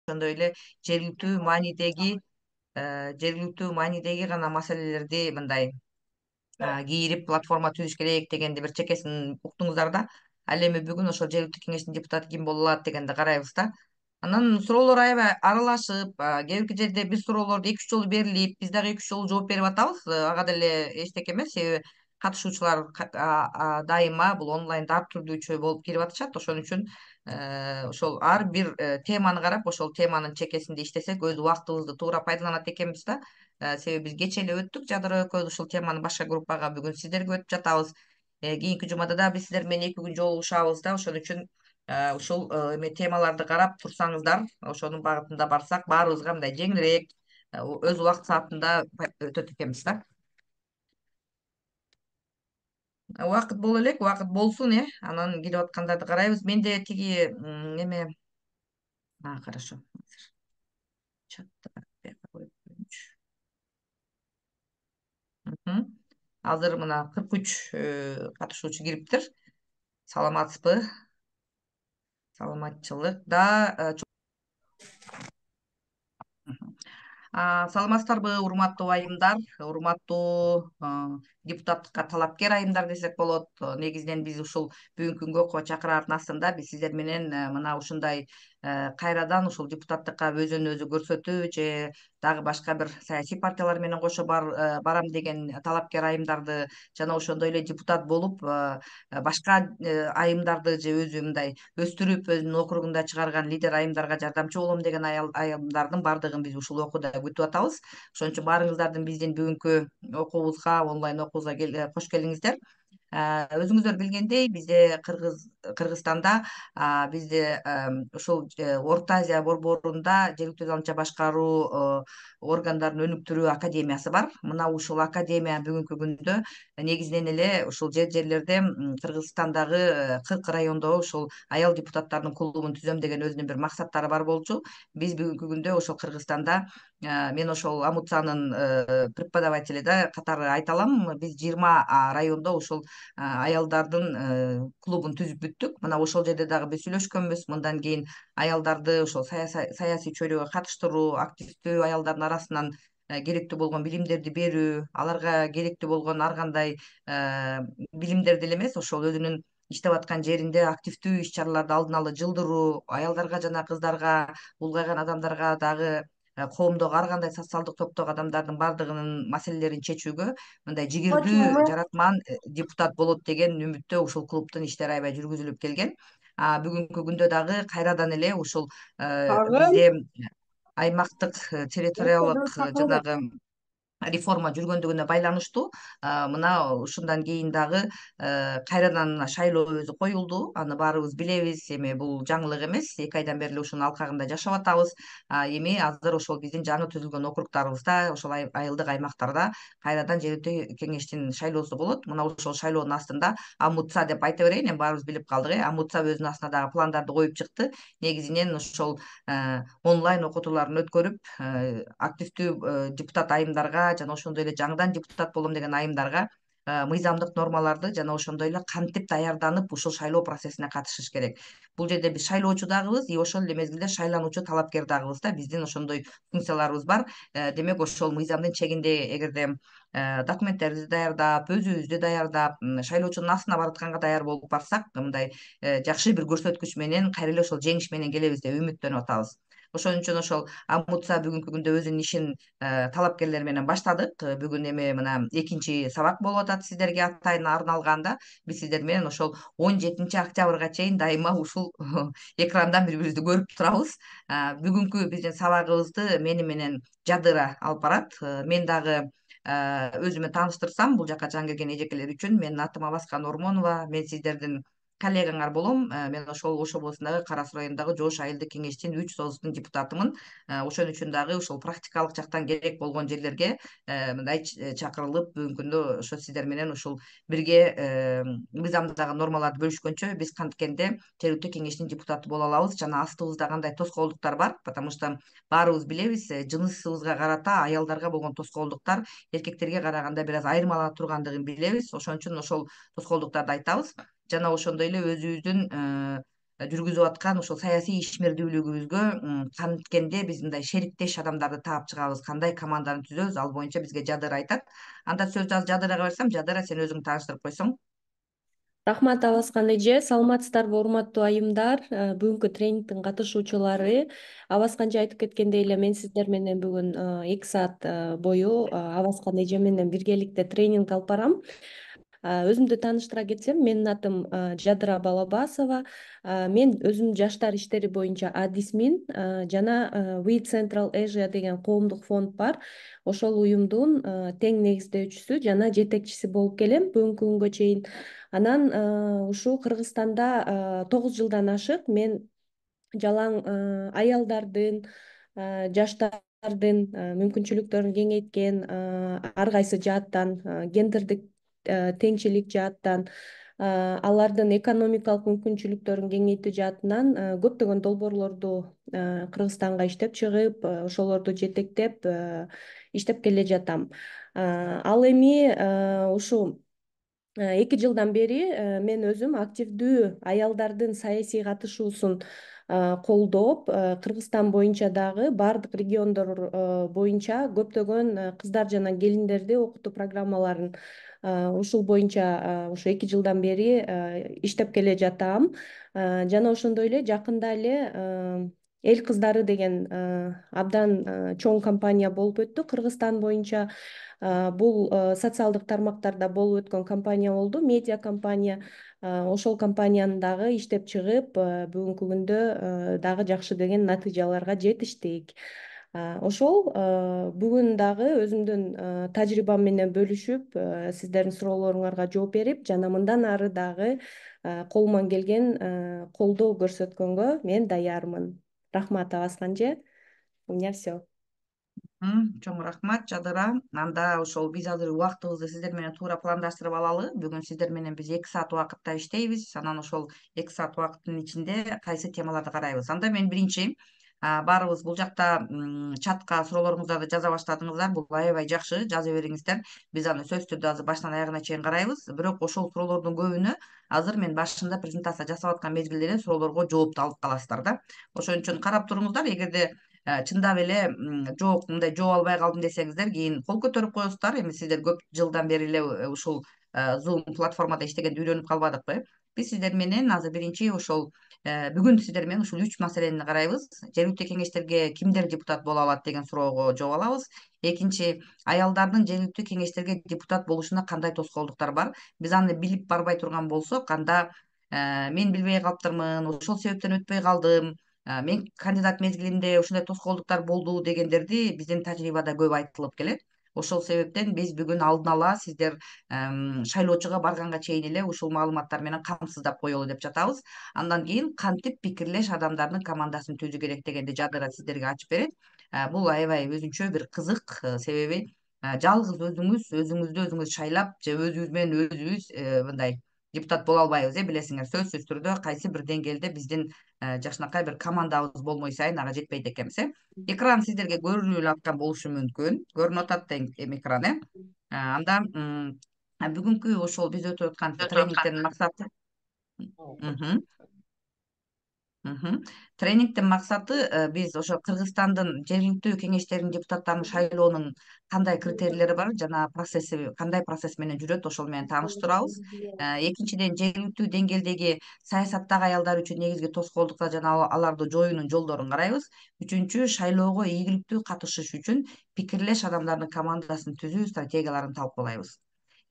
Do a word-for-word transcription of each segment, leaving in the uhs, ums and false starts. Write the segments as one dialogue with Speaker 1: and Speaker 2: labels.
Speaker 1: ошондой эле жергиликтүү маанидеги жергиликтүү маанидеги гана маселелерди мындай кийирип платформа түзүш керек дегенди бир чекесин уктуңуздар да. Ал эми бүгүн ошол жергиликтүү кеңештин депутаты ким боло алат дегенди карайбыз да. Анан суроолор аябай аралашып, кээ бирки жерде биз суроолорду эки үч жолу берилип, биз дагы эки үч жолу жооп берип атабыз. Ага деле эчтеке эмес, себеби катышуучулар дайыма бул онлайнда ар түрдүүчө болуп кирип атышат. Ошон үчүн ошол ар бир теманы карап, ошол теманын чекесинде иштесек өз убактыбызды туура пайдаланат экенбиз да. Себеби биз кечээ эле өттүк жадыра экөөбүз ушул теманы башка группага, бүгүн сиздерге өтүп жатабыз. Кийинки жумада да биз сиздер менен эки күн жолугушабыз да. Ошон үчүн ушул эме темаларды карап турсаңыздар, ошонун багытында барсак, баарыбызга мындай жеңилирээк, өз убакыт саатында өтөт экенбиз да. Убакыт боло элек, убакыт болсун, э. Анан келип аткандарды карайбыз. Менде тиги эме хорошо. Азыр мына кырк үч катышуучу кириптир. Саламатсызбы? Саламатчылык да. Саламатсыздарбы, урматтуу айымдар, урматтуу депутаттыкка талапкер айымдар десек болот. Негизинен биз ушул бүгүнкү күнгө ко чакыраардын астында биз сиздер менен мына ушундай кайрадан ушул депутаттыкка өзүн өзү көрсөтүү же дагы башка бир саясий партиялар менен кошо барам деген талапкер айымдарды жана ошондой эле депутат болуп башка айымдарды же өзү мындай өстүрүп өзүнүн округунда чыгарган лидер айымдарга жардамчы болом деген айымдардын баардыгын биз ушул окууда күтүп атабыз. Ошон үчүн баарыңыздардын биздин бүгүнкү окуубузга, онлайн окуубузга кош келиңиздер. Өзүңүздөр билгендей, бизде Кыргыз Кыргызстанда бизде ушул Орто Азия борборунда жергиликтүү заалча башкаруу органдарын өнүктүрүү академиясы бар. Мына ушул академия бүгүнкү күндө негизинен эле ушул жер жерлерде Кыргызстандагы кырк райондо ушул аял депутаттардын клубун түзөм деген өзүнүн бир максаттары бар болчу. Биз бүгүнкү күндө ошол Кыргызстанда мен ошол Амуцанын преподаватели да катары айта алам. Биз жыйырма райондо ушул аялдардын клубун түзүп бүттүк. Мына ошол жерде дагы биз сүйлөшкөнбүз. Мындан кийин аялдарды ошол саясий чөйрөгө катыштыруу, активдүү аялдардын арасынан керектүү болгон билимдерди берүү, аларга керектүү болгон ар кандай билимдерди эле эмес, ошол өзүнүн иштеп аткан жеринде активдүү иш чараларды алдын ала жылдыруу, аялдарга жана кыздарга, улгайган адамдарга дагы коомдогу ар кандай социалдык топтогу адамдардын баардыгынын маселелерин чечүүгө мындай жигердүү, жаратман депутат болот деген үмүттө ушул клубдун иштери аябай жүргүзүлүп келген. Бүгүнкү күндө дагы кайрадан эле ушул бизде аймактык территориалдык жанагы реформа жүргөндүгүнө байланыштуу мына ушундан кийин дагы кайрадан шайлоо өзү коюлду. Аны баарыбыз билебиз. Эми бул жаңылык эмес. эки айдан бери эле ушунун алкагында жашап атабыз. Эми азыр ошол биздин жаңы түзүлгөн округдарыбызда, ошол айылдык аймактарда кайрадан жергиликтүү кеңештин шайлоосу болот. Мына ошол шайлоонун астында Амутса деп айта берейин, эми баарыбыз билип калдык, э. Амутса өзүнүн астына дагы пландарды коюп чыкты. Негизинен ошол онлайн окутууларын өткөрүп, активдүү депутат айымдарга жана ошондой эле жаңыдан депутат болом деген айымдарга мыйзамдык нормаларды жана ошондой эле кантип даярданып ушул шайлоо процессине катышыш керек. Бул жерде биз шайлоочу дагыбыз, и ошол эле мезгилде шайлануучу талапкер дагыбыз да. Биздин ошондой функцияларыбыз бар. Демек ошол мыйзамдын чегинде эгерде документтерибизди даярдап, өзүбүздү даярдап, шайлоочунун астына баратканга даяр болуп барсак, мындай жакшы бир көрсөткүч менен кайра эле ошол жеңиш менен келебиз деп үмүттөнүп атабыз. Ошон үчүн ошол Амутса бүгүнкү күндө өзүнүн ишин талапкерлер менен баштадык. Бүгүн эми мына экинчи сабак болуп атат сиздерге атайын арналган да. Биз сиздер менен ошол он жетинчи октябрга чейин дайыма ушул экрандан бири бирибизди көрүп турабыз. Бүгүнкү биздин сабагыбызды мени менен Жадыра алып барат. Мен дагы өзүмө тааныштырсам, бул жака жаңы келген эжекелер үчүн, менин атым Абаскан Ормонова, мен сиздердин коллегаңар болом. Мен ошол Ош облусундагы Кара Суу районундагы Жош айылдык кеңештин үч союздун депутатымын. Ошон үчүн дагы ушул практикалык жактан керек болгон жерлерге мындай чакырылып, бүгүнкү күндө ошо сиздер менен ушул бирге мыйзамдагы нормаларды бөлүшкөнчө биз канткенде жергиликтүү кеңештин депутаты боло алабыз. Жана астыбызда кандай тоскоолдуктар бар, потому что баарыбыз билебиз, жынысыбызга карата аялдарга болгон тоскоолдуктар эркектерге караганда бир аз айырмаланып тургандыгын билебиз. Ошон үчүн ошол тоскоолдуктарды айтабыз. Жана ошондой эле өзүбүздүн жүргүзүп аткан ушул саясий ишмердүүлүгүбүзгө канткенде биз мындай шериктеш адамдарды таап чыгабыз, кандай команданы түзөбүз, ал боюнча бизге Жадыра айтат. Анда сөздү азыр Жадырага берсем, Жадыра, сен өзүңдү тааныштырып койсоң.
Speaker 2: Рахмат Абаскан эже, саламатсыздарбы урматтуу айымдар, э, бүгүнкү тренингдин катышуучулары. Абаскан эже айтып кеткендей эле мен сиздер менен бүгүн э, эки саат э, бою Абаскан эже менен биргеликте тренинг алып барам. Өзүмдү тааныштыра кетсем, менин атым Жадыра Балабасова. Мен өзүм жаштар иштери боюнча адисмин жана We Central Asia деген коомдук фонд бар. Ошол уюмдун тең негиздөөчүсү жана жетекчиси болуп келем бүгүнкү күнгө чейин. Анан ушул Кыргызстанда тогуз жылдан ашык мен жалаң аялдардын, жаштардын мүмкүнчүлүктөрүн кеңейткен ар кайсы жааттан, гендердик теңчилик жааттан, алардын экономикалык мүмкүнчүлүктөрүн кеңейтүү жаатынан көптөгөн долбоорлорду Кыргызстанга иштеп чыгып, ошолорду жетектеп иштеп келе жатам. Ал эми ушул эки жылдан бери мен өзүм активдүү аялдардын саясий катышуусун колдоп, Кыргызстан боюнча дагы баардык региондор боюнча көптөгөн кыздар жана келиндерди окутуу программаларын ушул боюнча ушу эки жылдан бери иштеп келе жатам. Жана ошондой эле жакында эле Эл кыздары деген абдан чоң компания болуп өттү Кыргызстан боюнча. Бул социалдык тармактарда болуп өткөн компания болду, медиа компания. Ошол компанияны дагы иштеп чыгып, бүгүнкү күндө дагы жакшы деген натыйжаларга жетиштик. Ошол бүгүн дагы өзүмдүн тажрыйбам менен бөлүшүп, сиздердин суроолоруңарга жооп берип, жана мындан ары дагы колуман келген колдоо көрсөткөнгө мен даярмын. Рахмат Абаскан эже. У меня все.
Speaker 1: Чоң рахмат, Жадыра. Анда ошол биз азыр убактыбызды сиздер менен туура пландаштырып алалы. Бүгүн сиздер менен биз эки саат убакытта иштейбиз. Анан ошол эки саат убакыттын ичинде кайсы темаларды карайбыз. Анда мен биринчи баарыбыз бул жакта чатка суроолоруңуздарды жаза баштадыңыздар. Бул аябай жакшы, жаза бериңиздер. Биз аны сөзсүз түрдө азыр башынан аягына чейин карайбыз. Бирок ошол суроолордун көбүнө азыр мен башында презентация жасап аткан мезгилде эле суроолорго жоопту алып каласыздар да. Ошон үчүн карап туруңуздар. Эгерде чындап эле жок, мындай жооп албай калдым десеңиздер, кийин кол көтөрүп коесуздар. Эми сиздер көп жылдан бери эле ушул Zoom платформада иштегенди үйрөнүп калбадыкпы? Биз сиздер менен азыр биринчи ошол бүгүн сиздер менен ушул үч маселени карайбыз. Жергиликтүү кеңештерге кимдер депутат боло алат деген суроого жооп алабыз. Экинчи, аялдардын жергиликтүү кеңештерге депутат болушуна кандай тоскоолдуктар бар? Биз аны билип барбай турган болсок, анда мен билбей калыптырмын, ошол себептен өтпөй калдым, мен кандидат мезгилинде ушундай тоскоолдуктар болду дегендерди биздин тажрыйбада көп айтылып келет. Ошол себептен биз бүгүн алдын ала сиздер шайлоочуга барганга чейин эле ушул маалыматтар менен камсыздап коелу деп жатабыз. Андан кийин кантип пикирлеш адамдардын командасын түзүү керек дегенди Жадыра сиздерге ачып берет. Бул аябай өзүнчө бир кызык, себеби жалгыз өзүңүз өзүңүздү өзүңүз шайлап же өзүбүз менен өзүбүз мындай депутат боло албайбыз, э билесиңер, сөзсүз түрдө кайсы бир деңгээлде биздин жакшынакай бир командабыз болмой сайын ага жетпейт экенбиз, э. Экран сиздерге көрүнүп эле аткан болушу мүмкүн. Көрүнүп атат эми экран, э. Анда бүгүнкү ошол биз өтүп аткан тренингдин максаты тренингдин максаты биз ошо Кыргызстандын жергиликтүү кеңештеринин депутаттарын шайлоонун кандай критерийлери бар жана процесси кандай процесс менен жүрөт, ошол менен тааныштырабыз. Экинчиден, жергиликтүү деңгээлдеги саясаттагы аялдар үчүн негизги тоскоолдуктар жана аларды жоюунун жолдорун карайбыз. Үчүнчү, шайлоого ийгиликтүү катышыш үчүн пикирлеш адамдардын командасын түзүү стратегияларын талкуулайбыз.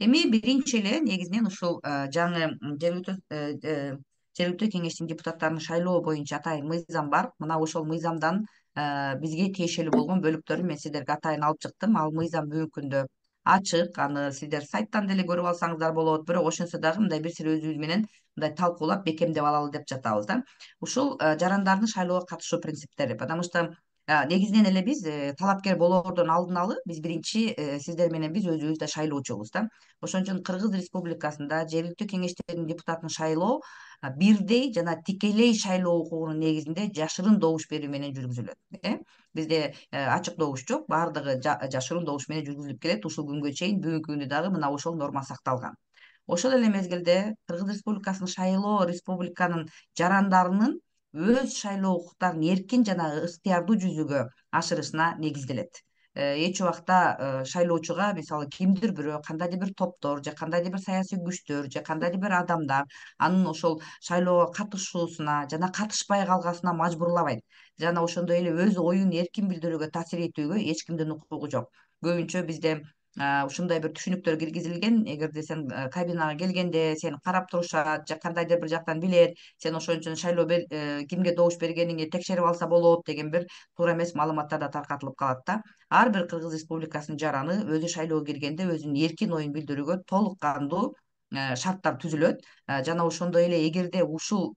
Speaker 1: Эми биринчи эле негизинен ушул жаңы жергиликтүү жергиликтүү кеңештин депутаттарын шайлоо боюнча атайын мыйзам бар. Мына ошол мыйзамдан бизге тиешелүү болгон бөлүктөрүн мен сиздерге атайын алып чыктым. Ал мыйзам бүгүнкү күндө ачык, аны сиздер сайттан деле көрүп алсаңыздар болот. Бирок ошентсе дагы мындай бир сири өзүбүз менен мындай талкуулап бекемдеп алалы деп жатабыз да. Ушул жарандардын шайлоого катышуу принциптери, потому что негизинен эле биз талапкер болоордон алдын биз биринчи сиздер менен биз өзүбүз да шайлоочубуз да. Ошон үчүн Кыргыз Республикасында жергиликтүү кеңештердин депутатын шайлоо бирдей жана тикелей шайлоо укугунун негизинде жашырын добуш берүү менен жүргүзүлөт, э. Бизде ачык добуш жок, баардыгы жашырын добуш менен жүргүзүлүп келет ушул күнгө чейин. Бүгүнкү күндө дагы мына ошол норма сакталган. ошол эле мезгилде Кыргыз Республикасынын шайлоо республиканын жарандарынын өз шайлоо укуктарын эркин жана ыктыярдуу жүзөгө ашырышына негизделет. Эч убакта шайлоочуга мисалы кимдир бирөө, кандайдыр бир топтор же кандайдыр бир саясий күчтөр же кандайдыр бир адамдар анын ошол шайлоого катышуусуна жана катышпай калгасына мажбурлабайт жана ошондой эле өз оюн эркин билдирүүгө таасир этүүгө эч кимдин укугу жок. Көбүнчө бизде ушундай бир түшүнүктөр киргизилген: эгерде сен кабинага келгенде сени карап турушат же кандайдыр бир жактан билет, сен ошон үчүн шайлоо кимге добуш бергениңди текшерип алса болот деген бир туура эмес маалыматтар да таркатылып калат да. Ар бир Кыргыз Республикасынын жараны өзү шайлоого киргенде өзүнүн эркин оюн билдирүүгө толук кандуу шарттар түзүлөт жана ошондой эле эгерде ушул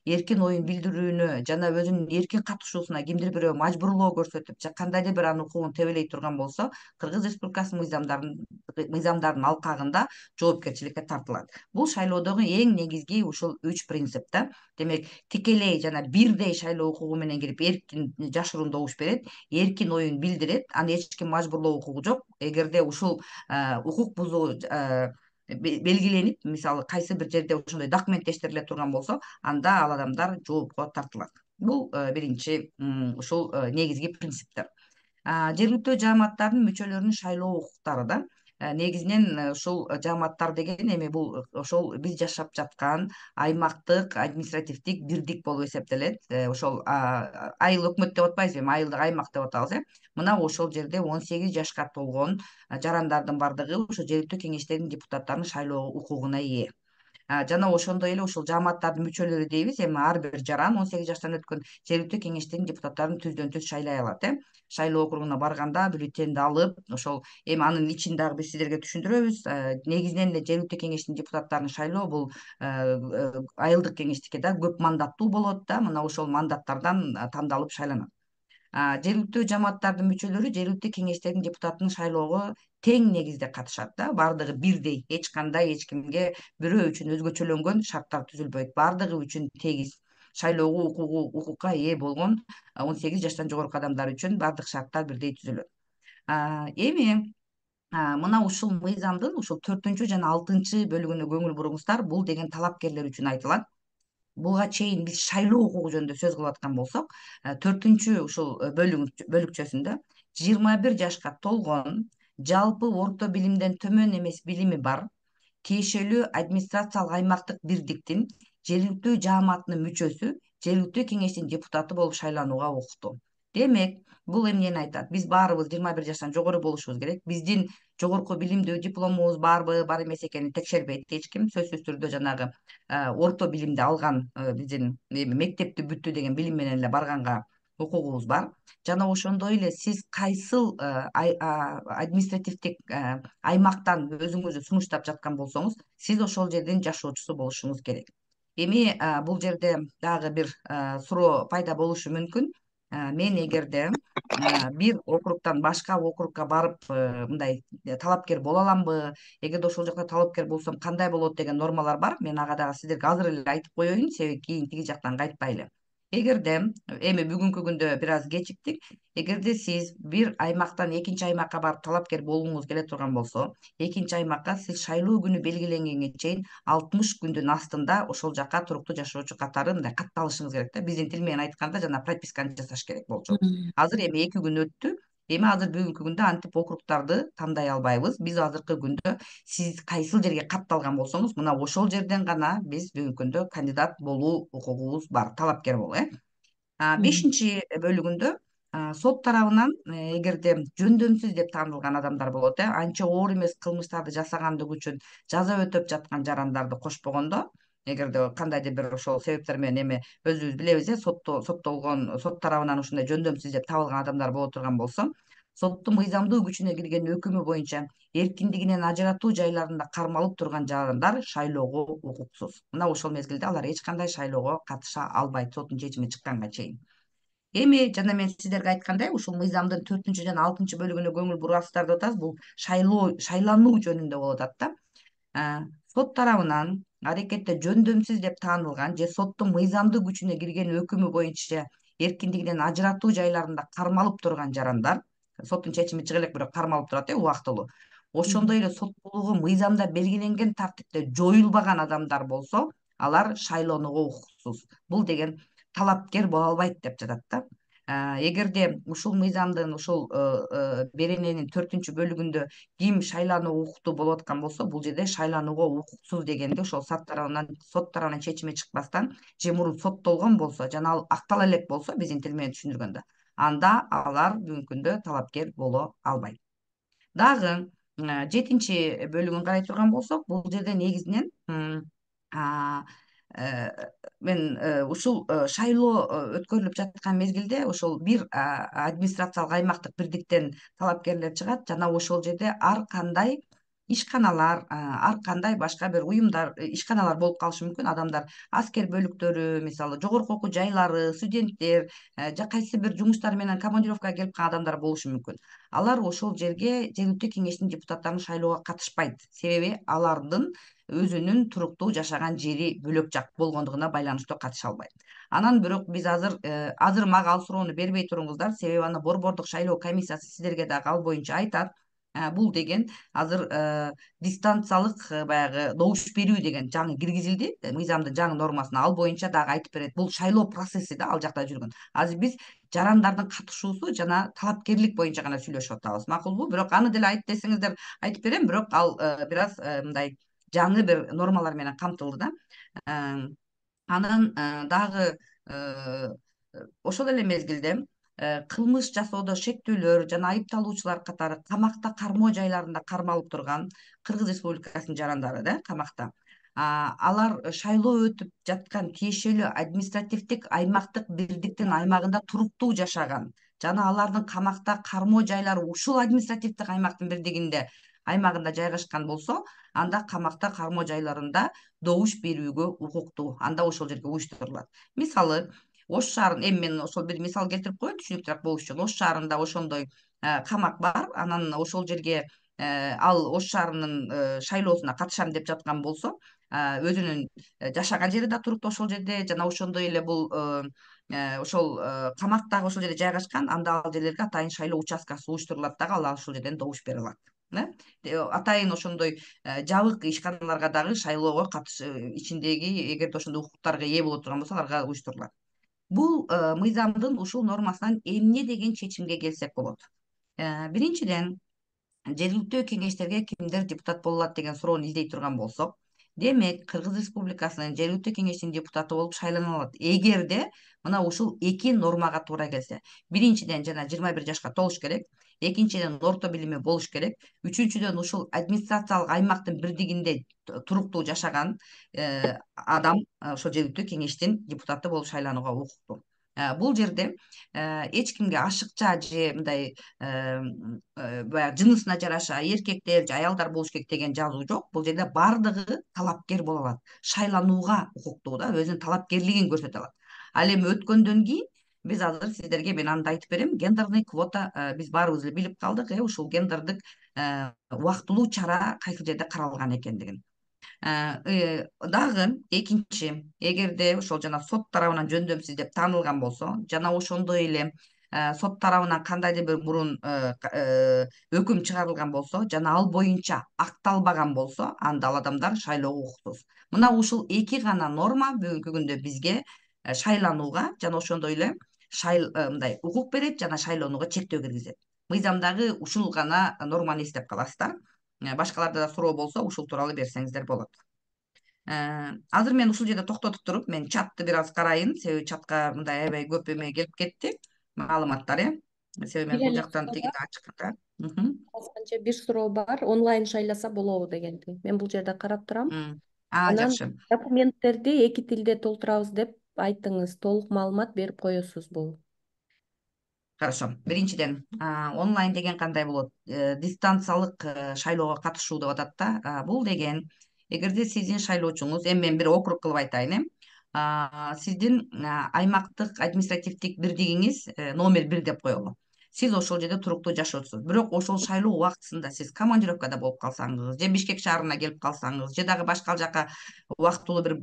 Speaker 1: эркин оюн билдирүүнү жана өзүнүн эркин катышуусуна кимдир бирөө мажбурлоо көрсөтүп же кандайдыр бир анын укугун тебелей турган болсо, Кыргыз Республикасынын мыйзамдарын мыйзамдардын алкагында жоопкерчиликке тартылат. Бул шайлоодогу эң негизги ушул үч принцип да. Демек, тикелей жана бирдей шайлоо укугу менен кирип эркин жашыруун добуш берет, эркин оюн билдирет, аны эч ким мажбурлоо укугу жок. Эгерде ушул укук бузуу белгиленип, мисалы кайсы бир жерде ошондой документтештириле турган болсо, анда ал адамдар жоопко тартылат. Бул биринчи ушул негизги принциптер. Жергиликтүү жааматтардын мүчөлөрүнүн шайлоо укуктары да. Негизинен ушул жааматтар деген эми бул ошол биз жашап жаткан аймактык административдик бирдик болуп эсептелет. Ошол айыл өкмөт деп атпайбызбы, эми айылдык аймак деп атабыз э. Мына ошол жерде он сегиз жашка толгон жарандардын бардыгы ошо жергиликтүү кеңештердин депутаттарын шайлоо укугуна ээ. Жана ошондой эле ушул жааматтардын мүчөлөрү дейбиз. Эми ар бир жаран он сегиз жаштан өткөн жергиликтүү кеңештердин депутаттарын түздөн түз шайлай алат э. Шайлоо округуна барганда бюллетенди алып, ошол эми анын ичин дагы биз сиздерге түшүндүрөбүз. Негизинен эле жергиликтүү кеңештин депутаттарын шайлоо бул айылдык кеңештики да көп мандаттуу болот да. Мына ошол мандаттардан тандалып шайланат. Жергиликтүү жааматтардын мүчөлөрү жергиликтүү кеңештердин депутатын шайлоого тең негизде катышат да. Бардыгы бирдей, эч кандай эч кимге бирөө үчүн өзгөчөлөнгөн шарттар түзүлбөйт. Бардыгы үчүн тегиз шайлоого укугу укукка ээ болгон он сегиз жаштан жогорку адамдар үчүн бардык шарттар бирдей түзүлөт. Эми мына ушул мыйзамдын ушул төртүнчү жана алтынчы бөлүгүнө көңүл буруңуздар. Бул деген талапкерлер үчүн айтылат. Буга чейин биз шайлоо укугу жөнүндө сөз кылып аткан болсок, төртүнчү ушул бөлүкчөсүндө жыйырма бир жашка толгон, жалпы орто билимден төмөн эмес билими бар, тиешелүү администрациялык аймактык бирдиктин жергиликтүү жааматынын мүчөсү жергиликтүү кеңештин депутаты болуп шайланууга укуктуу. Демек, бул эмнени айтат? Биз баарыбыз жыйырма бир жаштан жогору болушубуз керек. Биздин жогорку билимдүү дипломубуз барбы, бар эмес экенин текшербейт эч ким. Сөзсүз түрдө жанагы орто билимди алган, биздин мектепти бүттү деген билим менен эле барганга укугубуз бар. Жана ошондой эле сиз кайсыл административдик аймактан өзүңүздү сунуштап жаткан болсоңуз, сиз ошол жердин жашоочусу болушуңуз керек. Эми бул жерде дагы бир суроо пайда болушу мүмкүн. Мен эгерде бир округтан башка округга барып мындай талапкер боло аламбы, эгерде ошол жакта талапкер болсом кандай болот деген нормалар бар. Мен ага дагы сиздерге азыр эле айтып коеюн, себеби кийин тиги жактан кайтпайлы. Эгерде эми бүгүнкү күндө бир аз кечиктик. Эгерде сиз бир аймактан экинчи аймакка барып талапкер болгуңуз келе турган болсо, экинчи аймакка сиз шайлоо күнү белгиленгенге чейин алтымыш күндүн астында ошол жакка туруктуу жашоочу катары мындай катталышыңыз керек да. Биздин тил менен айтканда жана прописканы жасаш керек болчу. Азыр эми эки күн өттү. Эми азыр бүгүнкү күндө антип округтарды тандай албайбыз. Биз азыркы күндө сиз кайсыл жерге катталган болсоңуз, мына ошол жерден гана биз бүгүнкү күндө кандидат болуу укугубуз бар, талапкер болуу э. Бешинчи бөлүгүндө сот тарабынан эгерде жөндөмсүз деп таанылган адамдар болот э, анча оор эмес кылмыштарды жасагандыгы үчүн жаза өтөп жаткан жарандарды кошпогондо, эгерде кандайдыр бир ошол себептер менен эми өзүбүз билебиз э, сотто соттолгон, сот тарабынан ушундай жөндөмсүз деп табылган адамдар боло турган болсо, соттун мыйзамдуу күчүнө кирген өкүмү боюнча эркиндигинен ажыратуу жайларында кармалып турган жарандар шайлоого укуксуз. Мына ошол мезгилде алар эч кандай шайлоого катыша албайт, соттун чечими чыкканга чейин. Эми жана мен сиздерге айткандай, ушул мыйзамдын төртүнчү жана алтынчы бөлүгүнө көңүл бурасыздар деп атабыз. Бул шайлоо шайлануу жөнүндө болуп атат да. Сот тарабынан аракетте жөндөмсүз деп таанылган же соттун мыйзамдуу күчүнө кирген өкүмү боюнча эркиндигинен ажыратуу жайларында кармалып турган жарандар, соттун чечими чыга элек, бирок кармалып турат э убактылуу. ошондой эле соттуулугу мыйзамда белгиленген тартипте жоюлбаган адамдар болсо, алар шайлоонууга укуксуз. Бул деген талапкер боло албайт деп жатат да. Эгерде ушул мыйзамдын ушул берененин төртүнчү бөлүгүндө ким шайланууга укуктуу болуп аткан болсо, бул жерде шайланууга укуксуз дегенди ошол сот тарабынан сот тарабынан чечими чыкпастан же мурун соттолгон болсо жана ал актала элек болсо, биздин тил менен түшүндүргөндө, анда алар бүгүнкү күндө талапкер боло албайт. Дагы жетинчи бөлүгүн карай турган болсок, бул жерде негизинен мен ушул шайлоо өткөрүлүп жаткан мезгилде ошол бир администрациялык аймактык бирдиктен талапкерлер чыгат жана ошол жерде ар кандай ишканалар, ар кандай башка бир уюмдар, ишканалар болуп калышы мүмкүн. Адамдар аскер бөлүктөрү, мисалы жогорку окуу жайлары, студенттер же кайсы бир жумуштар менен командировкага келип калган адамдар болушу мүмкүн. Алар ошол жерге жергиликтүү кеңештин депутаттарын шайлоого катышпайт. Себеби алардын өзүнүн туруктуу жашаган жери бөлөк жак болгондугуна байланыштуу катыша албайт. Анан бирок биз азыр азыр мага ал суроону бербей туруңуздар, себеби аны Борбордук шайлоо комиссиясы сиздерге дагы ал боюнча айтат. Бул деген азыр дистанциялык баягы добуш берүү деген жаңы киргизилди мыйзамдын жаңы нормасына. Ал боюнча дагы айтып берет. Бул шайлоо процесси да ал жакта жүргөн. Азыр биз жарандардын катышуусу жана талапкерлик боюнча гана сүйлөшүп атабыз. Макулбу? Бирок аны деле айт десеңиздер айтып берем, бирок ал бир аз мындай жаңы бир нормалар менен камтылды да. Анан дагы ошол эле мезгилде кылмыш жасоодо шектүүлөр жана айыпталуучулар катары камакта кармоо жайларында кармалып турган Кыргыз Республикасынын жарандары да камакта. Алар шайлоо өтүп жаткан тиешелүү административдик аймактык бирдиктин аймагында туруктуу жашаган жана алардын камакта кармоо жайлары ушул административдик аймактын бирдигинде аймагында жайгашкан болсо, анда камакта кармоо жайларында добуш берүүгө укуктуу. Анда ошол жерге уюштурулат. Мисалы, Ош шаарында, эми мен ошол бир мисал келтирип коеюн түшүнүктүүрөөк болуш үчүн. Ош шаарында ошондой камак бар. Анан ошол жерге ал Ош шаарынын шайлоосуна катышам деп жаткан болсо, өзүнүн жашаган жери да туруктуу ошол жерде жана ошондой эле бул ошол камак дагы ошол жерде жайгашкан, анда ал жерлерге атайын шайлоо участкасы уюштурулат дагы, ал ошол жерден добуш бере алат. Атайын ошондой жабык ишканаларга дагы шайлоого катыш ичиндеги эгерде ошондой укуктарга ээ боло турган болсо, аларга уюштурулат. Бул мыйзамдын ушул нормасынан эмне деген чечимге келсек болот? Биринчиден, жергиликтүү кеңештерге кимдер депутат боло алат деген суроону издей турган болсок, демек Кыргыз Республикасынын жергиликтүү кеңештин депутаты болуп шайлана алат эгерде мына ушул эки нормага туура келсе. Биринчиден жана жыйырма бир жашка толуш керек, экинчиден орто билими болуш керек, үчүнчүдөн ушул администрациялык аймактын бирдигинде туруктуу жашаган адам ошол жергиликтүү кеңештин депутаты болуп шайланууга укуктуу. Бул жерде эч кимге ашыкча же мындай баягы жынысына жараша эркектер же аялдар болуш керек деген жазуу жок. Бул жерде бардыгы талапкер боло алат, шайланууга укуктуу да, өзүнүн талапкерлигин көрсөтө алат. Ал эми өткөндөн кийин биз азыр сиздерге мен аны айтып берем. Гендерный квота биз баарыбыз эле билип калдык, э ушул гендердик убактылуу чара кайсы жерде каралган экендигин. Дагы экинчи, эгерде ошол жана сот тарабынан жөндөмсүз деп таанылган болсо жана ошондой эле сот тарабынан кандайдыр бир мурун өкүм чыгарылган болсо жана ал боюнча акталбаган болсо, анда ал адамдар шайлоого укуктуз. Мына ушул эки гана норма бүгүнкү күндө бизге шайланууга жана ошондой эле мындай укук берет жана шайлоонууга чектөө киргизет. Мыйзамдагы ушул гана норманы эстеп каласыздар. Башкаларда да суроо болсо, ушул тууралуу берсеңиздер болот. Азыр мен ушул жерде токтотуп туруп, мен чатты бир аз карайын, себеби чатка мындай аябай көп эме келип кетти, маалыматтар, э. Себеби мен бул жактан тигине ачканда.
Speaker 2: Азырынча бир суроо бар, онлайн шайласа болобу дегенди. Мен бул жерде карап турам. Анан
Speaker 1: Жакшы.
Speaker 2: документтерди эки тилде толтурабыз деп айттыңыз. Толук маалымат берип коесузбу?
Speaker 1: Хорошо. Биринчиден, онлайн деген кандай болот? Дистанциялык шайлоого катышуу деп атат да. Бул деген, эгерде сиздин шайлоочуңуз, эми мен бир округ кылып айтайын, э. Сиздин аймактык административдик бирдигиңиз номер бир деп коелу. Сиз ошол жерде туруктуу жашоочусуз. Бирок ошол шайлоо убактысында сиз командировкада болуп калсаңыз, же Бишкек шаарына келип калсаңыз, же дагы башка жака убактылуу бир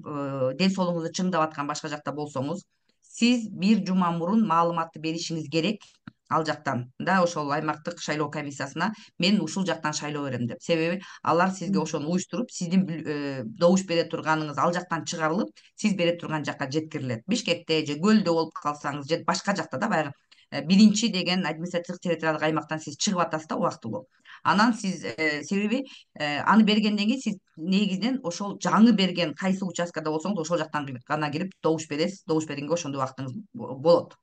Speaker 1: ден соолугуңузду чыңдап аткан башка жакта болсоңуз, сиз бир жума мурун маалыматты беришиңиз керек. ал жактан да ошол аймактык шайлоо комиссиясына мен ушул жактан шайлоо берем деп. Себеби алар сизге ошону уюштуруп, сиздин добуш бере турганыңыз ал жактан чыгарылып, сиз бере турган жакка жеткирилет. Бишкекте же Көлдө болуп калсаңыз же башка жакта да баягы биринчи деген административдик территориалдык аймактан сиз чыгып атасыз да убактылуу. Анан сиз себеби аны бергенден кийин сиз негизинен ошол жаңы берген кайсы участкада болсоңуз ошол жактан гана кирип добуш бересиз. Добуш бергенге ошондой убактыңыз болот,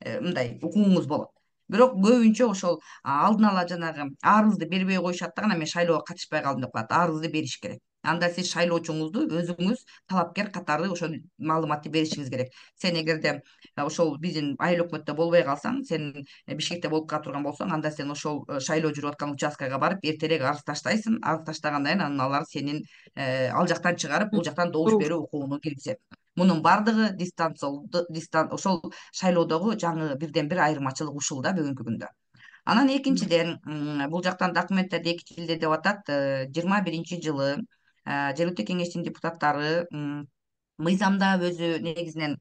Speaker 1: мындай укугуңуз болот. Бирок көбүнчө ошол алдын ала жанагы арызды бербей коюшат да, анан мен шайлоого катышпай калдым деп коет. Арызды бериш керек. Анда сиз шайлоочуңузду өзүңүз талапкер катары ошол маалыматты беришиңиз керек. Сен эгерде ошол биздин айыл өкмөттө болбой калсаң, сен Бишкекте болуп кала турган болсоң, анда сен ошол шайлоо жүрүп аткан участкага барып эртерээк арыз таштайсың. Арыз таштагандан кийин анан алар сенин ал жактан чыгарып, бул жактан добуш берүү укугуну киргизет. Мунун баардыгы дистан ошол шайлоодогу жаңы бирден бир айырмачылык ушул да бүгүнкү күндө. Анан экинчиден, бул жактан документтерде эки тилде деп атат. жыйырма биринчи жылы жергиликтүү кеңештин депутаттары мыйзамда өзү негизинен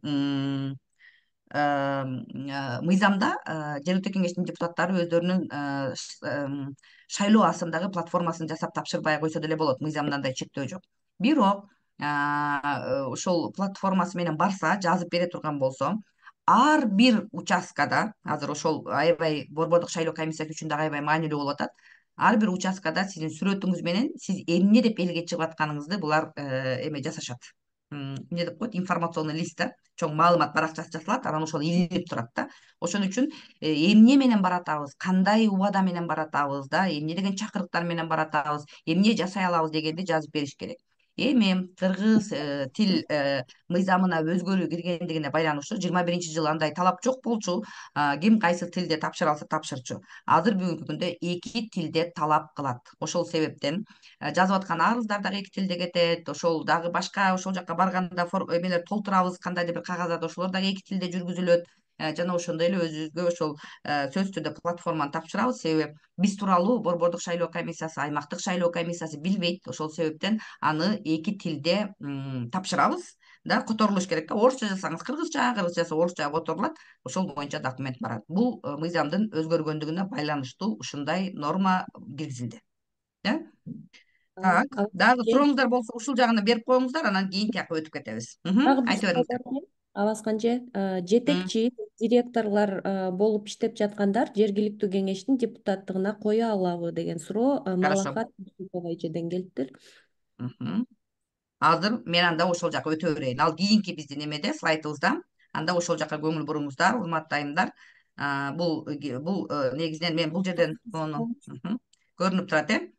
Speaker 1: мыйзамда жергиликтүү кеңештин депутаттары өздөрүнүн шайлоо асымдагы платформасын жасап тапшырбай койсо деле болот. Мыйзамда андай чектөө жок. Бирок ошол платформасы менен барса, жазып бере турган болсо, ар бир участкада, азыр ошол аябай борбордук шайлоо комиссиясы үчүн дагы аябай маанилүү болуп атат. Ар бир участкада сиздин сүрөтүңүз менен сиз эмне деп элге чыгып атканыңызды булар эме жасашат. Эмне деп коет, информационный лист да, чоң маалымат баракчасы жасалат, анан ошол илинип турат да. Ошон үчүн эмне менен баратабыз, кандай убада менен баратабыз да, эмне деген чакырыктар менен баратабыз, эмне жасай алабыз дегенди жазып бериш керек. Эми кыргыз тил мыйзамына өзгөрүү киргендигине байланыштуу жыйырма биринчи жылы андай талап жок болчу. Ким кайсы тилде тапшыра алса тапшырчу. Азыр бүгүнкү күндө эки тилде талап кылат. Ошол себептен жазып аткан арыздар дагы эки тилде кетет. Ошол дагы башка ошол жака барганда эмелер толтурабыз, кандайдыр бир кагаздарды, ошолор дагы эки тилде жүргүзүлөт. Жана ошондой эле өзүбүзгө ошол сөзсүз түрдө платформаны тапшырабыз. Себеби биз тууралуу борбордук шайлоо комиссиясы, аймактык шайлоо комиссиясы билбейт. Ошол себептен аны эки тилде тапшырабыз да, которулуш керек да. Орусча жазсаңыз кыргызча, кыргызча жазса орусча которулат. Ошол боюнча документ барат. Бул мыйзамдын өзгөргөндүгүнө байланыштуу ушундай норма киргизилди. Так, дагы сурооңуздар болсо ушул жагына берип коюңуздар, анан кийинки жака өтүп кетебиз. Айта бериңиздер.
Speaker 2: Абасканже, жетекчи директорлор болуп иштеп жаткандар жергиликтүү кеңештин депутаттыгына кое алабы деген суроо Малахат эжеден келиптир.
Speaker 1: Азыр мен анда ошол жака өтө берейин. Ал кийинки биздин эмеде, слайдыбызда. Анда ошол жака көңүл буруңуздар, урматтуу айымдар. Бул бул негизинен мен бул жерден көрүнүп турат, э.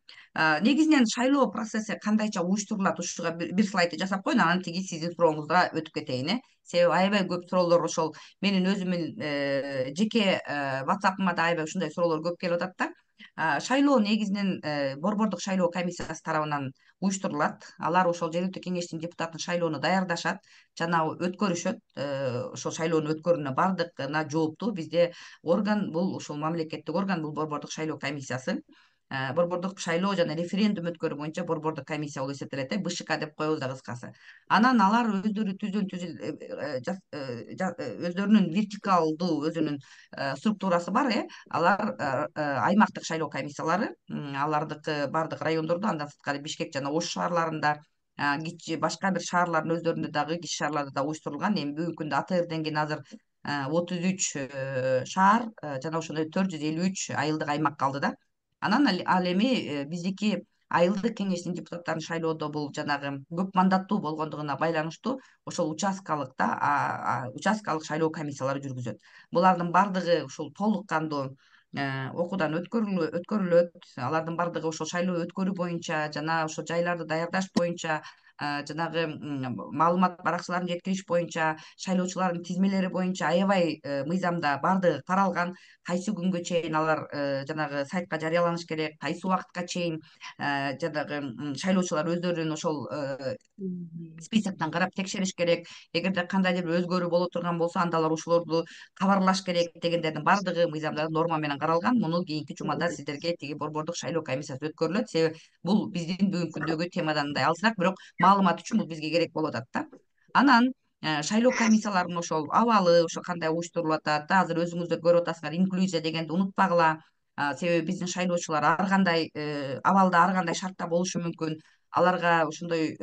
Speaker 1: Негизинен шайлоо процесси кандайча уюштурулат, ушуга бир слайдты жасап коеюн, анан тиги сиздин сурооңузга өтүп кетейин, э. Себеби аябай көп суроолор ошол менин өзүмдүн жеке WhatsApp'ыма да аябай ушундай суроолор көп келип атат да. Шайлоо негизинен борбордук шайлоо комиссиясы тарабынан уюштурулат. Алар ошол жергиликтүү кеңештин депутатын шайлоону даярдашат жана өткөрүшөт. Ошол шайлоонун өткөрүүнүнө бардыгына жооптуу бизде орган, бул ушул мамлекеттик орган, бул борбордук шайлоо комиссиясы. Борбордук шайлоо жана референдум өткөрүү боюнча борбордук комиссия болуп эсептелет, э, БШК деп коебуз да кыскасы. Анан алар өздөрү түзүн өздөрүнүн вертикалдуу өзүнүн структурасы бар, э. Алар аймактык шайлоо комиссиялары, алардыкы бардык райондордо, андан сырткары Бишкек жана Ош шаарларында, башка бир шаарлардын өздөрүндө дагы, кичи шаарларда да уюштурулган. Эми бүгүнкү күндө А Т Рден кийин азыр отуз үч шаар жана ошондой төрт жүз элүү үч айылдык аймак калды да. Анан ал эми биздики айылдык кеңештин депутаттарын шайлоодо бул жанагы көп мандаттуу болгондугуна байланыштуу ошол участкалык да, участкалык шайлоо комиссиялары жүргүзөт. Булардын бардыгы ушул толук кандуу окуудан өткөрүлөт. Алардын бардыгы ошол шайлоо өткөрүү боюнча жана ошол жайларды даярдаш боюнча, жанагы маалымат баракчаларын жеткириш боюнча, шайлоочулардын тизмелери боюнча аябай мыйзамда бардыгы каралган. Кайсы күнгө чейин алар жанагы сайтка жарыяланыш керек, кайсы убакытка чейин жанагы шайлоочулар өздөрүнүн ошол списоктон карап текшериш керек. Эгерде кандайдыр бир өзгөрүү боло турган болсо, анда алар ушулорду кабарлаш керек дегендердин бардыгы мыйзамда норма менен каралган. Муну кийинки жумада сиздерге тиги борбордук шайлоо комиссиясы өткөрүлөт. Себеби бул биздин бүгүнкү күндөгү темадан мындай алысыраак, бирок маалымат үчүн бул бизге керек болуп атат да. Анан шайлоо комиссияларынын ошол абалы ошо кандай уюштурулуп атат да, азыр өзүңүздөр көрүп атасыңар, инклюзия дегенди унутпагыла. Себеби биздин шайлоочулар ар кандай абалда, ар кандай шартта болушу мүмкүн. Аларга ошондой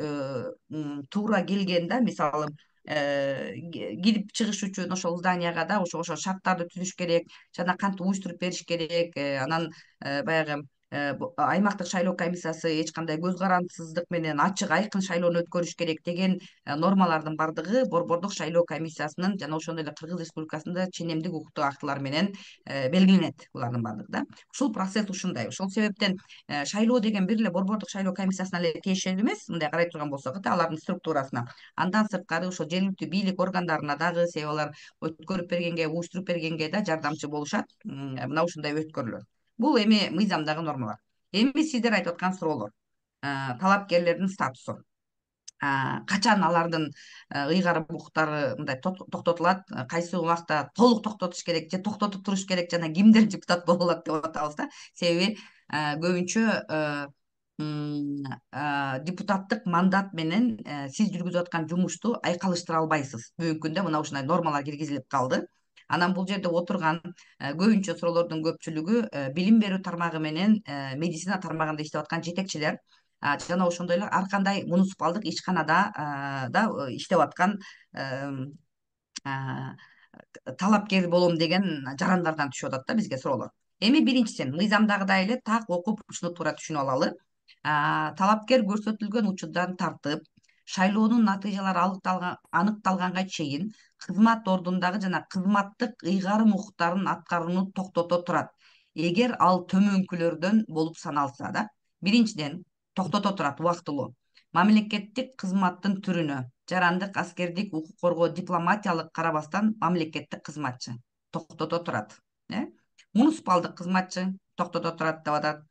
Speaker 1: туура келген да, мисалы кирип чыгыш үчүн ошол зданияга да ошо ошо шарттарды түзүш керек жана кантип уюштуруп бериш керек. Анан баягы аймактык шайлоо комиссиясы эч кандай көз карандысыздык менен ачык айкын шайлоону өткөрүш керек деген нормалардын баардыгы борбордук шайлоо комиссиясынын жана ошондой эле Кыргыз Республикасында ченемдик укуктук актылар менен белгиленет булардын баардыгы да. Ушул процесс ушундай. Ошол себептен шайлоо деген бир эле борбордук шайлоо комиссиясына эле тиешелүү эмес, мындай карай турган болсок да, алардын структурасына. Андан сырткары ошо жергиликтүү бийлик органдарына дагы, себеби алар өткөрүп бергенге, уюштуруп бергенге да жардамчы болушат. Мына ушундай өткөрүлөт. Бул эми мыйзамдагы нормалар. Эми сиздер айтып аткан суроолор. Талапкерлердин статусу. Качан алардын ыйгарым укуктары мындай токтотулат, кайсы убакта толук токтотуш керек же токтотуп туруш керек, жана кимдер депутат боло алат деп атабыз да. Себеби көбүнчө депутаттык мандат менен сиз жүргүзүп аткан жумушту айкалыштыра албайсыз. Бүгүнкү күндө мына ушундай нормалар киргизилип калды. Анан бул жерде отурган көбүнчө суроолордун көпчүлүгү билим берүү тармагы менен медицина тармагында иштеп аткан жетекчилер жана ошондой эле ар кандай муниципалдык ишканада да иштеп аткан талапкер болом деген жарандардан түшүп атат да бизге суроолор. Эми биринчисин мыйзамдагыдай эле так окуп ушуну туура түшүнүп алалы. Талапкер көрсөтүлгөн учурдан тартып шайлоонун натыйжалары аныкталганга чейин кызмат ордундагы жана кызматтык ыйгарым укуктарын аткарууну токтото турат, эгер ал төмөнкүлөрдөн болуп саналса да. Биринчиден токтото турат убактылуу мамлекеттик кызматтын түрүнө, жарандык, аскердик, укук коргоо, дипломатиялык карабастан мамлекеттик кызматчы токтото турат. Муниципалдык кызматчы токтото турат деп атат.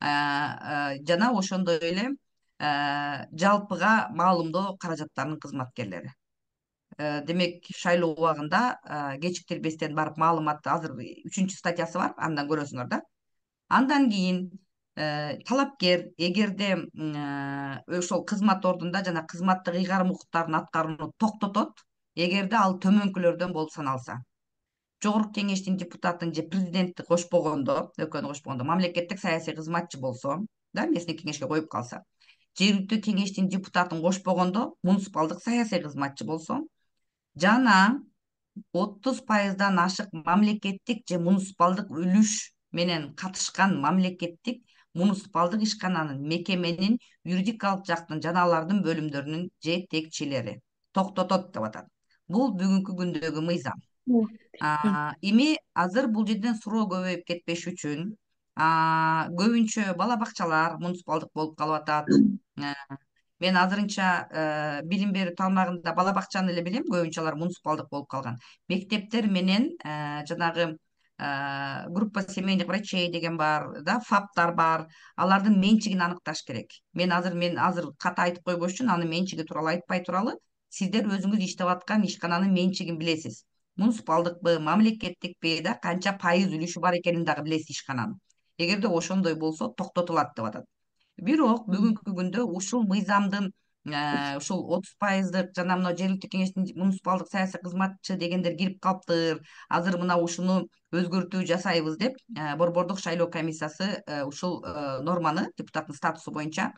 Speaker 1: Жана ошондой эле жалпыга маалымдоо каражаттарынын кызматкерлери. Демек, шайлоо убагында кечиктирбестен барып маалыматты, азыр үчүнчү статьясы бар, андан көрөсүңөр да. Андан кийин талапкер эгерде ошол кызмат ордунда жана кызматтык ыйгарым укуктарын аткарууну токтотот, эгерде ал төмөнкүлөрдөн болуп саналса. Жогорку кеңештин депутатын же президентти кошпогондо, экөөнү кошпогондо, мамлекеттик саясий кызматчы болсо, да, местный кеңешке коюп калса, жергиликтүү кеңештин депутатын кошпогондо, муниципалдык саясий кызматчы болсо, жана отуз пайыздан ашык мамлекеттик же муниципалдык үлүш менен катышкан мамлекеттик муниципалдык ишкананын, мекеменин, юридикалык жактын жана алардын бөлүмдөрүнүн жетекчилери токтотот деп атат. Бул бүгүнкү күндөгү мыйзам. Эми азыр бул жерден суроо көбөйүп кетпеш үчүн көбүнчө бала бакчалар муниципалдык болуп калып атат. Мен азырынча билим берүү тармагында бала бакчаны эле билем, көбүнчө алар муниципалдык болуп калган. Мектептер менен жанагы группа семейных врачей деген бар, да, фаптар бар. Алардын менчигин аныкташ керек. Мен азыр мен азыр ката айтып койбош үчүн анын менчиги тууралуу айтпай туралы, сиздер өзүңүз иштеп аткан ишкананын менчигин билесиз. Муниципалдыкпы, мамлекеттикпи, да, канча пайыз үлүшү бар экенин дагы билесиз ишкананын. Эгерде ошондой болсо токтотулат деп атат. Бирок бүгүнкү күндө ушул мыйзамдын ушул отуз пайыздык жана мына жергиликтүү кеңештин муниципалдык саясий кызматчы дегендер кирип калыптыр. Азыр мына ушуну өзгөртүү жасайбыз деп борбордук шайлоо комиссиясы ушул норманы депутаттын статусу боюнча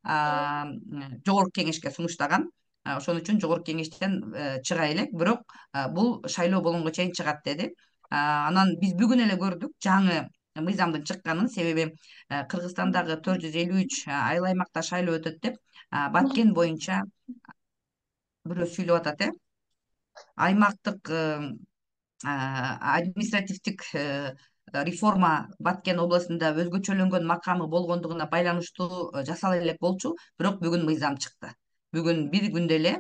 Speaker 1: жогорку кеңешке сунуштаган. Ошон үчүн жогорку кеңештен чыга элек, бирок бул шайлоо болгонго чейин чыгат деди. Анан биз бүгүн эле көрдүк жаңы мыйзамдын чыкканын, себеби Кыргызстандагы төрт жүз элүү үч айыл аймакта шайлоо өтөт деп Баткен боюнча бирөө сүйлөп атат, э аймактык административдик реформа Баткен областында өзгөчөлөнгөн макамы болгондугуна байланыштуу жасала элек болчу, бирок бүгүн мыйзам чыкты. Бүгүн бир күндө эле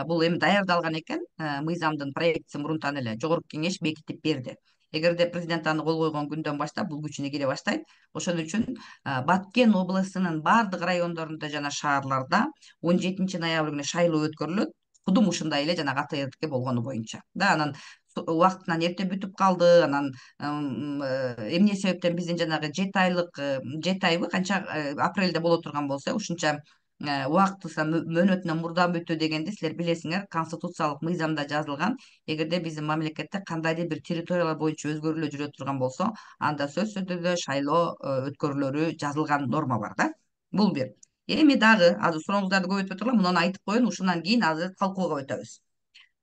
Speaker 1: бул эми даярдалган экен, мыйзамдын проектисин мурунтан эле жогорку кеңеш бекитип берди. Эгерде президент аны кол койгон күндөн баштап бул күчүнө кире баштайт. Ошон үчүн Баткен областынын баардык райондорунда жана шаарларда он жетинчи ноябрь күнү шайлоо өткөрүлөт. Кудум ушундай эле жана АТРдики болгону боюнча. Да, анан убактынан эрте бүтүп калды. Анан эмне себептен биздин жанагы жети айлык, жети айбы канча апрелде боло турган болсо, ушунча убактысы мөөнөтүнөн мурда бүтүү дегенди силер билесиңер, конституциялык мыйзамда жазылган. Эгерде биздин мамлекетте кандайдыр бир территориялар боюнча өзгөрүүлөр жүрө турган болсо, анда сөзсүз түрдө шайлоо өткөрүлөрү жазылган норма бар да. Бул бир. Эми дагы азыр сурооңуздарды көбөйтпөй турула, муну айтып коеюн, ушундан кийин азыр талкууга өтөбүз.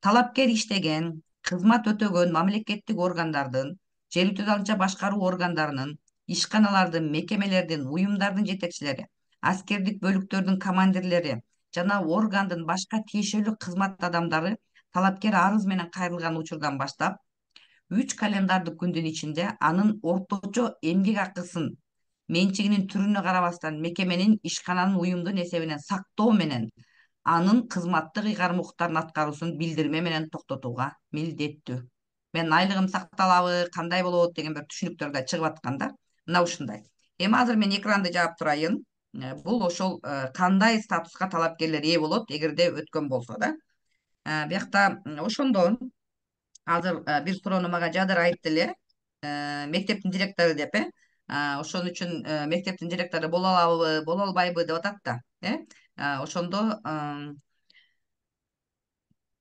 Speaker 1: Талапкер иштеген, кызмат өтөгөн мамлекеттик органдардын, жергиликтүү далынча башкаруу органдарынын, ишканалардын, мекемелердин, уюмдардын жетекчилери, аскердик бөлүктөрдүн командирлери жана органдын башка тиешелүү кызмат адамдары талапкер арыз менен кайрылган учурдан баштап үч календардык күндүн ичинде анын орточо эмгек акысын менчигинин түрүнө карабастан мекеменин, ишкананын, уюмдун эсебинен сактоо менен анын кызматтык ыйгарым укуктарын аткаруусун билдирме менен токтотууга милдеттүү. Менин айлыгым сакталабы, кандай болот деген бир түшүнүктөр да чыгып аткан да. Мына ушундай. Эми азыр мен экранды жаап турайын. Бул ошол кандай статуска талапкерлер ээ болот эгерде өткөн болсо да. Биякта ошондо азыр бир суроону мага Жадыр айтты эле, мектептин директору деп, э ошон үчүн мектептин директору боло алабы, боло албайбы деп атат да, э ошондо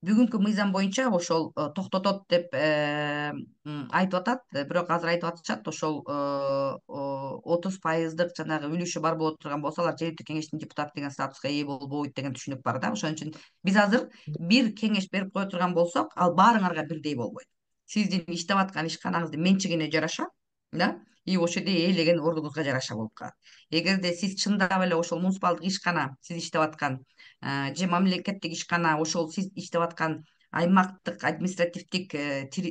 Speaker 1: бүгүнкү мыйзам боюнча ошол токтотот деп айтып атат, бирок азыр айтып атышат ошол отуз пайыздык жанагы үлүшү бар боло турган болсо алар жергиликтүү кеңештин депутаты деген статуска ээ болбойт деген түшүнүк бар да. Ошон үчүн биз азыр бир кеңеш берип кое турган болсок, ал баарыңарга бирдей болбойт. Сиздин иштеп аткан ишканаңыздын менчигине жараша, да, и ошол жерде ээлеген ордуңузга жараша болуп калат. Эгерде сиз чындап эле ошол муниципалдык ишкана, сиз иштеп аткан же мамлекеттик ишкана ошол сиз иштеп аткан аймактык административдик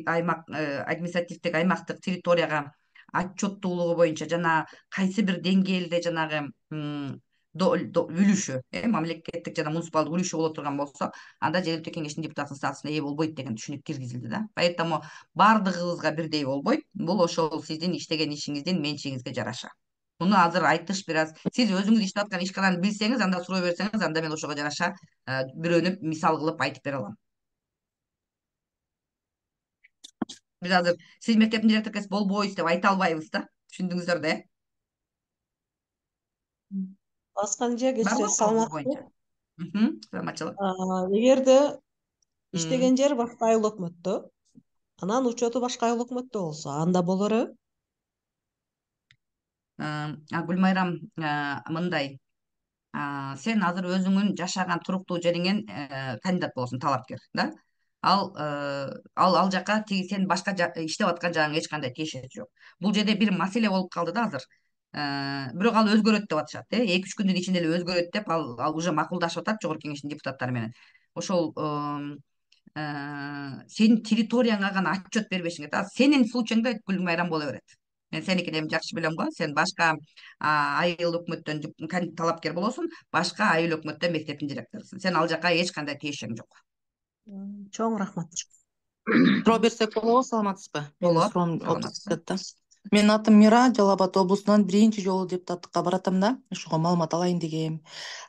Speaker 1: аймак административдик аймактык территорияга отчеттуулугу боюнча жана кайсы бир деңгээлде жанагы үлүшү, мамлекеттик жана муниципалдык үлүшү боло турган болсо, анда жергиликтүү кеңештин депутатынын статусуна ээ болбойт деген түшүнүк киргизилди да. Поэтому баардыгыбызга бирдей болбойт. Бул ошол сиздин иштеген ишиңиздин менчигиңизге жараша. Муну азыр айтыш бир аз, сиз өзүңүз иштеп аткан ишкананы билсеңиз, анда суроо берсеңиз, анда мен ошого жараша бирөөнү мисал кылып айтып бере алам. Биз азыр сиз мектептин директору болбойсуз деп айта албайбыз да. Түшүндүңүздөр да, э?
Speaker 3: Аскан эже, кечиресиз, саламатсызбы?
Speaker 1: Саламатчылык.
Speaker 3: Эгерде иштеген жер башка айыл өкмөттө, анан учету башка айыл өкмөттө болсо, анда болору?
Speaker 1: Гүлмайрам, мындай, сен азыр өзүңүн жашаган туруктуу жериңен кандидат болосуң, талапкер, да? Ал ал ал жака тиги сен башка иштеп аткан жагыңа эч кандай тиешеси жок. Бул жерде бир маселе болуп калды да азыр. Бирок ал өзгөрөт деп атышат, э, эки үч күндүн ичинде эле өзгөрөт деп ал ал уже макулдашып атат жогорку кеңештин депутаттары менен. Ошол сенин территорияңа гана отчет бербешиң керек. Сенин случайыңда Гүлмайрам боло берет. Мен сеникини эми жакшы билем го. Сен башка айыл өкмөттөн талапкер болосуң, башка айыл өкмөттө мектептин директорусуң. Сен ал жака эч кандай тиешең жок.
Speaker 3: Чоң рахмат.
Speaker 4: Суроо берсек болобу, саламатсызбы? Менин суроом
Speaker 1: саламатсызбы.
Speaker 4: да. Менин атым Мира, Жалал Абад облусунан биринчи жолу депутаттыкка баратам да. Ошого маалымат алайын дегем.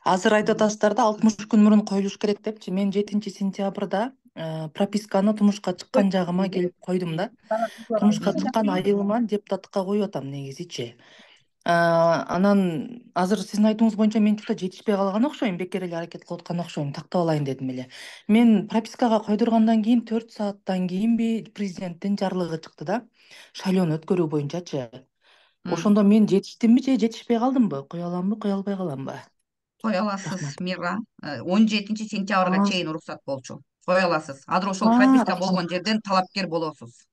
Speaker 4: Азыр айтып атасыздар да, алтымыш күн мурун коюлуш керек депчи. Мен жетинчи сентябрда прописканы тумушка чыккан жагыма келип койдум да. Тумушка чыккан айылыма депутаттыкка коюп атам негизичи. Анан азыр сиздин айтууңуз боюнча мен чурда жетишпей калган окшойм, бекер эле аракет кылып аткан окшойм, тактап алайын дедим эле. Мен пропискага койдургандан кийин төрт сааттан кийинби президенттин жарлыгы чыкты да, шайлоону өткөрүү боюнчачы. Ошондо мен жетиштимби же жетишпей калдымбы? Кое аламбы, кое албай каламбы?
Speaker 1: Кое аласыз, Мира. он жетинчи сентябрга чейин уруксат болчу. Кое аласыз. Азыр ошол прописка болгон жерден талапкер болосуз.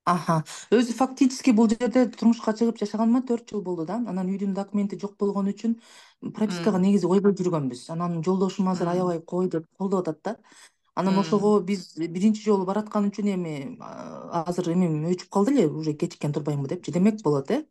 Speaker 4: Аха. Өзү фактически бул жерде турмушка чыгып жашаганыма төрт жыл болду да. Анан үйдүн документи жок болгон үчүн пропискага негизи койбой жүргөнбүз. Анан жолдошум азыр аябай кой деп колдоп атат да. Анан ошого биз биринчи жолу бараткан үчүн эми азыр эми өчүп калды эле, уже кечиккен турбаймынбы депчи демек болот, э?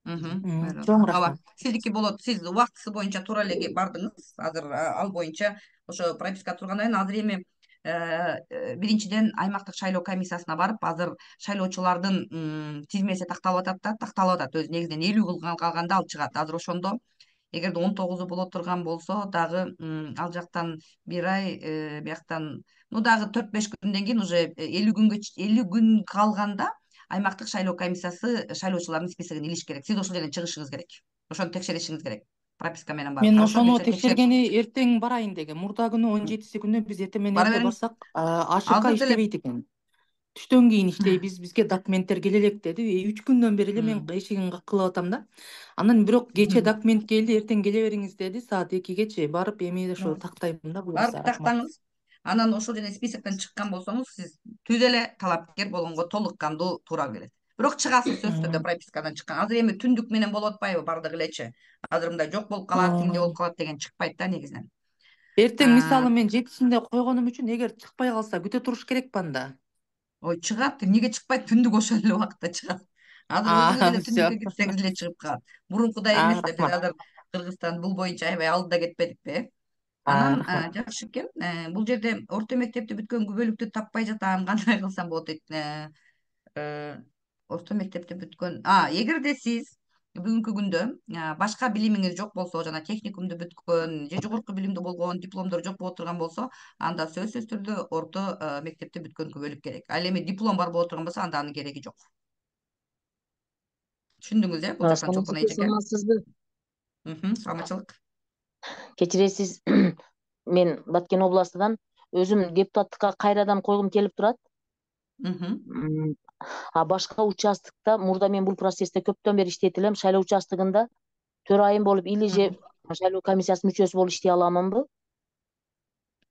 Speaker 4: Чоң рахмат.
Speaker 1: Сиздики болот. Сиз убактысы боюнча туура эле бардыңыз. Азыр ал боюнча ошо прописка тургандан кийин азыр эми биринчиден аймактык шайлоо комиссиясына барып, азыр шайлоочулардын тизмеси такталып атат да, такталып атат. Өзү негизинен элүү кылган калганда ал чыгат. Азыр ошондо эгерде он тогузу боло турган болсо, дагы ал жактан бир ай, бияктан ну дагы төрт беш күндөн кийин уже элүү күнгө элүү күн калганда аймактык шайлоо комиссиясы шайлоочулардын списогун илиш керек. Сиз ошол жерден чыгышыңыз керек. Ошону текшеришиңиз керек. прописка менен барып.
Speaker 4: Мен
Speaker 1: Хорошо,
Speaker 4: ошону
Speaker 1: кечээ текшерип
Speaker 4: текшергени эртең барайын дегем. Мурда күнү он жетиси күнү биз эртең менен
Speaker 1: бара
Speaker 4: эрте
Speaker 1: бериңиз.
Speaker 4: барсак, АШК
Speaker 1: Азыр деле
Speaker 4: иштебейт экен. Түштөн кийин иштейбиз, бизге документтер келе элек деди. үч күндөн бери эле мен эшигин каккылап атам да. Анан бирок кечээ документ келди, эртең келе бериңиз деди. Саат экигечи барып эми ошо тактайм да, буюрса.
Speaker 1: барып
Speaker 4: Рахмат.
Speaker 1: тактаңыз. Анан ошол жерден списоктон чыккан болсоңуз, сиз түз эле талапкер болгонго толук кандуу туура келет. Бирок чыгасыз сөзсүз түрдө пропискадан чыккан. Азыр эми түндүк менен болуп атпайбы бардыгы элечи. Азыр мындай жок болуп калат, тиңде болуп калат деген чыкпайт да негизинен.
Speaker 4: Эртең мисалы мен жетисинде койгонум үчүн эгер чыкпай калса күтө туруш керекпи анда?
Speaker 1: Ой, чыгат. Эмнеге чыкпайт? Түндүк ошол эле убакытта чыгат. Азыр өзүңүз эле
Speaker 4: Всё.
Speaker 1: түндүккө кетсеңиз эле чыгып калат. Мурункудай эмес да, биз азыр Кыргызстан бул боюнча аябай алдыда кетпедикпи? Анан жакшы экен. Бул жерде орто мектепти бүткөн күбөлүктү таппай жатам. Кандай кылсам болот дейт. Орто мектепти бүткөн. А, эгерде сиз бүгүнкү күндө башка билимиңиз жок болсо, жана техникумду бүткөн же жогорку билимдүү болгон, дипломдор жок боло турган болсо, анда сөзсүз түрдө орто мектепти бүткөн күбөлүк керек. Ал эми диплом бар боло турган болсо, анда анын кереги жок. Түшүндүңүз э? Бул жактан чолпон эжеке.
Speaker 5: Саламатсызбы?
Speaker 1: Саламатчылык.
Speaker 5: Кечиресиз, мен Баткен областынан өзүм депутаттыкка кайрадан койгум келип турат. А башка участоктукта мурда мен бул процессте көптөн бери иштейт элем. Шайлоо участогунда төрайым болуп или же шайлоо комиссиясынын мүчөсү болуп иштей аламынбы?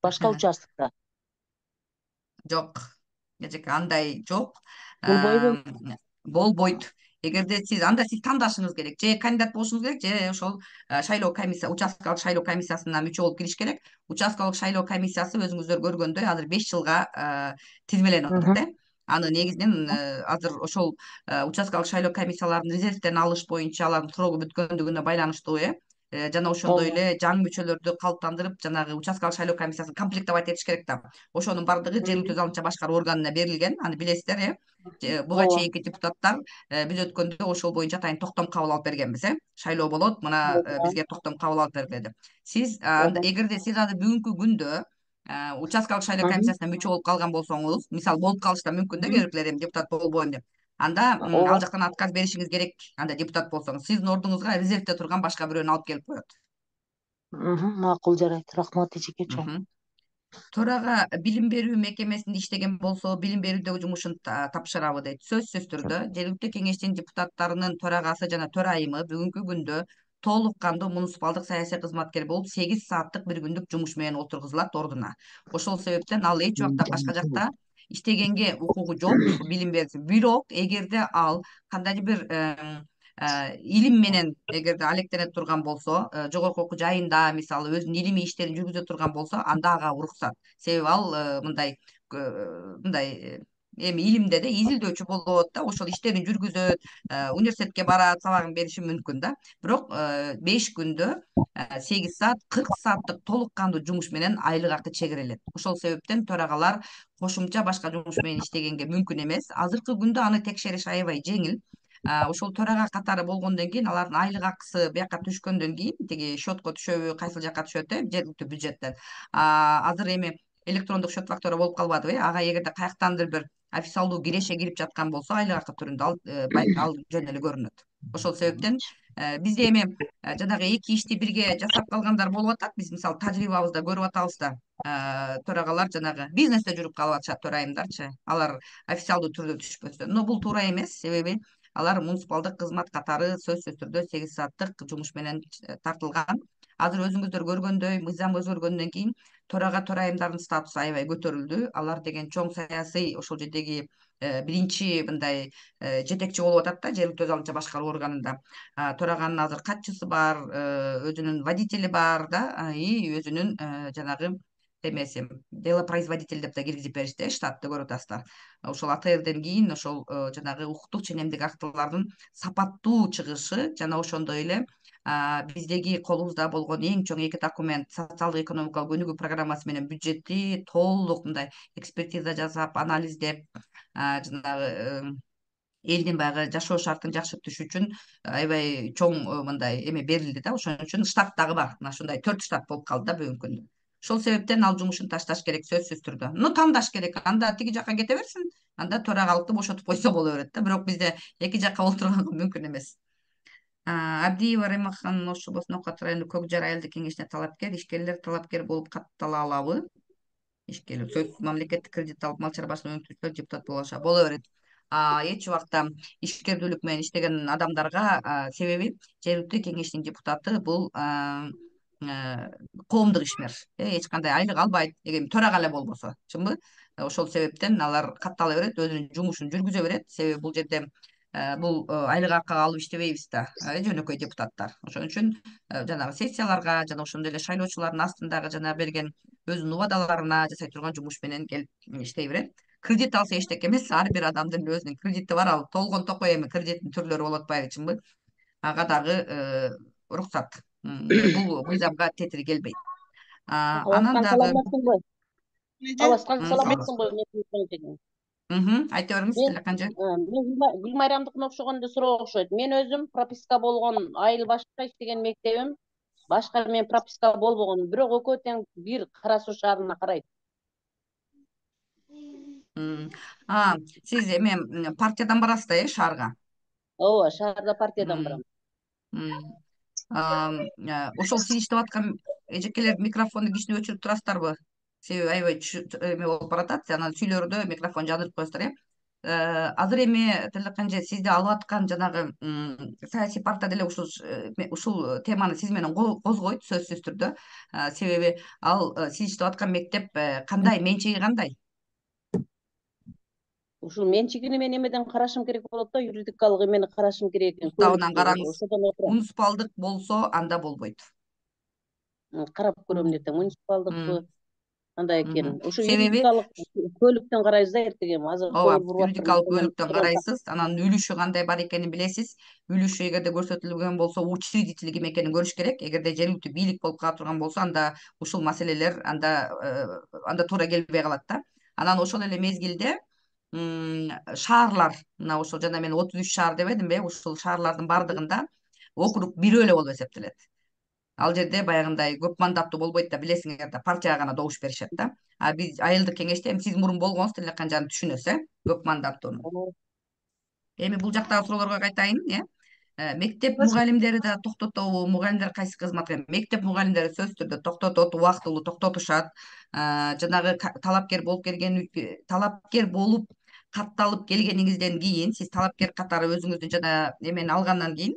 Speaker 5: Башка участокто?
Speaker 1: Жок. Эжеке, андай жок.
Speaker 5: Болбойбу?
Speaker 1: Болбойт. Эгерде сиз анда сиз тандашыңыз керек. Же кандидат болушуңуз керек, же ошол шайлоо комиссия, участкалык шайлоо комиссиясына мүчө болуп кириш керек. Участкалык шайлоо комиссиясы өзүңүздөр көргөндөй азыр беш жылга тизмеленип атат э. Аны негизинен азыр ошол участкалык шайлоо комиссияларын резервден алыш боюнча алардын срогу бүткөндүгүнө байланыштуу э. Жана ошондой эле жаңы мүчөлөрдү калыптандырып, жанагы участкалык шайлоо комиссиясын комплектовать этиш керек да. Ошонун бардыгы жергиликтүү залынча башкаруу органына берилген. Аны билесиздер э. Буга чейинки депутаттар биз өткөндө ошол боюнча атайын токтом кабыл алып бергенбиз э. Шайлоо болот, мына бизге токтом кабыл алып бергиле деп. Сиз эгерде сиз азыр бүгүнкү күндө участкалык шайлоо комиссиясына мүчө болуп калган болсоңуз, мисалы болуп калыш да мүмкүн да, кээ бирлер эми депутат болбойм деп. Анда ал жактан отказ беришиңиз керек. Анда депутат болсоңуз, сиздин ордуңузга резервде турган башка бирөөнү алып келип коет.
Speaker 5: Макул, жарайт. Рахмат эжеке чоң.
Speaker 1: Төрага билим берүү мекемесинде иштеген болсо, билим берүүдөгү жумушун тапшырабы дейт. Сөзсүз түрдө жергиликтүү кеңештин депутаттарынын төрагасы жана төрайымы бүгүнкү күндө толук кандуу муниципалдык саясий кызматкер болуп, сегиз сааттык бир күндүк жумуш менен отургузулат ордуна. Ошол себептен ал эч убакта башка жакта иштегенге укугу жок, билим берүүчү. Бирок эгерде ал кандайдыр бир илим менен эгерде алектене турган болсо, жогорку окуу жайында мисалы өзүнүн илимий иштерин жүргүзө турган болсо, анда ага уруксат. Себеби ал мындай мындай эми илимде да изилдөөчү болот да, ошол иштерин жүргүзөт, университетке барат, сабагын бериши мүмкүн да. Бирок беш күндө сегиз саат, кырк сааттык толук кандуу жумуш менен айлык акы чегерилет. Ошол себептен төрагалар кошумча башка жумуш менен иштегенге мүмкүн эмес. Азыркы күндө аны текшериш аябай жеңил. Ошол төрага катары болгондон кийин алардын айлык акысы бияка түшкөндөн кийин тиги счетко түшөбү, кайсыл жака түшөт э, жергиликтүү бюджеттен. Азыр эми электрондук счет фактура болуп калбадыбы э, ага эгерде каяктандыр бир официалдуу киреше кирип жаткан болсо, айлык акы түрүндө ал жөн эле көрүнөт. Ошол себептен бизде эми жанагы эки ишти бирге жасап калгандар болуп атат. Биз мисалы тажрыйбабызда көрүп атабыз да. Төрагалар жанагы бизнесте жүрүп калып атышат, төрайымдарчы. Алар официалдуу түрдө түшпөсө. Но бул туура эмес, себеби алар муниципалдык кызмат катары сөзсүз түрдө сегиз сааттык жумуш менен тартылган. Азыр өзүңүздөр көргөндөй, мыйзам өзгөргөндөн кийин төрага төрайымдардын статусу аябай көтөрүлдү. Алар деген чоң саясий ошол жердеги биринчи мындай жетекчи болуп атат да, жергиликтүү өз алынча башкаруу органында. Төраганын азыр катчысы бар, өзүнүн водители бар да, и өзүнүн жанагы эмеси делопроизводитель деп да киргизип беришти, штатты көрүп атасыздар. Ошол А Т Рден кийин ошол жанагы укуктук ченемдик актылардын сапаттуу чыгышы жана ошондой эле биздеги колубузда болгон эң чоң эки документ, социалдык экономикалык өнүгүү программасы менен бюджетти толук мындай экспертиза жасап, анализдеп, жанагы элдин баягы жашоо шартын жакшыртыш үчүн аябай чоң мындай эме берилди да. Ошон үчүн штат дагы бар. Мына ушундай төрт штат болуп калды да бүгүнкү күндө. Ошол себептен ал жумушун ташташ керек сөзсүз түрдө. Ну, тандаш керек. Анда тиги жака кете берсин, анда төрагалыкты бошотуп койсо боло берет да. Бирок бизде эки жака олтурганга мүмкүн эмес. Абдиева Раймакхан Ош облусунун Оок Ат району Көк Жар айылдык кеңешине талапкер, ишкерлер талапкер болуп каттала алабы? Ишкерлер сөзсүз мамлекеттик кредит алып мал чарбачылык өнүктүрүүчүлөр депутат боло алышат. Боло берет. Эч убакта ишкердүүлүк менен иштеген адамдарга, себеби жергиликтүү кеңештин депутаты бул коомдук ишмер, эч кандай айлык албайт, эгер төрага эле болбосо, чынбы? Ошол себептен алар каттала берет, өзүнүн жумушун жүргүзө берет. Себеби бул жерде бул айлык акы алып иштебейбиз да, жөнөкөй депутаттар. Ошон үчүн жанагы сессияларга жана ошондой эле шайлоочулардын астындагы жана берген өзүнүн убадаларына жасай турган жумуш менен келип иштей берет. Кредит алса эчтеке эмес, ар бир адамдын өзүнүн кредити бар, ал толгон токой эми кредиттин түрлөрү болуп атпайбы, чынбы? Ага дагы уруксат. Бул мыйзамга тетири келбейт. Анан
Speaker 5: Абаскан
Speaker 1: дагы
Speaker 5: саламатсыңбы? Абаскан
Speaker 1: М,
Speaker 5: саламатсыңбы?
Speaker 1: айта бериңиз, Тилекан эже.
Speaker 5: Мен Гүлмайрамдыкына окшогондо суроо окшойт. Мен өзүм прописка болгон айыл башка иштеген мектебим башка, мен прописка болбогон, бирок экөө тең бир Кара Суу шаарына карайт.
Speaker 1: Сиз эме партиядан барасыз да, э, шаарга?
Speaker 5: Ооба, шаарда партиядан барам.
Speaker 1: Ошол сиз иштеп аткан эжекелер микрофонду кичине өчүрүп турасыздарбы? Себеби аябай эме болуп баратат, анан сүйлөрдө микрофон жандырып коесуздар, э. Азыр эми Тилекан эже, сизди алып аткан жанагы саясий партия деле ушул ушул теманы сиз менен козгойт сөзсүз түрдө. Себеби ал сиз иштеп аткан мектеп кандай, менчиги кандай?
Speaker 5: Ушул менчигине мен эмеден карашым керек болот да, юридикалык эмени карашым керек экен.
Speaker 1: Уставынан караңыз.
Speaker 5: Ошодон отурам.
Speaker 1: Муниципалдык болсо анда болбойт.
Speaker 5: Карап көрөм дете, муниципалдыкпы андай экен. Ушу
Speaker 1: Себеби
Speaker 5: юридикалык көлүктөн карайбыз да эртең. Азыр
Speaker 1: ооба,
Speaker 5: кол буруп
Speaker 1: юридикалык бөлүктөн карайсыз, анан үлүшү кандай бар экенин билесиз. Үлүшү эгерде көрсөтүлгөн болсо, учредитель ким экенин көрүш керек. Эгерде жергиликтүү бийлик болуп кала турган болсо, анда ушул маселелер анда анда туура келбей калат да. Анан ошол эле мезгилде шаарлар, мына ошол жана мен отуз үч шаар дебедимби? Ушул шаарлардын бардыгында округ бирөө эле болуп эсептелет. Ал жерде баягындай көп мандаттуу болбойт да, билесиңер да, партияга гана добуш беришет да. А биз айылдык кеңеште, эми сиз мурун болгонсуз, Тилекан жаны түшүнөсүз, э, көп мандаттууну. Эми бул жактагы суроолорго кайтайын, э. Мектеп мугалимдери да токтотобу? Мугалимдер кайсы кызматка? Мектеп мугалимдери сөзсүз түрдө токтотот, убактылуу токтотушат. Жанагы талапкер болуп келген, талапкер болуп катталып келгениңизден кийин, сиз талапкер катары өзүңүздүн жана эмени алгандан кийин,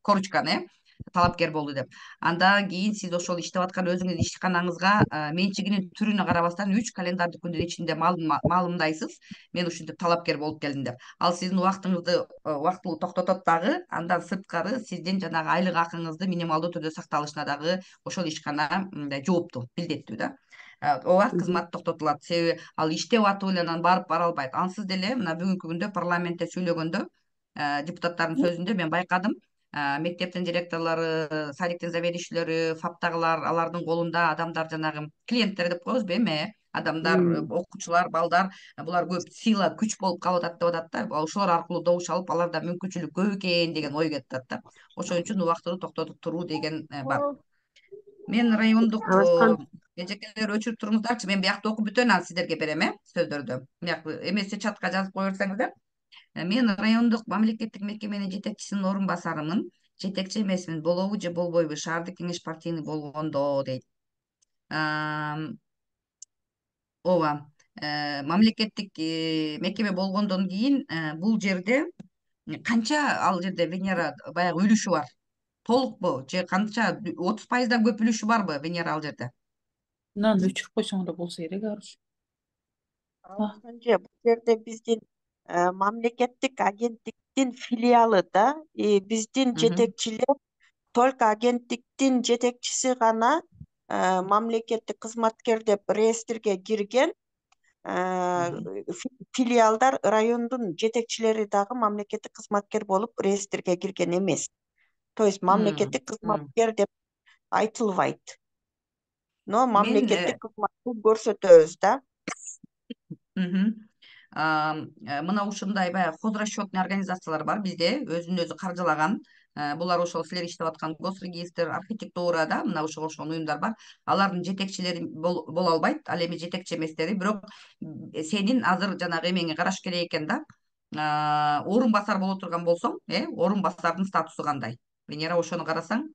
Speaker 1: коручканы, талапкер болду деп. Андан кийин сиз ошол иштеп аткан өзүңүздүн ишканаңызга менчигинин түрүнө карабастан үч календардык күндүн ичинде маалымдайсыз, мен ушинтип талапкер болуп келдим деп. Ал сиздин убактыңызды убактылуу токтотот дагы, андан сырткары сиздин жанагы айлык акыңызды минималдуу түрдө сакталышына дагы ошол ишкана мындай жооптуу, милдеттүү да. Ооба, кызмат токтотулат. Себеби ал иштеп атып эле анан барып бара албайт. Ансыз деле мына бүгүнкү күндө парламентте сүйлөгөндө, депутаттардын сөзүндө мен байкадым. Мектептин директорлору, садиктин заведующийлери, фаптагылар, алардын колунда адамдар, жанагы клиенттер деп коебузбу эми, адамдар, окуучулар, балдар, булар көп сила, күч болуп калып атат деп атат да. Ошолор аркылуу добуш алып, аларда мүмкүнчүлүк көп экен деген ой кетип атат да. Ошон үчүн убактылуу токтотуп туруу деген бар. Мен райондук эжекелер өчүрүп туруңуздарчы, мен биякта окуп бүтөйүн, анан сиздерге берем, э, сөздөрдү. Бияк эмесе чатка жазып кое берсеңиздер. Мен райондук мамлекеттик мекеменин жетекчисинин орун басарымын. Жетекчи эмесмин, болобу же болбойбу? Шаардык кеңеш партийный болгондо дейт. Ооба, мамлекеттик мекеме болгондон кийин бул жерде канча ал жерде Венера баягы үлүшү бар? Толукпу же канча? отуз пайыздан көп үлүшү барбы Венера ал жерде?
Speaker 6: Мынаны өчүрүп койсоң да болсо керек, Арыш.
Speaker 7: Бул жерде биздин мамлекеттик агенттиктин филиалы да, биздин жетекчилер только агенттиктин жетекчиси гана мамлекеттик кызматкер деп реестрге кирген. Филиалдар, райондун жетекчилери дагы мамлекеттик кызматкер болуп реестрге кирген эмес. То есть мамлекеттик кызматкер деп айтылбайт. Но мамлекеттик кызматты көрсөтөбүз да.
Speaker 1: Мына ушундай баягы хозрасчетный организациялар бар бизде, өзүн өзү каржылаган. Булар ошол силер иштеп аткан госрегистр, архитектура да, мына ошого окшогон уюмдар бар. Алардын жетекчилери боло албайт, ал эми жетекчи эместери, бирок сенин азыр жанагы эмеңе караш керек экен да. орун басар боло турган болсоң, э орун басардын статусу кандай? Венера ошону карасаң,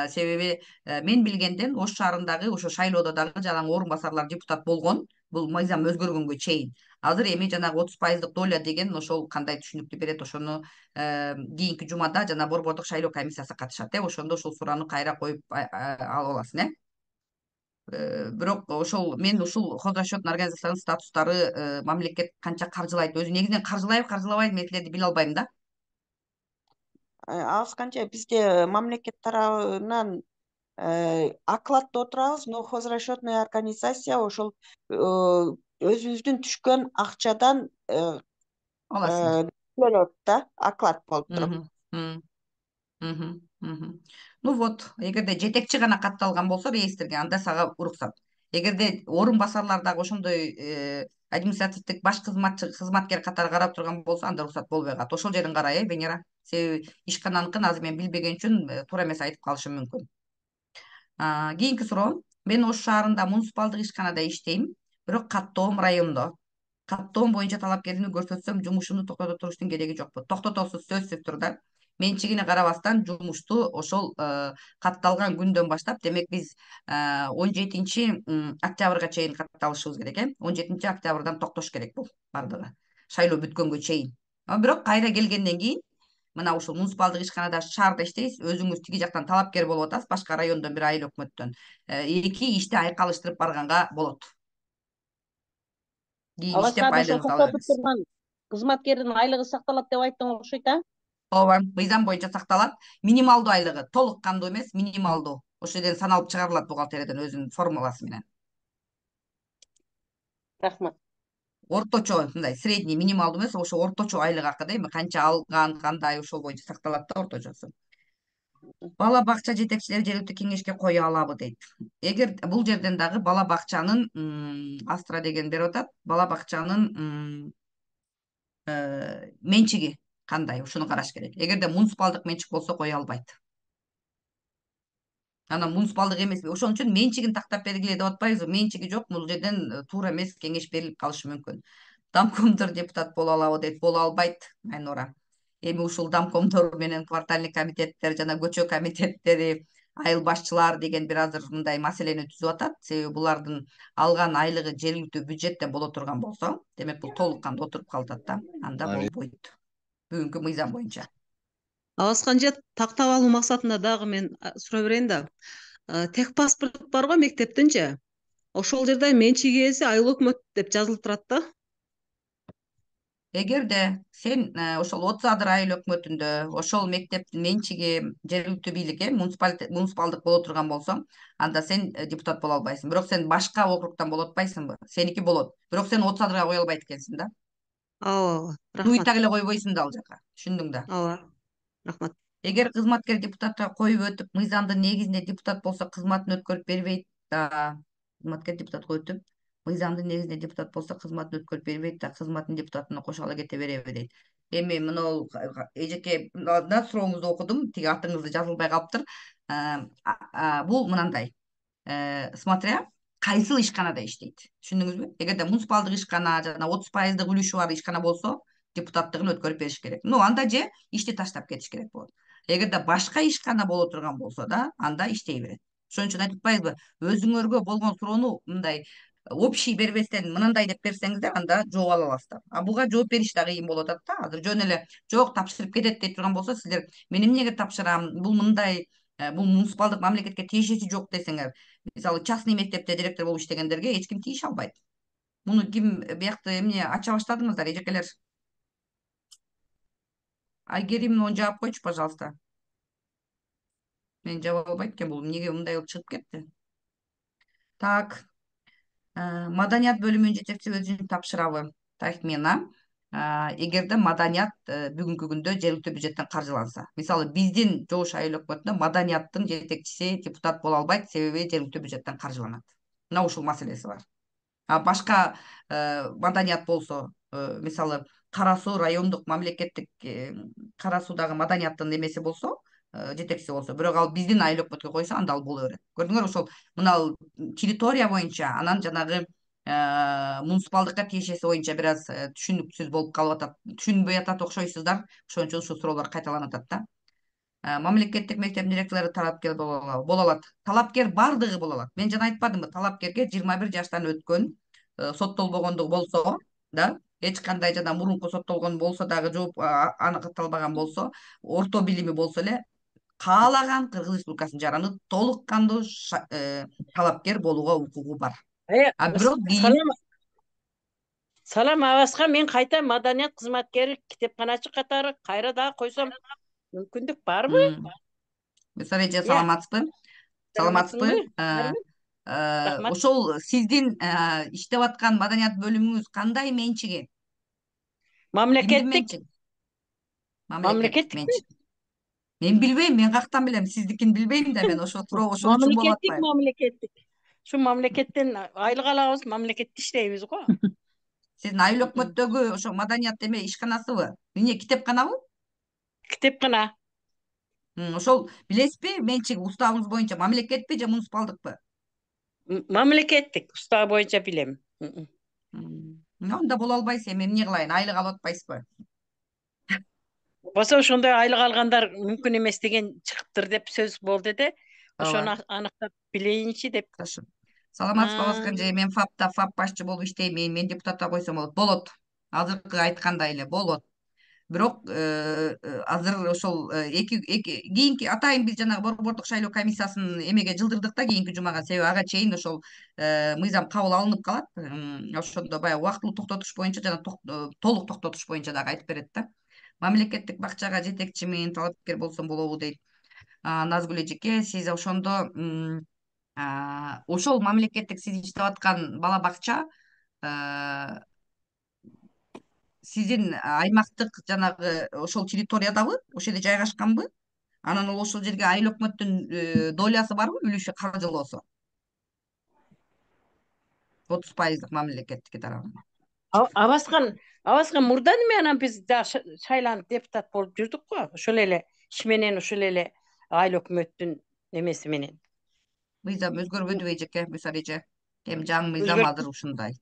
Speaker 1: себеби мен билгенден Ош шаарындагы ошо шайлоодо дагы жанагы орун басарлар депутат болгон. Бул мыйзам өзгөргөнгө чейин. Азыр эми жанагы отуз пайыздык доля деген ошол кандай түшүнүктүү берет, ошону кийинки жумада жана борбордук шайлоо комиссиясы катышат, э ошондо ушул суроону кайра коюп алып аласың, э бирок ошол мен ушул хозрасчетный организациянын статустары мамлекет канча каржылайт, өзү негизинен каржылайбы каржылабайбы, мен тилерди биле албайм да.
Speaker 7: Алыс канча бизде мамлекет тарабынан акладда отурабыз, но хозрасчетная организация ошол өзүбүздүн түшкөн акчадан
Speaker 1: Аласың.
Speaker 7: төлөт да, оклад болуп туруп.
Speaker 1: Ну вот, эгерде жетекчи гана катталган болсо реестрге, анда сага уруксат. Эгерде орун басарлар дагы ошондой административдик баш кызматчы кызматкер катары карап турган болсо, анда уруксат болбой калат. Ошол жерин карай, э Венера. Себеби ишкананыкын азыр мен билбеген үчүн туура эмес айтып калышым мүмкүн. Кийинки суроо. Мен Ош шаарында муниципалдык ишканада иштейм, бирок каттоом райондо. Каттоом боюнча талапкерлигимди көрсөтсөм, жумушумду токтото туруштун кереги жокпу. Токтотосуз, сөзсүз турда. Менчигине карабастан жумушту ошол катталган күндөн баштап, демек биз он жетинчи октябрга чейин катталышыбыз керек, э он жетинчи октябрдан токтош керек бул бардыгы. Шайлоо бүткөнгө чейин. Бирок кайра келгенден кийин мына ушул муниципалдык ишканада шаарда иштейсиз, өзүңүз тиги жактан талапкер болуп атасыз, башка райондон бир айыл өкмөттөн. Эки ишти айкалыштырып барганга болот. Кийин иштеп
Speaker 5: Аласкада ошо
Speaker 1: айлыгыңызды ала
Speaker 5: токтотуп
Speaker 1: бересиз.
Speaker 5: турган кызматкердин айлыгы сакталат деп айттың окшойт, а?
Speaker 1: Ооба, мыйзам боюнча сакталат. Минималдуу айлыгы, толук кандуу эмес, минималдуу. Ошол жерден саналып чыгарылат бухгалтериядан өзүнүн формуласы менен.
Speaker 5: Рахмат.
Speaker 1: Орточо, мындай средний, минималдуу эмес, ошо орточо айлык акы да, эми канча алган, кандай, ошол боюнча сакталат да орточосу. Бала бакча жетекчилери жергиликтүү кеңешке кое алабы дейт. Эгер бул жерден дагы бала бакчанын Астра деген берип атат, бала бакчанын менчиги кандай, ушуну караш керек. Эгерде муниципалдык менчик болсо кое албайт. Анан муниципалдык эмес, ошон үчүн менчигин тактап бергиле деп атпайбызбы? Менчиги жок, бул жерден туура эмес кеңеш берилип калышы мүмкүн. Домкомдор депутат боло алабы дейт, боло албайт, Айнура. Эми ушул домкомдор менен квартальный комитеттер жана көчө комитеттери, айыл башчылар деген бир азыр мындай маселени түзүп атат. Себеби булардын алган айлыгы жергиликтүү бюджеттен боло турган болсо, демек бул толук кандуу отуруп калат да, анда болбойт. Бүгүнкү мыйзам боюнча.
Speaker 3: Аласканча тактап алуу максатында дагы мен сурай берейин да. Тех паспорт бар го мектептинчи. Ошол жерде менчик ээси айыл өкмөт деп жазылып турат да.
Speaker 1: Эгерде сен ошол отуз адыр айыл өкмөтүндө ошол мектептин менчиги жергиликтүү бийликке муниципалдык боло турган болсоң, анда сен депутат боло албайсың. Бирок сен башка округтан боло атпайсыңбы? Сеники болот. Бирок сен отуз адырга кое албайт экенсиң да.
Speaker 3: Ооба,
Speaker 1: Нуй
Speaker 3: рахмат.
Speaker 1: так эле койбойсуң да ал жака. Түшүндүң да.
Speaker 3: Ооба. Рахмат.
Speaker 1: Эгер кызматкер депутатка коюп өтүп, мыйзамдын негизинде депутат болсо, кызматын өткөрүп бербейт да. Кызматкер депутатка өтүп, мыйзамдын негизинде депутат болсо, кызматын өткөрүп бербейт да, кызматын депутатына кошо кете береби дейт. Эми мына эжеке да сурооңузду окудум, тиги атыңызды жазылбай калыптыр. Бул мынандай. Смотря кайсыл ишканада иштейт. Түшүндүңүзбү? Эгерде муниципалдык ишкана жана отуз пайыздык үлүшү бар ишкана болсо, депутаттыгын өткөрүп бериш керек. Ну, анда же ишти таштап кетиш керек болот. Эгерде башка ишкана боло турган болсо да, анда иштей берет. Ошон үчүн айтып атпайбызбы? Өзүңөргө болгон суроону мындай общий бербестен мынандай деп берсеңиздер, анда жооп ала аласыздар. А буга жооп бериш да кыйын болуп атат да. Азыр жөн эле жок тапшырып кетет дей турган болсо, сиздер мен эмнеге тапшырам? Бул мындай, бул муниципалдык мамлекетке тиешеси жок десеңер, мисалы частный мектепте директор болуп иштегендерге эч ким тийише албайт. Муну ким биякты эмне ача баштадыңыздар, эжекелер? Айгерим, муну жаап койчу, пожалуйста. Мен жаап албайт экен, бул эмнеге мындай болуп чыгып кетти? Так. Маданият бөлүмүнүн жетекчиси өзүн тапшырабы? Тахмина. Эгерде маданият бүгүнкү күндө жергиликтүү бюджеттен каржыланса, мисалы биздин Жош айыл өкмөтүндө маданияттын жетекчиси депутат боло албайт, себеби жергиликтүү бюджеттен каржыланат. Мына ушул маселеси бар. А башка маданият болсо, мисалы Кара Суу райондук мамлекеттик Кара Суудагы маданияттын эмеси болсо, жетекчиси болсо, бирок ал биздин айыл өкмөткө койсо, анда ал боло берет. Көрдүңөр, ошол мына территория боюнча, анан жанагы муниципалдыкка тиешеси боюнча бир аз түшүнүксүз болуп калып атат, түшүнбөй атат окшойсуздар. Ошон үчүн ушул суроолор кайталанып атат да. Мамлекеттик мектептин директорлору талапкер боло алат. Талапкер бардыгы боло алат. Мен жана айтпадымбы, талапкерге жыйырма бир жаштан өткөн, соттолбогондугу болсо да, эч кандай жана мурунку соттолгон болсо дагы, жооп аныкталбаган болсо, орто билими болсо эле каалаган Кыргыз Республикасынын жараны толук кандуу талапкер болууга укугу бар. А бирок
Speaker 8: салам салам абаска мен кайта маданият кызматкери, китепканачы катары кайра дагы койсом мүмкүндүк барбы?
Speaker 1: Мисалы эже саламатсызбы? Саламатсызбы?
Speaker 8: Рахмат.
Speaker 1: Ошол сиздин иштеп аткан маданият бөлүмүңүз кандай менчиги?
Speaker 8: Мамлекеттик.
Speaker 1: Мамлекеттик менчик. Мен билбейм, мен каяктан билем, сиздикин билбейм да, мен ошо туруп ошол үчүн болуп атпайбы?
Speaker 8: Мамлекеттик, мамлекеттик. Ушу мамлекеттен айлык алабыз, мамлекетте иштейбиз го.
Speaker 1: Сиздин айыл өкмөттөгү ошо маданият эме ишканасыбы? Эмне, китепканабы?
Speaker 8: Китепкана.
Speaker 1: Ошол билесизби, менчиги уставыбыз боюнча мамлекетпи же муниципалдыкпы?
Speaker 8: Мамлекеттик, устав боюнча билем.
Speaker 1: Анда боло албайсыз, эми эмне кылайын, айлык алып атпайсызбы?
Speaker 8: Болсо ошондой айлык алгандар мүмкүн эмес деген чыгыптыр деп сөз болду эде. Ошону аныктап билейинчи деп.
Speaker 1: Саламатсызбы абаска эже, мен ФАПта ФАП башчы болуп иштеймин, мен депутатта койсом болот. Болот. Азыркы айткандай эле болот. Бирок азыр ошол эки кийинки атайын биз жанагы борбордук шайлоо комиссиясын эмеге жылдырдык да кийинки жумага, себеби ага чейин ошол мыйзам кабыл алынып калат. Ошондо баягы убактылуу токтотуш боюнча жана толук токтотуш боюнча дагы айтып берет да. Мамлекеттик бакчага жетекчимин, талапкер болсом болобу дейт. Назгүл эжеке, сиз ошондо ошол мамлекеттик сиз иштеп аткан бала бакча сиздин аймактык жанагы ошол территориядабы, ошол жерде жайгашканбы? Анан ошол жерге айыл өкмөттүн долясы барбы, үлүшү каржылоосу? отуз пайыздык мамлекеттики тарабынан.
Speaker 8: Абаскан, абаскан мурда эме анан биз шайланып депутат болуп жүрдүк го. Ошол эле иш менен, ошол эле айыл өкмөттүн эмеси менен.
Speaker 1: Мыйзам өзгөрбөдүбү эжеке, мисалы эже? Эми жаңы мыйзам азыр ушундай.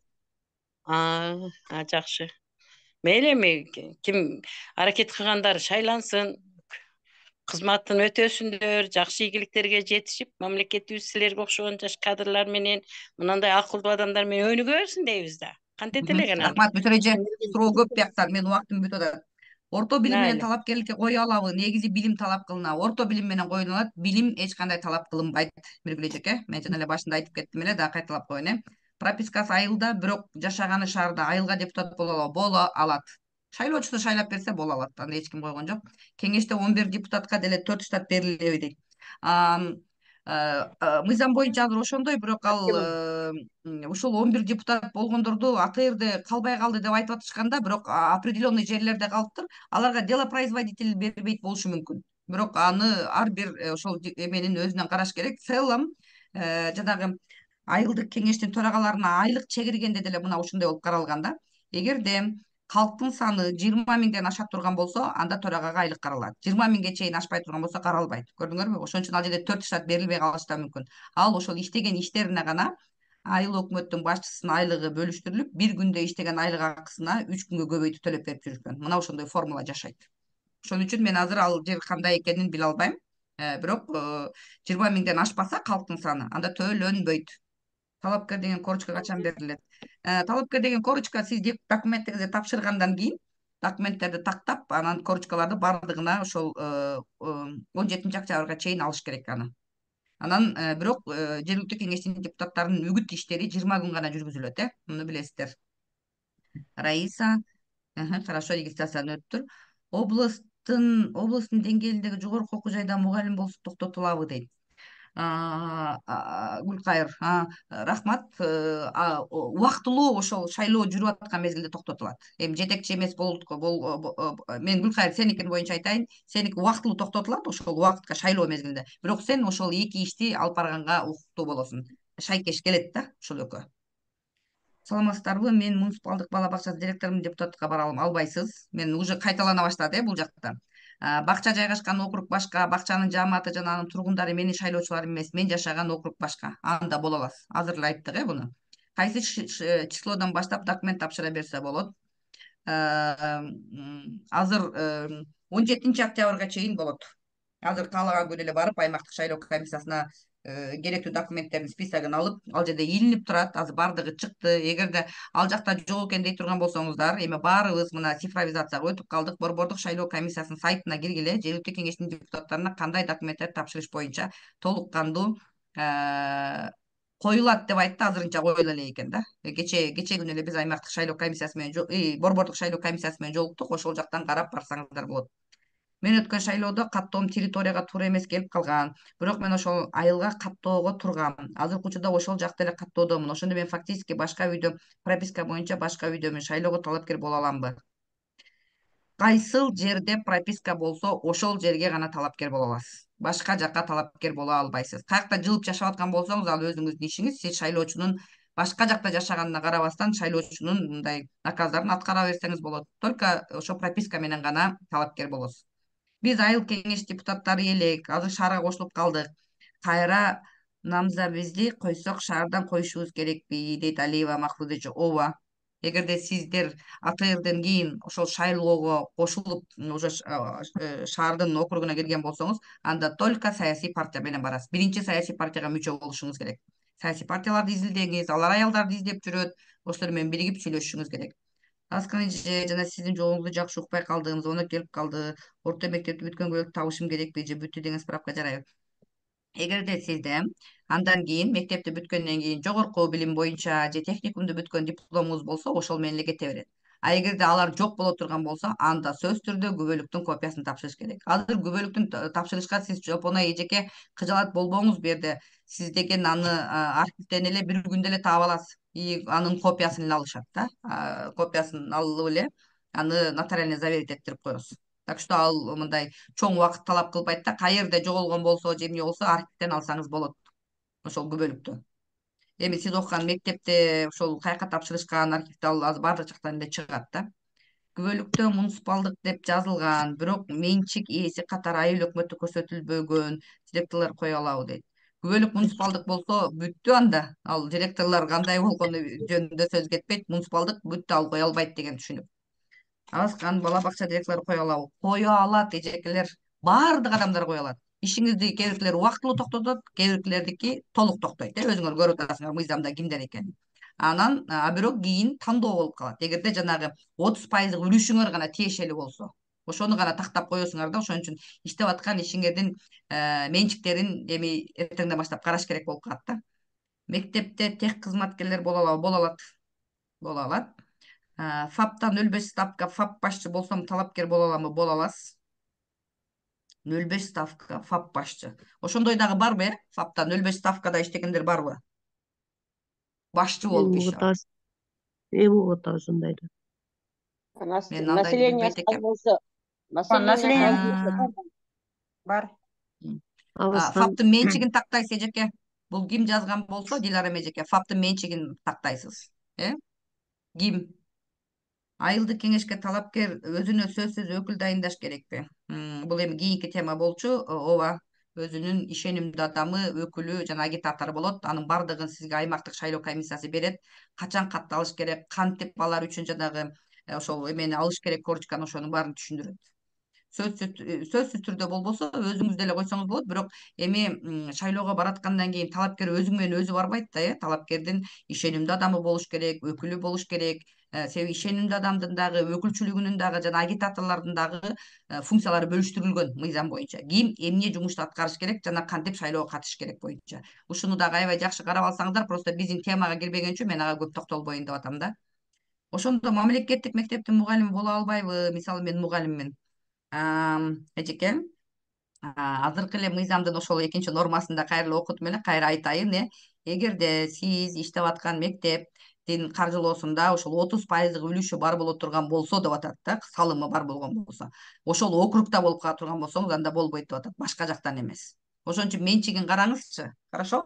Speaker 8: А, жакшы. Мейли эми ким аракет кылгандар шайлансын, кызматын өтөсүндөр, жакшы ийгиликтерге жетишип, мамлекетибиз силерге окшогон жаш кадрлар менен, мындай акылдуу адамдар менен өнүгө берсин дейбиз да. Кантет элеген аны?
Speaker 1: Рахмат, мисалы эже, суроо көп бияктан, менин убактым бүтүп атат. Орто билим менен талапкерликке кое алабы? Негизи билим талап кылынат. Орто билим менен коюлат, билим эч кандай талап кылынбайт. Миргүл эжеке, мен жана эле башында айтып кеттим эле, дагы кайталап коеюн э. Пропискасы айылда, бирок жашаганы шаарда, айылга депутат боло алабы? Боло алат. Шайлоочусу шайлап берсе боло алат. Аны эч ким койгон жок. Кеңеште он бир депутатка деле төрт штат берилеби дейт. Мыйзам боюнча азыр ошондой, бирок ал ушул он бир депутат болгондорду АТРде калбай калды деп айтып атышканда, бирок определенный жерлерде калыптыр. Аларга делопроизводитель бербейт болушу мүмкүн. Бирок аны ар бир ошол эменин өзүнөн караш керек. В целом жанагы айылдык кеңештин төрагаларына айлык чегиргенде деле мына ушундай болуп каралган да. Эгерде калктын саны жыйырма миңден аша турган болсо, анда төрагага айлык каралат. жыйырма миңге чейин ашпай турган болсо каралбайт. Көрдүңөрбү? Ошон үчүн ал жерде төрт штат берилбей калышы да мүмкүн. Ал ошол иштеген иштерине гана айыл өкмөттүн башчысынын айлыгы бөлүштүрүлүп, бир күндө иштеген айлык акысына үч күнгө көбөйтүп төлөп берип жүрүшкөн. Мына ошондой формула жашайт. Ошон үчүн мен азыр ал жер кандай экенин биле албайм. Бирок жыйырма миңден ашпаса калктын саны, анда төлөнбөйт. Талапкер деген корочка качан берилет? Талапкер деген корочка сиз документтерди тапшыргандан кийин документтерди тактап, анан корочкаларды бардыгына ошол он жетинчи октябрга чейин алыш керек аны. Анан бирок жергиликтүү кеңештин депутаттарынын үгүт иштери жыйырма күн гана жүргүзүлөт, э? Муну билесиздер. Раиса, хорошо, регистрациядан өттүр. Областтын областтын деңгээлиндеги жогорку окуу жайда мугалим болсо токтотулабы дейт. Гүлкайыр, рахмат. Убактылуу ошол шайлоо жүрүп аткан мезгилде токтотулат. Эми жетекчи эмес болуп, мен Гүлкайыр сеникин боюнча айтайын, сеники убактылуу токтотулат ошол убакытка шайлоо мезгилинде. Бирок сен ошол эки ишти алып барганга укуктуу болосуң. Шайкеш келет да ошол экөө. Саламатсыздарбы? Мен муниципалдык бала бакчасы директорумун, депутатка бара албайсыз. Мен уже кайталана баштады э бул жакта. Бакча жайгашкан округ башка, бакчанын жааматы жана анын тургундары менин шайлоочуларым эмес, мен жашаган округ башка. Анда боло аласыз. Азыр эле айттык э буну. кайсы числодон баштап документ тапшыра берсе болот. Азыр он жетинчи октябрга чейин болот. Азыр каалаган күнү эле барып аймактык шайлоо комиссиясына керектүү документтердин списогун алып, ал жерде илинип турат. Азыр бардыгы чыкты. Эгерде ал жакта жок экен дей турган болсоңуздар, эми баарыбыз мына цифровизацияга өтүп калдык. Борбордук шайлоо комиссиясынын сайтына киргиле, жергиликтүү кеңештин депутаттарына кандай документтер тапшырыш боюнча толук кандуу коюлат деп айтты. Азырынча коюла элек экен да. Кече кече күнү эле биз аймактык шайлоо комиссиясы менен, борбордук шайлоо комиссиясы менен жолуктук. Ошол жактан карап барсаңыздар болот. Мен өткөн шайлоодо каттоом территорияга туура эмес келип калган. Бирок мен ошол айылга каттоого тургам. Азыркы учурда ошол жакта эле каттоодомун. Ошондо мен фактически башка үйдө, прописка боюнча башка үйдөмүн. Шайлоого талапкер боло аламбы? Кайсыл жерде прописка болсо, ошол жерге гана талапкер боло аласыз. Башка жакка талапкер боло албайсыз. Каякта жылып жашап аткан болсоңуз, ал өзүңүздүн ишиңиз. Сиз шайлоочунун башка жакта жашаганына карабастан шайлоочунун мындай наказдарын аткара берсеңиз болот. Только ошо прописка менен гана талапкер болосуз. Биз айыл кеңеш депутаттары элек, азыр шаарга кошулуп калдык. Кайра намзабизди койсок шаардан коюшубуз керекпи, дейт Алиева Махрудович. Ооба. Эгерде сиздер А Т Рден кийин ошол шайлоого кошулуп, уже шаардын округуна кирген болсоңуз, анда только саясий партия менен барасыз. Биринчи саясий партияга мүчө болушуңуз керек. Саясий партияларды изилдеңиз, алар аялдарды издеп жүрөт. Ошолор менен биригип сүйлөшүшүңүз керек. Аскан эже, жана сиздин жолуңузду жакшы укпай калдым, звонок келип калды. Орто мектепти бүткөнгө табышым керекпи же бүттү деген справка жарайбы? Эгерде сизде андан кийин мектепти бүткөндөн кийин жогорку билим боюнча же техникумду бүткөн дипломуңуз болсо, ошол менен эле кете берет. А эгерде алар жок боло турган болсо, анда сөзсүз түрдө күбөлүктүн копиясын тапшырыш керек. Азыр күбөлүктүн тапшырышка сиз жопоной эжеке кыжалат болбоңуз бу жерде. Сиз деген аны архивден эле бир күндө эле таап аласыз. И анын копиясын эле алышат да. Копиясын алып эле аны нотариально заверить этирип коесуз. Так что ал мындай чоң убакыт талап кылбайт да. Каерде жоголгон болсо же эмне болсо архивден алсаңыз болот ошол күбөлүктү. Эми сиз окуган мектепте ошол каяка тапшырышкан архивде ал азыр баардык жактан эле чыгат да. Күбөлүктө муниципалдык деп жазылган, бирок менчик ээси катары айыл өкмөтү көрсөтүлбөгөн директорлор кое алабы дейт. Күбөлүк муниципалдык болсо бүттү анда. Ал директорлор кандай болгону жөнүндө сөз кетпейт. Муниципалдык бүттү, ал кое албайт деген түшүнүк. Аскан бала бакча директорлору кое алабы? Кое алат эжекелер. Баардык адамдар кое алат. Ишиңизди кээ биркилер убактылуу токтотот, кээ биркилердики толук токтойт. Өзүңөр көрүп атасыңар мыйзамда кимдер экенин. Анан а бирок кийин тандоо болуп калат. Эгерде жанагы отуз пайыздык үлүшүңөр гана тиешелүү болсо, ошону гана тактап коесуңар да. Ошон үчүн иштеп аткан ишиңердин менчиктерин эми эртеңден баштап караш керек болуп калат да. Мектепте тех кызматкерлер боло алабы? Боло алат. Боло алат. ФАПтан нөл беш ставка ФАП башчы болсом талапкер боло аламбы? Боло аласыз. нөл беш ставка ФАП башчы. Ошондой дагы барбы, э? ФАПтан нөл беш ставкада иштегендер барбы? Башчы болуп иш алат.
Speaker 5: Эми угат ошондой да.
Speaker 1: Мен андайды билбейт экем.
Speaker 7: Население бар.
Speaker 1: ФАПтын менчигин тактайсыз эжеке. Бул ким жазган болсо, Дилара эжеке, ФАПтын менчигин тактайсыз. Э? Ким? Айылдык кеңешке талапкер өзүнө сөзсүз өкүл дайындаш керекпи? Бул эми кийинки тема болчу. Ооба, өзүнүн ишенимдүү адамы, өкүлү жана агитатору болот. Анын бардыгын сизге аймактык шайлоо комиссиясы берет. Качан катталыш керек, кантип алар үчүн жанагы ошол эмени алыш керек, корочканы, ошонун баарын түшүндүрөт. Сөзсүз түрдө болбосо өзүңүз деле койсоңуз болот. Бирок эми шайлоого бараткандан кийин талапкер өзү менен өзү барбайт да, э? Талапкердин ишенимдүү адамы болуш керек, өкүлү болуш керек. Себеби ишенимдүү адамдын дагы, өкүлчүлүгүнүн дагы жана агитаторлордун дагы функциялары бөлүштүрүлгөн мыйзам боюнча. Ким эмне жумушту аткарыш керек жана кантип шайлоого катышыш керек боюнча. Ушуну дагы аябай жакшы карап алсаңыздар, просто биздин темага кирбеген үчүн мен ага көп токтолбоюн деп атам да. Ошондо мамлекеттик мектептин мугалими боло албайбы? Мисалы мен мугалиммин. Эжеке, азыркы эле мыйзамдын ошол экинчи нормасында кайра окутуп эле кайра айтайын, э? Эгерде сиз иштеп аткан мектептин каржылоосунда ошол отуз пайыздык үлүшү бар боло турган болсо деп атат да, салымы бар болгон болсо, ошол округда болуп кала турган болсоңуз, анда болбойт деп атат, башка жактан эмес. Ошон үчүн менчигин караңызчы. Хорошо?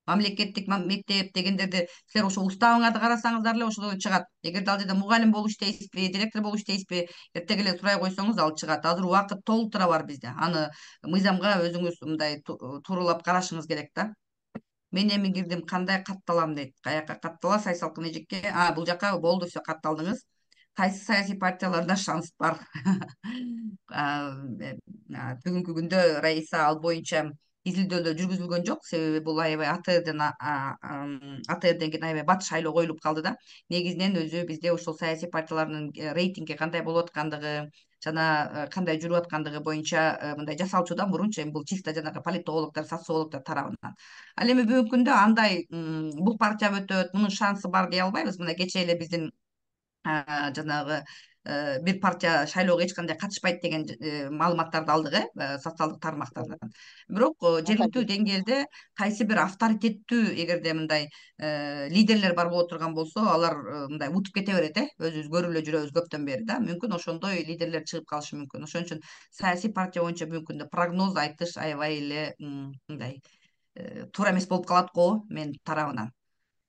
Speaker 1: Мамлекеттик мектеп дегендерди силер ошо уставыңарды карасаңыздар эле ошол чыгат. Эгерде ал жерде мугалим болуп иштейсизби, директор болуп иштейсизби, эртең эле сурай койсоңуз ал чыгат. Азыр убакыт толтура бар бизде. Аны мыйзамга өзүңүз мындай тууралап карашыңыз керек да. мен эми кирдим, кандай катталам дейт. Каяка каттала, Сай салкын эжекке. А, бул жака болду, все катталдыңыз. Кайсы саясий партияларда шанс бар? Бүгүнкү күндө Раиса ал боюнча изилдөөлөр жүргүзүлгөн жок, себеби бул аябай АТРден АТРден кийин аябай бат шайлоо коюлуп калды да. Негизинен өзү бизде ошол саясий партиялардын рейтинги кандай болуп аткандыгы жана кандай жүрүп аткандыгы боюнча мындай жасалчудан мурунчу эми бул чисто жанагы политологдор, социологдор тарабынан. Ал эми бүгүнкү күндө андай бул партия өтөт, мунун шансы бар дей албайбыз. Мына кечээ эле биздин жанагы бир партия шайлоого эч кандай катышпайт деген маалыматтарды алдык, э, социалдык тармактардан. Бирок жергиликтүү деңгээлде кайсы бир авторитеттүү, эгерде мындай лидерлер бар боло турган болсо, алар мындай утуп кете берет, э, өзүбүз көрүп эле жүрөбүз көптөн бери да. Мүмкүн ошондой лидерлер чыгып калышы мүмкүн. Ошон үчүн саясий партия боюнча бүгүнкү күндө прогноз айтыш аябай эле мындай туура эмес болуп калат го мен тарабынан.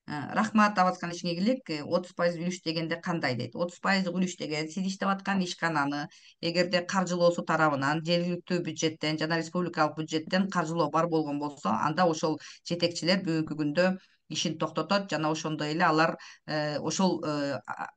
Speaker 1: Рахмат абаскан ишиңе ийгилик. отуз пайыз үлүш дегенде кандай дейт? отуз пайыз үлүш деген сиз иштеп аткан ишкананы эгерде каржылоосу тарабынан жергиликтүү бюджеттен жана республикалык бюджеттен каржылоо бар болгон болсо, анда ошол жетекчилер бүгүнкү күндө ишин токтотот жана ошондой эле алар ошол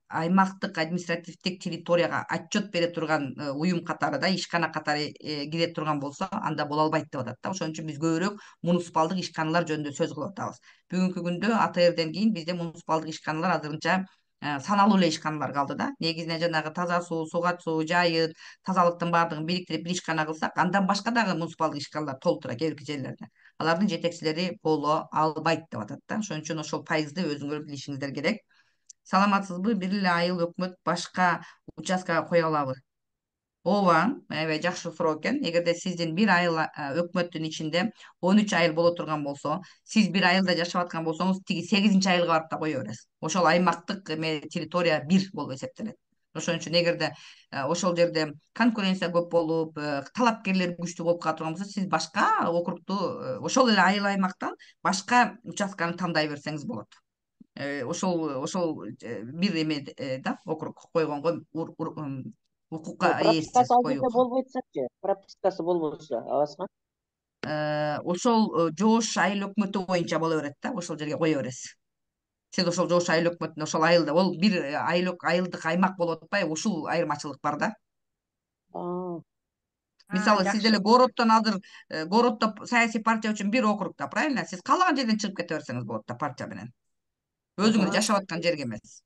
Speaker 1: аймактык административдик территорияга отчет бере турган уюм катары да, ишкана катары кире турган болсо, анда боло албайт деп атат да. Ошон үчүн биз көбүрөөк муниципалдык ишканалар жөнүндө сөз кылып атабыз. Бүгүнкү күндө АТРден кийин бизде муниципалдык ишканалар азырынча саналуу эле ишканалар калды да. Негизинен жанагы таза суу, сугат суу, жайыт, тазалыктын баардыгын бириктирип бир ишкана кылсак, андан башка дагы муниципалдык ишканалар толуп турат кээ бирки жерлерде. Алардын жетекчилери боло албайт деп атат да. Ошон үчүн ошол пайызды өзүңөр билишиңиздер керек. Саламатсызбы? Бир эле айыл өкмөт башка участкага кое алабы? Ооба, аябай жакшы суроо экен. Эгерде сиздин бир айыл өкмөттүн ичинде он үч айыл боло турган болсо, сиз бир айылда жашап аткан болсоңуз, тиги сегизинчи айылга барып да кое бересиз. Ошол аймактык эме территория бир болуп эсептелет. Ошон үчүн эгерде ошол жерде конкуренция көп болуп, талапкерлер күчтүү болуп кала турган болсо, сиз башка округду, ошол эле айыл аймактан башка участканы тандай берсеңиз болот. Ошол ошол бир эме да, округ койгонго укукка ээсиз коюуга.
Speaker 5: Болбойт-чы, пропискасы болбосо, абаска.
Speaker 1: Ошол жоош айыл өкмөтү боюнча боло берет да, ошол жерге кое бересиз. Сиз ошол жоош айыл өкмөтүнө, ошол айылда, ол бир айыл айылдык аймак болуп атпайбы, ушул айырмачылык бар да. Мисалы, сиз деле городдон азыр, городдо саясий партия үчүн бир округда, правильно? Сиз каалаган жерден чыгып кете берсеңиз болот да партия менен. Өзүңүз жашап аткан жерге эмес.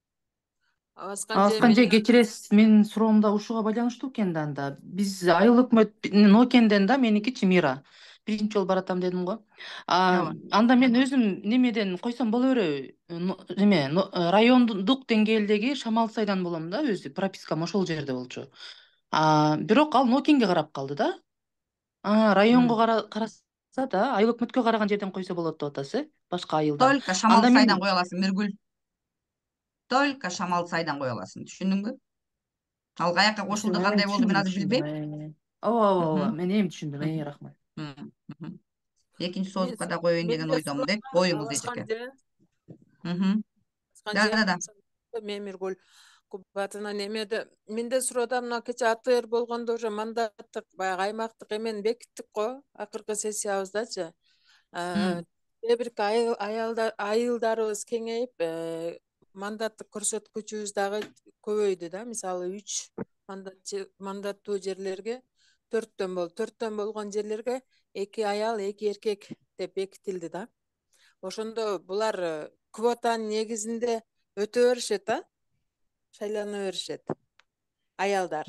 Speaker 4: Абаскан же кечиресиз, менин суроом да ушуга байланыштуу экен да. Анда биз айыл өкмөт Нокенден да, меникичи Мира. Биринчи жолу баратам дедим го. Анда мен өзүм немеден койсом боло береби? Эме, райондук деңгээлдеги Шамалсайдан болом да, өзү пропискам ошол жерде болчу. Бирок ал Нокенге карап калды да. Районго караса да, айыл өкмөткө караган жерден койсо болот деп атасыз, э? Башка айылдан.
Speaker 1: Только Шамалсайдан кое аласың, Миргүл. Только Шамалсайдан кое аласың, түшүндүңбү? Ал каяка кошулду, кандай болду, мен азыр билбейм.
Speaker 4: Ооба, ооба, мен эми түшүндүм, э, рахмат.
Speaker 1: Экинчи созупка да коеюн деген ойдомун дейт. Коюңуз эжеке. Да, да.
Speaker 9: Мен Миргүл Кубатына немеде, менде суроодо мына кече АТР болгондо уже мандаттык, баягы аймактык эмени бекиттик го, акыркы сессиябыздачы. Кээ бирки айылдарыбыз кеңейип, мандаттык көрсөткүчүбүз дагы көбөйдү да. Мисалы, үч мандаттуу жерлерге төрттөн бол, төрттөн болгон жерлерге эки аял, эки эркек деп бекитилди да. Ошондо булар квотанын негизинде өтө беришет да, шайлана беришет аялдар.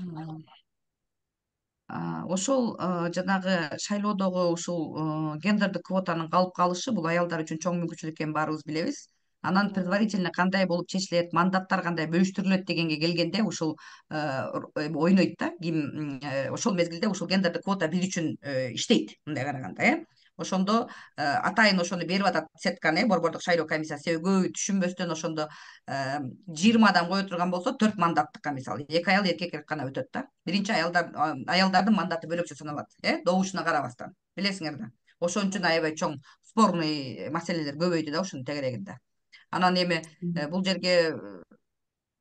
Speaker 1: Ошол жанагы шайлоодогу ушул гендердик квотанын калып калышы бул аялдар үчүн чоң мүмкүнчүлүк экенин баарыбыз билебиз. Анан предварительно кандай болуп чечилет, мандаттар кандай бөлүштүрүлөт дегенге келгенде ушул ойнойт да. Ким ошол мезгилде ушул гендердик квота биз үчүн иштейт, мындай караганда, э. Ошондо атайын ошону берип атат сетканы, борбордук шайлоо комиссиясы. Себеби көбү түшүнбөстөн ошондо жыйырмадан кое турган болсо, төрт мандаттыкка мисалы эки аял, эркек гана өтөт да. Биринчи аялдар аялдардын мандаты бөлөкчө саналат, э, добушуна карабастан. Билесиңер да. Ошон үчүн аябай чоң спорный маселелер көбөйдү да ушунун тегерегинде. Анан эми бул жерге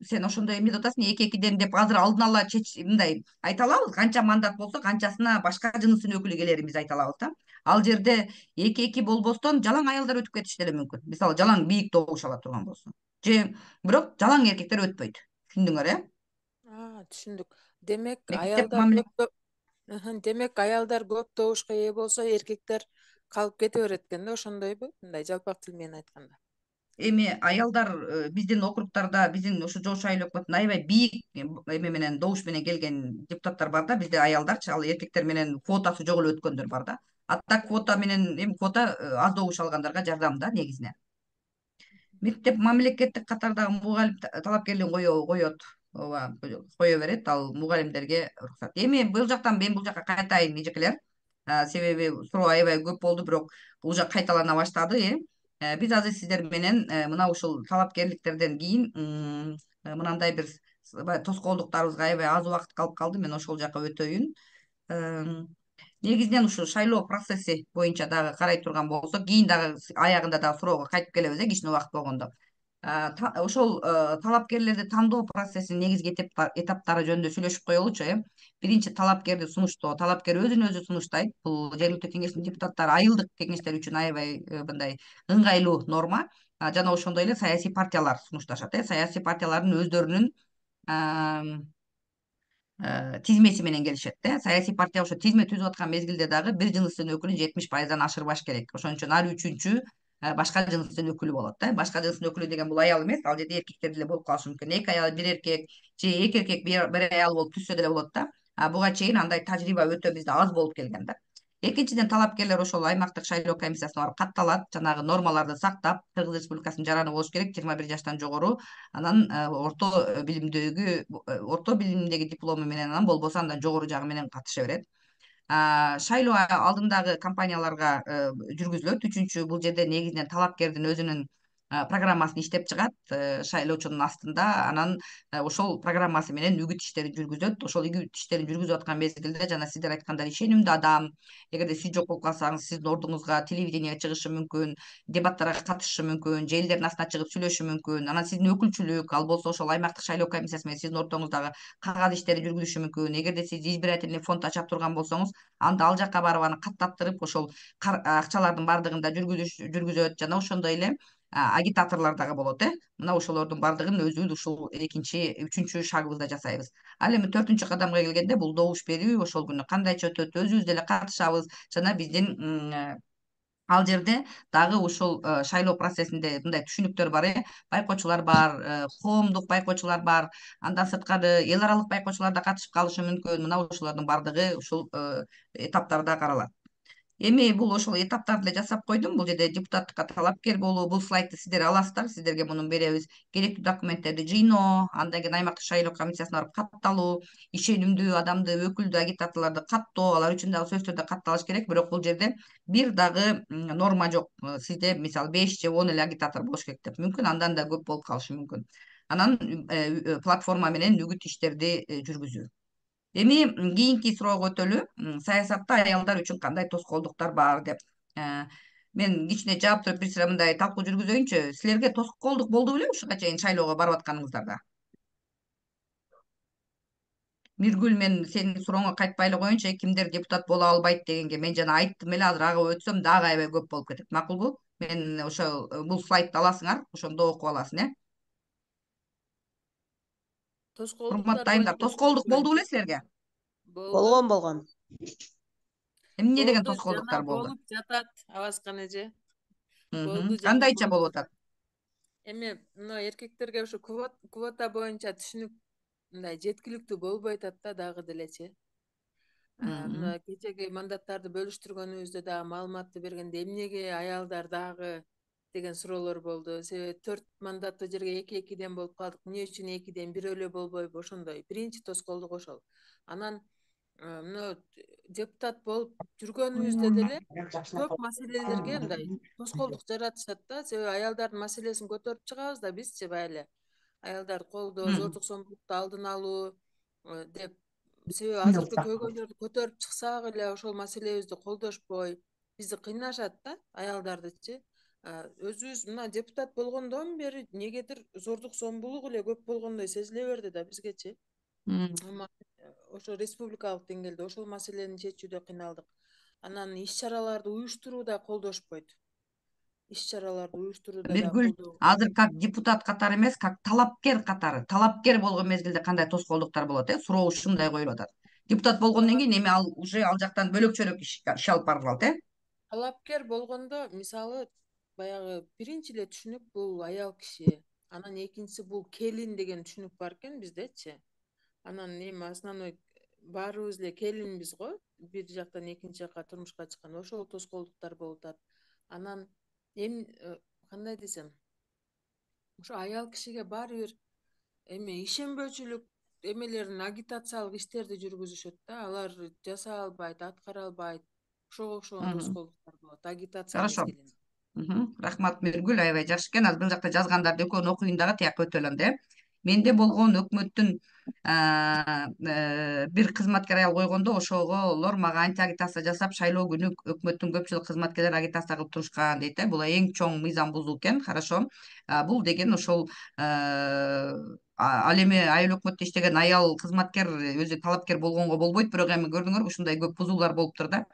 Speaker 1: сен ошондой эмне деп атасың, эки экиден деп азыр алдын ала мындай айта алабыз, канча мандат болсо канчасына башка жыныстын өкүлү келерин биз айта алабыз да. Ал жерде эки эки болбостон жалаң аялдар өтүп кетиши деле мүмкүн. Мисалы жалаң бийик добуш ала турган болсо. Же бирок жалаң эркектер өтпөйт. Түшүндүңөр э?
Speaker 9: А, түшүндүк. Демек
Speaker 1: Мектеп
Speaker 9: аялдар
Speaker 1: мамиле
Speaker 9: көп демек аялдар көп добушка ээ болсо, эркектер калып кете берет экен да, ошондойбу? Мындай жалпак тил менен айтканда.
Speaker 1: Эми аялдар биздин округтарда, биздин ушу Жош айыл өкмөтүнө аябай бийик эме менен добуш менен келген депутаттар бар да, бизде аялдарчы, ал эркектер менен квотасы жок эле өткөндөр бар да. А так квота менен эми квота аз добуш алгандарга жардам да негизинен. Мектеп мамлекеттик катардагы мугалим талапкерлигин кое коет, ооба, кое берет, ал мугалимдерге уруксат. Эми бул жактан мен бул жакка кайтайын эжекелер. Себеби суроо аябай көп болду, бирок уже кайталана баштады, э. Биз азыр сиздер менен мына ушул талапкерликтерден кийин мынандай бир тоскоолдуктарыбызга аябай аз убакыт калып калды. Мен ошол жака өтөйүн. Негизинен ушу шайлоо процесси боюнча дагы карай турган болсок, кийин дагы аягында дагы суроого кайтып келебиз, э, кичине убакыт болгондо. Ошол талапкерлерди тандоо процессинин негизги этаптары жөнүндө сүйлөшүп коелучу, э. Биринчи талапкерди сунуштоо. Талапкер өзүн өзү сунуштайт. Бул жергиликтүү кеңештин депутаттары айылдык кеңештер үчүн аябай мындай ыңгайлуу норма. Жана ошондой эле саясий партиялар сунушташат, э. Саясий партиялардын өздөрүнүн тизмеси менен келишет, э. Саясий партия ошо тизме түзүп аткан мезгилде дагы бир жыныстын өкүлүн жетимиш пайыздан ашырбаш керек. Ошон үчүн ар үчүнчү башка жыныстын өкүлү болот да. Башка жыныстын өкүлү деген бул аял эмес, ал жерде эркектер деле болуп калышы мүмкүн. Эки аял бир эркек же эки эркек бир аял болуп түзсө деле болот да. Буга чейин андай тажрыйба өтө бизде аз болуп келген да. Экинчиден, талапкерлер ошол аймактык шайлоо комиссиясына барып катталат, жанагы нормаларды сактап, Кыргыз Республикасынын жараны болуш керек, жыйырма бир жаштан жогору, анан орто билимдеги орто билимдеги диплому менен, анан болбосо андан жогору жагы менен катыша берет. Шайлоо алдындагы кампанияларга жүргүзүлөт. Үчүнчү, бул жерде негизинен талапкердин өзүнүн программасын иштеп чыгат шайлоочунун астында, анан ошол программасы менен үгүт иштери жүргүзөт. Ошол үгүт иштерин жүргүзүп аткан мезгилде жана сиздер айткандай ишенимдүү адам, эгерде сиз жок болуп калсаңыз, сиздин ордуңузга телевидениеге чыгышы мүмкүн, дебаттарга катышышы мүмкүн, же элдердин астына чыгып сүйлөшүшү мүмкүн. Анан сиздин өкүлчүлүк, ал болсо ошол аймактык шайлоо комиссиясы менен сиздин ортоңуздагы кагаз иштери жүргүзүшү мүмкүн. Эгерде сиз избирательный фонд ача турган болсоңуз, анда ал жакка барып аны каттаттырып, ошол акчалардын баардыгын да жүргүзөт. Жана ошондой эле агитаторлор дагы болот, э. Мына ошолордун баардыгын өзүбүз ушул экинчи, үчүнчү шагыбызда жасайбыз. Ал эми төртүнчү кадамга келгенде, бул добуш берүү ошол күнү кандайча өтөт, өзүбүз деле катышабыз. Жана биздин ал жерде дагы ушул шайлоо процессинде мындай түшүнүктөр бар, э. Байкоочулар бар, коомдук байкоочулар бар, андан сырткары эл аралык байкоочулар да катышып калышы мүмкүн. Мына ошолордун баардыгы ушул этаптарда каралат. Эми бул ошол этаптарды эле жасап койдум. Бул жерде депутаттыкка талапкер болуу, бул слайдты сиздер аласыздар, сиздерге муну беребиз. Керектүү документтерди жыйноо, андан кийин аймактык шайлоо комиссиясына барып катталуу, ишенимдүү адамды, өкүлдү, агитаторлорду каттоо, алар үчүн дагы сөзсүз түрдө катталыш керек. Бирок бул жерде бир дагы норма жок. Сизде мисалы беш же он эле агитатор болуш керек деп. Мүмкүн андан да көп болуп калышы мүмкүн. Анан платформа менен үгүт иштерди жүргүзүү. Эми кийинки суроого өтөлү. Саясатта аялдар үчүн кандай тоскоолдуктар бар деп. Мен кичине жаап туруп бир сыра мындай талкуу жүргүзөйүнчү. Силерге тоскоолдук болду беле ушуга чейин шайлоого барып атканыңыздарда? Миргүл, мен сенин сурооңо кайтпай эле коеюнчу, кимдер депутат боло албайт дегенге мен жана айттым эле, азыр ага өтсөм дагы аябай көп болуп кетет. Макулбу? Мен ошо бул слайдты аласыңар, ошондо окуп аласың, э. Урматтуу айымдар, тоскоолдук болду беле силерге?
Speaker 7: Болгон болгон.
Speaker 1: Эмне деген
Speaker 9: Болду,
Speaker 1: тоскоолдуктар
Speaker 9: жана
Speaker 1: болду?
Speaker 9: болуп жатат, Абаскан эже.
Speaker 1: Мгм.
Speaker 9: Болду, жана
Speaker 1: Кандайча
Speaker 9: болуп
Speaker 1: болуп
Speaker 9: жатат.
Speaker 1: атат?
Speaker 9: Эми мына эркектерге ушу квота боюнча түшүнүк мындай жеткиликтүү болбой атат да дагы делечи. Мына кечеги мандаттарды бөлүштүргөнүбүздө дагы маалыматты бергенде эмнеге аялдар дагы деген суроолор болду. Себеби төрт мандаттуу жерге эки экиден болуп калдык. Эмне үчүн экиден бир эле болбойбу? Ошондой биринчи тоскоолдук ошол. Анан мына депутат болуп жүргөнүбүздө деле көп маселелерге мындай тоскоолдук жаратышат да. Себеби аялдардын маселесин көтөрүп чыгабыз да бизчи баягы эле. Аялдарды колдоо, зордук зомбулукту алдын алуу деп. Себеби азыркы көйгөйлөрдү көтөрүп чыксак эле ошол маселебизди колдошпой бизди кыйнашат да аялдардычы. өзүбүз мына депутат болгондон бери негедир зордук зомбулук эле көп болгондой сезиле берди да бизгечи. Ама ошо республикалык деңгээлде ошол маселени чечүүдө кыйналдык. Анан иш чараларды уюштурууда колдошпойт. Иш чараларды уюштурууда да
Speaker 1: Биргүл
Speaker 9: колдоо.
Speaker 1: азыр как депутат катары эмес, как талапкер катары. Талапкер болгон мезгилде кандай тоскоолдуктар болот, э? Суроо ушундай коюлуп атат. Депутат болгондон кийин эми ал уже ал жактан бөлөкчөрөөк иш иш алып барылат, э?
Speaker 9: Талапкер болгондо мисалы баягы биринчи эле түшүнүк бул аял киши, анан экинчиси бул келин деген түшүнүк бар экен биздечи. Анан эми основной баарыбыз эле келинбиз го, бир жактан экинчи жакка турмушка чыккан, ошол тоскоолдуктар болуп атат. Анан эми кандай десем, ошо аял кишиге баары бир эми ишенбөөчүлүк эмелерин агитациялык иштерди жүргүзүшөт да, алар жасай албайт, аткара албайт. Ошого окшогон тоскоолдуктар болот агитация
Speaker 1: Хорошо.
Speaker 9: мезгилинде.
Speaker 1: Рахмат Миргүл, аябай жакшы экен. Азыр бул жакта жазгандарды экөөнү окуйун дагы, тияка өтөлөм да. Менде болгон өкмөттүн бир кызматкер аял койгондо ошоголор мага анти агитация жасап, шайлоо күнү өкмөттүн көпчүлүк кызматкерлери агитация кылып турушкан дейт да. Бул эң чоң мыйзам бузуу экен. Хорошо. Бул деген ошол ал эми айыл өкмөттө иштеген аял кызматкер өзү талапкер болгонго болбойт, бирок эми көрдүңөрбү ушундай көп бузуулар болуптур да.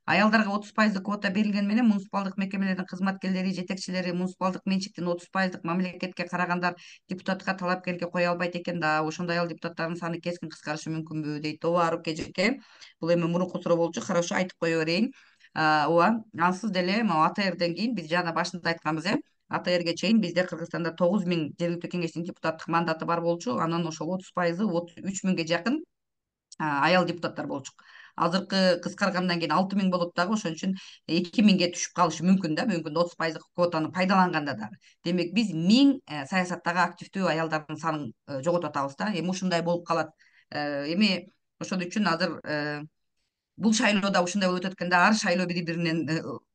Speaker 1: Аялдарга отуз пайыздык квота берилгени менен муниципалдык мекемелердин кызматкерлери, жетекчилери, муниципалдык менчиктин отуз пайыздык мамлекетке карагандар депутатка талапкерге кое албайт экен да. Ошондой аял депутаттардын саны кескин кыскарышы мүмкүнбү дейт. Ооба, Арук эжеке. Бул эми мурунку суроо болчу. Хорошо, айтып кое берейин. Ооба, ансыз деле могу А Т Рден кийин биз жана башында айтканбыз, э? А Т Рге чейин бизде Кыргызстанда тогуз миң жергиликтүү кеңештин депутаттык мандаты бар болчу. Анан ошол отуз пайызы үч миңге жакын аял депутаттар болчу. Азыркы кыскаргандан кийин алты миң болот дагы, ошон үчүн эки миңге түшүп калышы мүмкүн да, мүмкүн отуз пайыздык квотаны пайдаланганда дагы. Демек биз миң саясаттагы активдүү аялдардын санын жоготуп атабыз да. Эми ушундай болуп калат. Эми ошон үчүн азыр бул шайлоодо ушундай болуп өтөт экен да, ар шайлоо бири биринен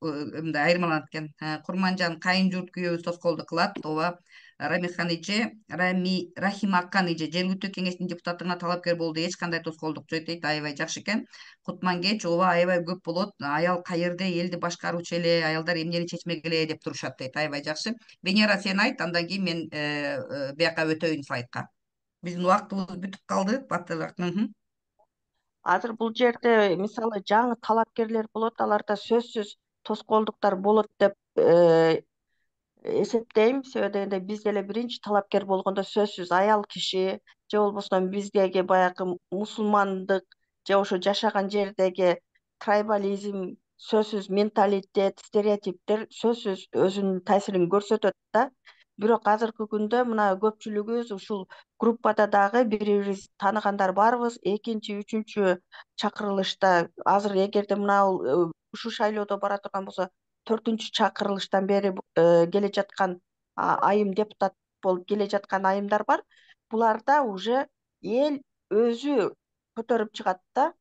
Speaker 1: мындай айырмаланат экен. Курманжан Кайынжурт күйөөбүз тоскоолдук кылат. Ооба, Рамихан эже, Рами Рахимакан эже жергиликтүү кеңештин депутаттыгына талапкер болууда эч кандай тоскоолдук жок дейт. Аябай жакшы экен. Кутмангеч, ооба, аябай көп болот. Аял каерде элди башкаруучу эле, аялдар эмнени чечмек эле деп турушат дейт. Аябай жакшы. Венера, сен айт, андан кийин мен бияка өтөйүн слайдка. Биздин убактыбыз бүтүп калды. Батыраак.
Speaker 7: Азыр бул жерде мисалы жаңы талапкерлер болот, аларда сөзсүз тоскоолдуктар болот деп эсептейм. Себеби дегенде биз деле биринчи талапкер болгондо сөзсүз аял киши же болбосо биздеги баягы мусулмандык же ошо жашаган жердеги трайбализм, сөзсүз менталитет, стереотиптер сөзсүз өзүнүн таасирин көрсөтөт да. Бирок азыркы күндө мына көпчүлүгүбүз ушул группада дагы бири-бирибиз тааныгандар барбыз. Экинчи, үчүнчү чакырылышта азыр эгерде мына ушул шайлоодо бара турган болсо, төртүнчү чакырылыштан бери келе жаткан айым депутат болуп келе жаткан айымдар бар. Буларда уже эл өзү көтөрүп чыгат да.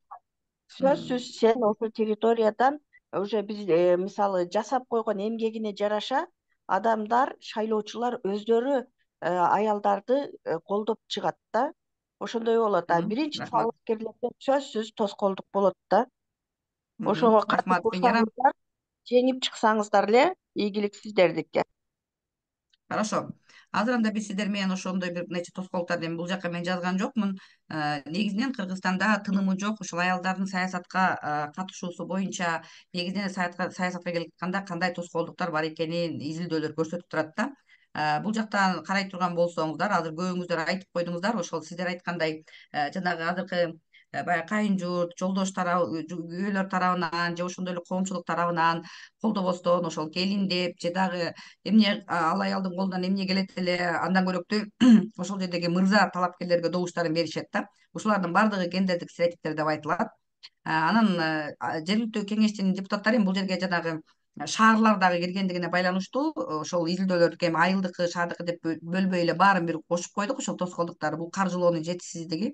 Speaker 7: Сөзсүз сен ошол территориядан уже биз мисалы жасап койгон эмгегине жараша адамдар, шайлоочулар өздөрү аялдарды колдоп чыгат да. Ошондой болот. А биринчи талапкерлерден сөзсүз тоскоолдук болот да. Ошого катып турсаңыздар, жеңип чыксаңыздар эле ийгилик сиздердики.
Speaker 1: Хорошо. Азыр анда биз сиздер менен ошондой бир нече тоскоолдуктарды эми бул жака мен жазган жокмун. Негизинен Кыргызстанда тынымы жок ушул аялдардын саясатка катышуусу боюнча негизинен саясатка келип атканда кандай тоскоолдуктар бар экенин изилдөөлөр көрсөтүп турат да. Бул жактан карай турган болсоңуздар, азыр көбүңүздөр айтып койдуңуздар, ошол сиздер айткандай жанагы азыркы баягы Кайынжурт, жолдош тарабы, күйөөлөр тарабынан же ошондой эле коомчулук тарабынан колдобостон ошол келин деп же дагы эмне ал аялдын колунан эмне келет эле, андан көрөктүү ошол жердеги мырза талапкерлерге добуштарын беришет да. Ушулардын баардыгы гендердик стереотиптер деп айтылат. Анан жергиликтүү кеңештин депутаттары бул жерге жанагы шаарлар дагы киргендигине байланыштуу ошол изилдөөлөрдү эми айылдыкы, шаардыкы деп бөлбөй эле баарын бир кошуп койдук. Ошол тоскоолдуктарды бул каржылоонун жетишсиздиги,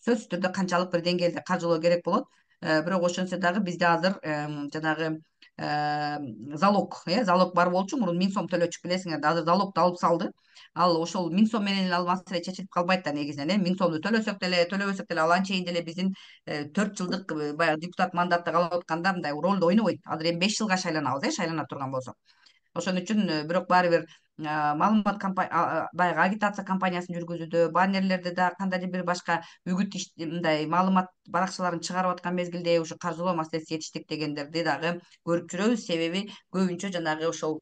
Speaker 1: сөзсүз түрдө канчалык бир деңгээлде каржылоо керек болот. Бирок ошентсе дагы бизде азыр жанагы залог, э, залог бар болчу, мурун миң сом төлөчүк, билесиңер да, азыр залогду алып салды. Ал ошол миң сом менен эле ал маселе чечилип калбайт да негизинен, э, миң сомду төлөсөк деле, төлөбөсөк деле ал анчейин деле биздин төрт жылдык баягы депутат мандаттык алып атканда мындай ролду ойнобойт. Азыр эми беш жылга шайланабыз, э, шайлана турган болсок. Ошон үчүн бирок баары бир маалымат баягы агитация кампаниясын жүргүзүүдө, баннерлерде да кандайдыр бир башка үгүт мындай маалымат баракчаларын чыгарып аткан мезгилде ушу каржылоо маселеси жетиштик дегендерди дагы көрүп жүрөбүз. Себеби көбүнчө жанагы ошол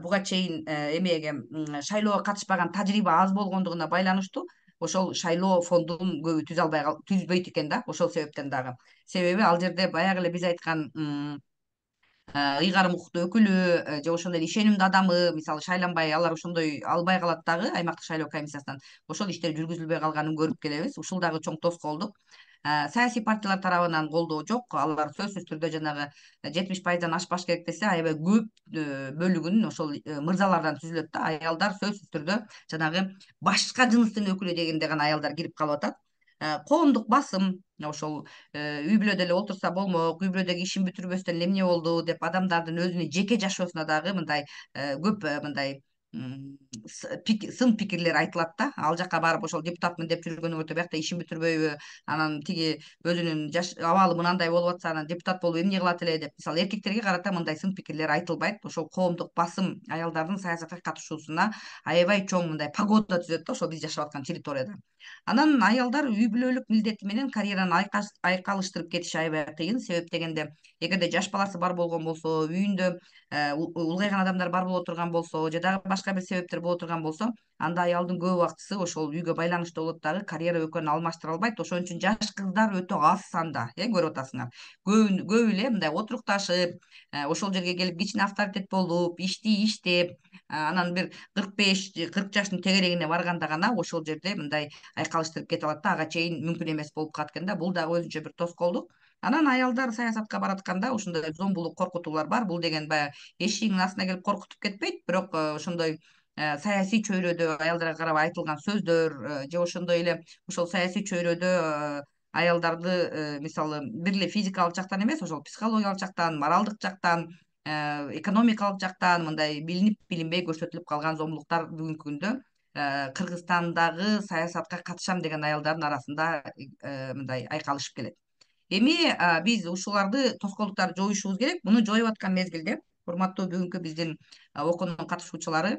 Speaker 1: буга чейин эмеге шайлоого катышпаган тажрыйба аз болгондугуна байланыштуу ошол шайлоо фондун көбү түзө албай түзбөйт экен да, ошол себептен дагы. Себеби ал жерде баягы эле биз айткан ыйгарым укуктуу өкүлү же ошондой эле ишенимдүү адамы мисалы шайланбай алар ошондой албай калат дагы аймактык шайлоо комиссиясынан ошол иштер жүргүзүлбөй калганын көрүп келебиз. Ушул дагы чоң тоскоолдук. Саясий партиялар тарабынан колдоо жок. Алар сөзсүз түрдө жанагы жетимиш пайыздан ашпаш керек десе, аябай көп бөлүгүн ошол мырзалардан түзүлөт да. Аялдар сөзсүз түрдө жанагы башка жыныстын өкүлү дегенде гана аялдар кирип калып атат. Коомдук басым ошол үй бүлөдө эле отурса болмок, үй бүлөдөгү ишин бүтүрбөстөн эле эмне болду деп адамдардын өзүнүн жеке жашоосуна дагы мындай көп мындай сын пикирлер айтылат да. Ал жака барып ошол депутатмын деп жүргөнүң өтө биякта ишин бүтүрбөйбү, анан тиги өзүнүн жаш абалы мынандай болуп атса анан депутат болуп эмне кылат эле деп мисалы эркектерге карата мындай сын пикирлер айтылбайт. Ошол коомдук басым аялдардын саясатка катышуусуна аябай чоң мындай погода түзөт да ошол биз жашап аткан территорияда. Анан аялдар үй бүлөлүк милдети менен карьераны айкалыштырып кетиши аябай кыйын. Себеп дегенде эгерде жаш баласы бар болгон болсо, үйүндө улгайган адамдар бар боло турган болсо же дагы башка бир себептер боло турган болсо, анда аялдын көп убактысы ошол үйгө байланыштуу болот дагы, карьера өкөнүн алмаштыра албайт. Ошон үчүн жаш кыздар өтө аз санда, э көрүп атасыңар. Көп көп эле мындай отурукташып, ошол жерге келип кичине авторитет болуп, ишти иштеп, анан бир кырк беш кырк жаштын тегерегине барганда гана ошол жерде мындай айкалыштырып кете алат да, ага чейин мүмкүн эмес болуп калат экен да. Бул дагы өзүнчө бир тоскоолдук. Анан аялдар саясатка баратканда ушундай зомбулук коркутуулар бар. Бул деген баягы эшигиңин астына келип коркутуп кетпейт, бирок ошондой саясий чөйрөдө аялдарга карап айтылган сөздөр же ошондой эле ошол саясий чөйрөдө аялдарды мисалы бир эле физикалык жактан эмес, ошол психологиялык жактан, моралдык жактан, экономикалык жактан мындай билинип билинбей көрсөтүлүп калган зомбулуктар бүгүнкү күндө Кыргызстандагы саясатка катышам деген аялдардын арасында мындай айкалышып келет. Эми биз ушуларды тоскоолдуктарды жоюшубуз керек. Муну жоюп аткан мезгилде, урматтуу бүгүнкү биздин окуунун катышуучулары,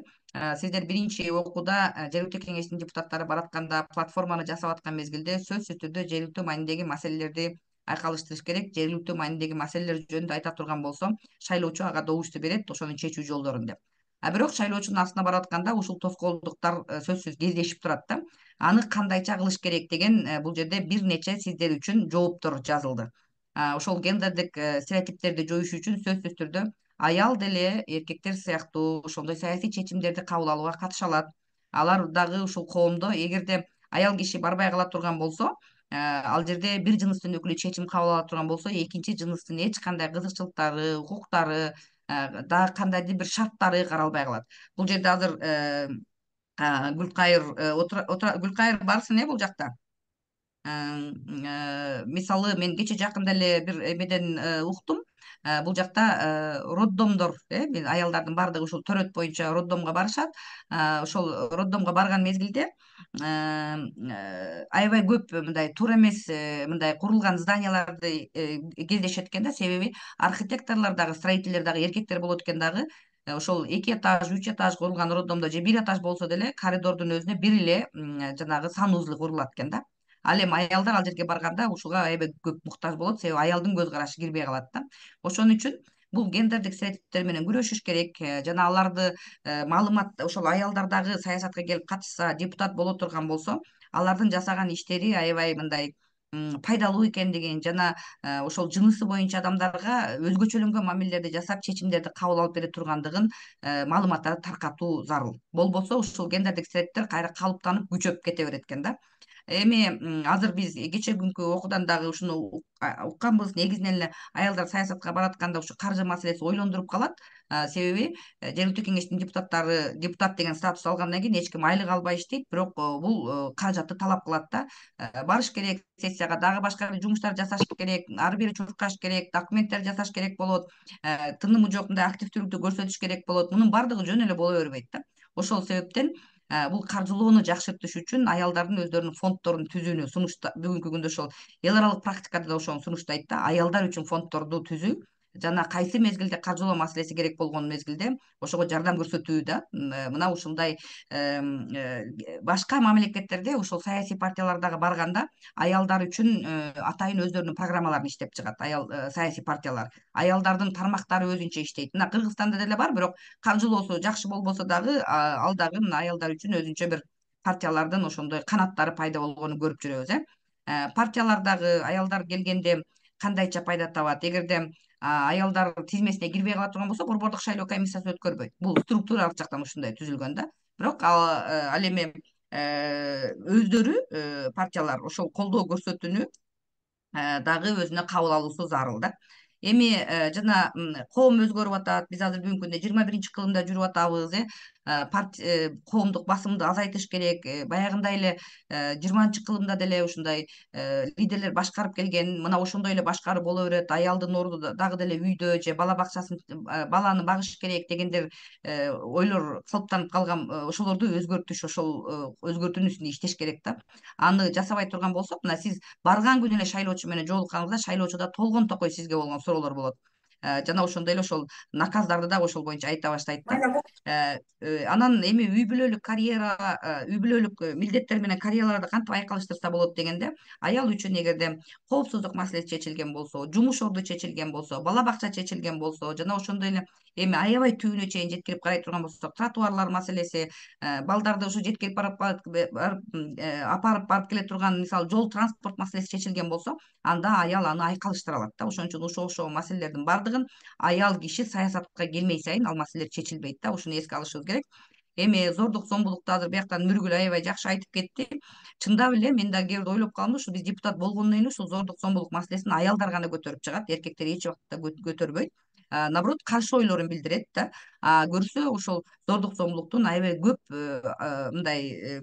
Speaker 1: сиздер биринчи окууда жергиликтүү кеңештин депутаттары баратканда платформаны жасап аткан мезгилде сөзсүз түрдө жергиликтүү маанидеги маселелерди айкалыштырыш керек. Жергиликтүү маанидеги маселелер жөнүндө айта турган болсо, шайлоочу ага добушту берет, ошонун чечүү жолдорун деп. А бирок шайлоочунун астына барып атканда ушул тоскоолдуктар сөзсүз кездешип турат да. Аны кандайча кылыш керек деген бул жерде бир нече сиздер үчүн жооптор жазылды. Ошол гендердик стереотиптерди жоюш үчүн сөзсүз түрдө аял деле эркектер сыяктуу ошондой саясий чечимдерди кабыл алууга катыша алат. Алар дагы ушул коомдо эгерде аял киши барбай кала турган болсо, ал жерде бир жыныстын өкүлү чечим кабыл ала турган болсо, экинчи жыныстын эч кандай кызыкчылыктары, укуктары, дагы кандайдыр бир шарттары каралбай калат. Бул жерде азыр Гүлкайыр Гүлкайыр барсың э бул жакта. Мисалы мен кече жакында эле бир эмеден уктум. Бул жакта роддомдор, э аялдардын баардыгы ушул төрөт боюнча роддомго барышат. Ошол роддомго барган мезгилде аябай көп мындай туура эмес мындай курулган зданияларды кездешет экен да. Себеби архитекторлор дагы, строительдер дагы эркектер болот экен дагы. Ошол эки этаж, үч этаж курулган роддомдо же бир этаж болсо деле коридордун өзүнө бир эле жанагы санузлы курулат экен да. Ал эми аялдар ал жерге барганда ушуга аябай көп муктаж болот, себеби аялдын көз карашы кирбей калат да. Ошон үчүн бул гендердик стереотиптер менен күрөшүш керек. Жана аларды маалымат ошол аялдар дагы саясатка келип катышса, депутат боло турган болсо, алардын жасаган иштери аябай мындай пайдалуу экендигин жана ошол жынысы боюнча адамдарга өзгөчөлөнгөн мамилелерди жасап, чечимдерди кабыл алып бере тургандыгын маалыматтарды таркатуу зарыл. Болбосо ушул гендердик стереотиптер кайра калыптанып күчөп кете берет экен да. Эми азыр биз кече күнкү окуудан дагы ушуну укканбыз. Негизинен эле аялдар саясатка баратканда ушу каржы маселеси ойлондуруп калат. Себеби жергиликтүү кеңештин депутаттары депутат деген статус алгандан кийин эч ким айлык албай иштейт, бирок бул каражатты талап кылат да. Барыш керек сессияга, дагы башка бир жумуштар жасаш керек, ары бери чуркаш керек, документтер жасаш керек болот, тынымы жок мындай активдүүлүктү көрсөтүш керек болот. Мунун баардыгы жөн эле боло бербейт да. Ошол себептен бул каржылоону жакшыртыш үчүн аялдардын өздөрүнүн фонддорун түзүүнү сунуштап бүгүнкү күндө ошол эл аралык практикада да ошону сунуштайт да. Аялдар үчүн фонддорду түзүү жана кайсы мезгилде каржылоо маселеси керек болгон мезгилде ошого жардам көрсөтүү да. Мына ушундай башка мамлекеттерде ушул саясий партиялардагы барганда аялдар үчүн атайын өздөрүнүн программаларын иштеп чыгат аял саясий партиялар. Аялдардын тармактары өзүнчө иштейт. Мына Кыргызстанда деле бар, бирок каржылоосу жакшы болбосо дагы ал дагы мына аялдар үчүн өзүнчө бир партиялардын ошондой канаттары пайда болгонун көрүп жүрөбүз. Э партиялардагы аялдар келгенде кандайча пайда табат? Эгерде аялдар тизмесине кирбей кала турган болсо, борбордук шайлоо комиссиясы өткөрбөйт. Бул структуралык жактан ушундай түзүлгөн да. Бирок ал эми өздөрү партиялар ошол колдоо көрсөтүүнү дагы өзүнө кабыл алуусу зарыл да. Эми жана коом өзгөрүп атат. Биз азыр бүгүнкү күндө жыйырма биринчи кылымда жүрүп атабыз. э коомдук басымды азайтыш керек. Баягындай эле жыйырманчы кылымда деле ушундай лидерлер башкарып келген. Мына ошондой эле башкаруу боло берет. Аялдын орду дагы деле үйдө же бала бакчасын баланы багыш керек дегендер ойлор калыптанып калган. Ошолорду өзгөртүш, ошол өзгөртүүнүн үстүндө иштеш керек да. Аны жасабай турган болсок, мына сиз барган күнү эле шайлоочу менен жолукканыңызда шайлоочуда толгон токой сизге болгон суроолор болот. Жана ошондой эле ошол наказдарды да ошол боюнча айта баштайт да. Анан эми үй бүлөлүк карьера, үй бүлөлүк милдеттер менен карьераларды кантип айкалыштырса болот дегенде, аял үчүн эгерде коопсуздук маселеси чечилген болсо, жумуш орду чечилген болсо, бала бакча чечилген болсо, жана ошондой эле эми аябай түбүнө чейин жеткирип карай турган болсок, тротуарлар маселеси, балдарды ушу жеткирип барып апарып барып келе турган мисалы жол транспорт маселеси чечилген болсо, анда аял аны айкалыштыра алат да. Ошон үчүн ошол ошол маселелердин бардыгын аял киши саясатка келмей сайын ал маселелер чечилбейт да. Ушуну эске алышыбыз керек. Эми зордук зомбулукту азыр бияктан Нургүл аябай жакшы айтып кетти. Чындап эле мен да кээ бирде ойлоп калдым, ушу биз депутат болгондон кийин ушул зордук зомбулук маселесин аялдар гана көтөрүп чыгат, эркектер эч убакта көтөрбөйт. Наоборот, каршы ойлорун билдирет да. Көрсө ошол зордук зомбулуктун аябай көп мындай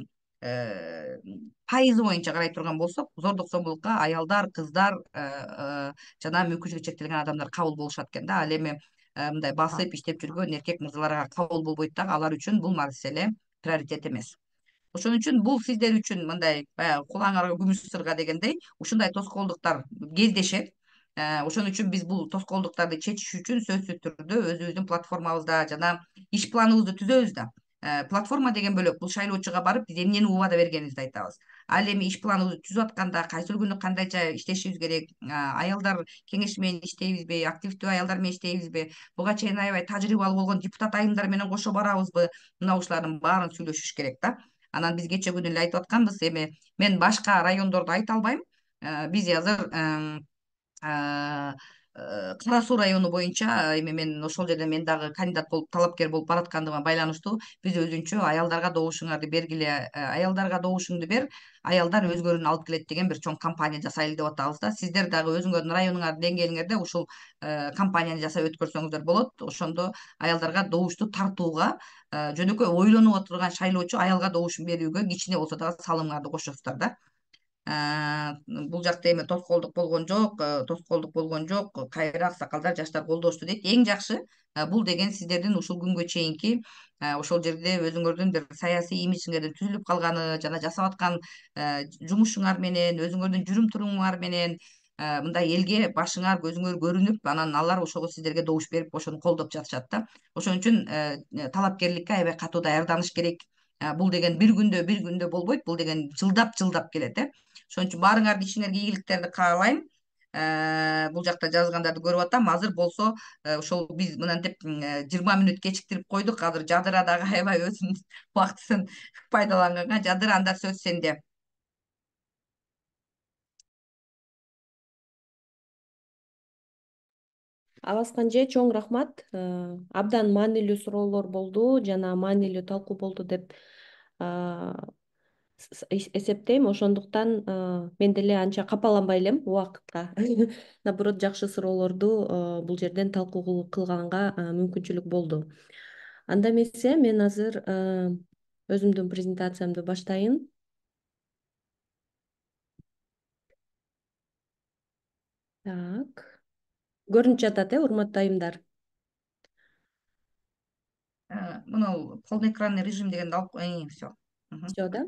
Speaker 1: пайызы боюнча карай турган болсок, зордук зомбулукка аялдар, кыздар жана мүмкүнчүлүгү чектелген адамдар кабыл болушат экен да. Ал эми мындай басып иштеп жүргөн эркек мырзаларга кабыл болбойт дагы. Алар үчүн бул маселе приоритет эмес. Ошон үчүн бул сиздер үчүн мындай баягы кулаңарга күмүш сырга дегендей ушундай тоскоолдуктар кездешет. Ошон үчүн биз бул тоскоолдуктарды чечиш үчүн сөзсүз түрдө өзүбүздүн платформабызда жана иш планыбызды түзөбүз да. Платформа деген бөлөк, бул шайлоочуга барып биз эмнени убада бергенибизди айтабыз. Ал эми иш планыбызды түзүп атканда кайсыл күнү кандайча иштешибиз керек, аялдар кеңеши менен иштейбизби, активдүү аялдар менен иштейбизби, буга чейин аябай тажрыйбалуу болгон депутат айымдар менен кошо барабызбы, мына ушулардын баарын сүйлөшүш керек да. Анан биз кече күнү эле айтып атканбыз, эми мен башка райондорду айта албайм. Биз азыр Кара Суу району боюнча эми мен ошол жерде мен дагы кандидат болуп, талапкер болуп бараткандыгыма байланыштуу биз өзүнчө аялдарга добушуңарды бергиле, аялдарга добушуңду бер, аялдар өзгөрүүнү алып келет деген бир чоң кампания жасайлы деп атабыз да. Сиздер дагы өзүңөрдүн районуңардын деңгээлиңерде ушул кампанияны жасап өткөрсөңүздөр болот. Ошондо аялдарга добушту тартууга, жөнөкөй ойлонуп отурган шайлоочу аялга добушун берүүгө кичине болсо дагы салымыңарды кошосуздар да. Бул жакта эми тоскоолдук болгон жок, тоскоолдук болгон жок, кайра аксакалдар, жаштар колдошту дейт. Эң жакшы бул деген сиздердин ушул күнгө чейинки ошол жерде өзүңөрдүн бир саясий имиджиңердин түзүлүп калганы жана жасап аткан жумушуңар менен, өзүңөрдүн жүрүм турумуңар менен мындай элге башыңар, көзүңөр көрүнүп, анан алар ошого сиздерге добуш берип, ошону колдоп жатышат да. Ошон үчүн талапкерликке аябай катуу даярданыш керек. Бул деген бир күндө бир күндө болбойт, бул деген жылдап жылдап келет э. Ошон үчүн баарыңардын ишиңерге ийгиликтерди каалайм. Бул жакта жазгандарды көрүп атам. Азыр болсо ошол биз мынантип жыйырма мүнөт кечиктирип койдук. Азыр Жадыра дагы аябай өзүнүн убактысын пайдаланганга. Жадыра, анда сөз сенде.
Speaker 2: Абаскан же чоң рахмат. Абдан маанилүү суроолор болду жана маанилүү талкуу болду деп эсептейм. Ошондуктан мен деле анча капаланбай элем убакытка. Наоборот, жакшы суроолорду бул жерден талкуу кылганга мүмкүнчүлүк болду. Анда эмесе мен азыр өзүмдүн презентациямды баштайын. Так. Көрүнүп жатат э, урматтуу айымдар?
Speaker 1: Мына полноэкранный режим дегенди алып, всё.
Speaker 2: Всё да?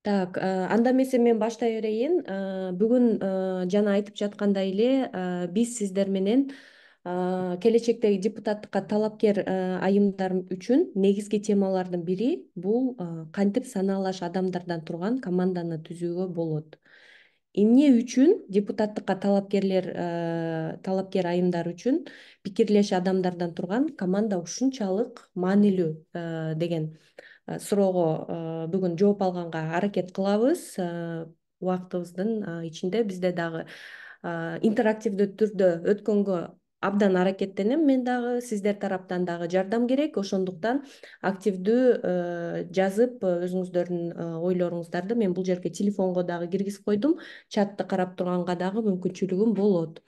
Speaker 2: Так, анда эмесе мен баштай берейин. Бүгүн жана айтып жаткандай эле биз сиздер менен келечектеги депутаттыкка талапкер айымдар үчүн негизги темалардын бири бул кантип санаалаш адамдардан турган команданы түзүүгө болот. Эмне үчүн депутаттыкка талапкерлер талапкер айымдар үчүн пикирлеш адамдардан турган команда ушунчалык маанилүү деген суроого бүгүн жооп алганга аракет кылабыз. Убактыбыздын ичинде бизде дагы интерактивдүү түрдө өткөнгө абдан аракеттенем мен дагы, сиздер тараптан дагы жардам керек. Ошондуктан активдүү жазып өзүңүздөрдүн ойлоруңуздарды мен бул жерге телефонго дагы киргизип койдум. Чатты карап турганга дагы мүмкүнчүлүгүм болот.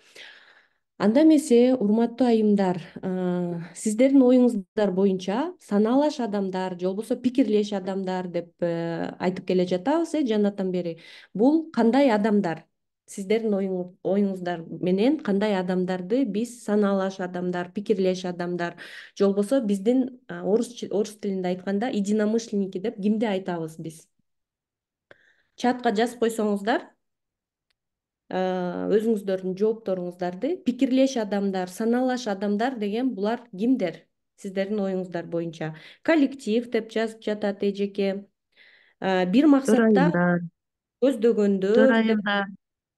Speaker 2: Анда эмесе, урматтуу айымдар, сиздердин оюңуздар боюнча санаалаш адамдар же болбосо пикирлеш адамдар деп айтып келе жатабыз э жанатан бери. Бул кандай адамдар? Сиздердин оюңуздар менен кандай адамдарды биз санаалаш адамдар, пикирлеш адамдар же болбосо биздин орус орус тилинде айтканда единомышленники деп кимди айтабыз биз? Чатка жазып койсоңуздар, өзүңүздөрдүн жоопторуңуздарды, пикирлеш адамдар, санаалаш адамдар деген булар кимдер? Сиздердин оюңуздар боюнча. Коллектив деп жазып жатат эжеке. Бир максатта көздөгөндөр деп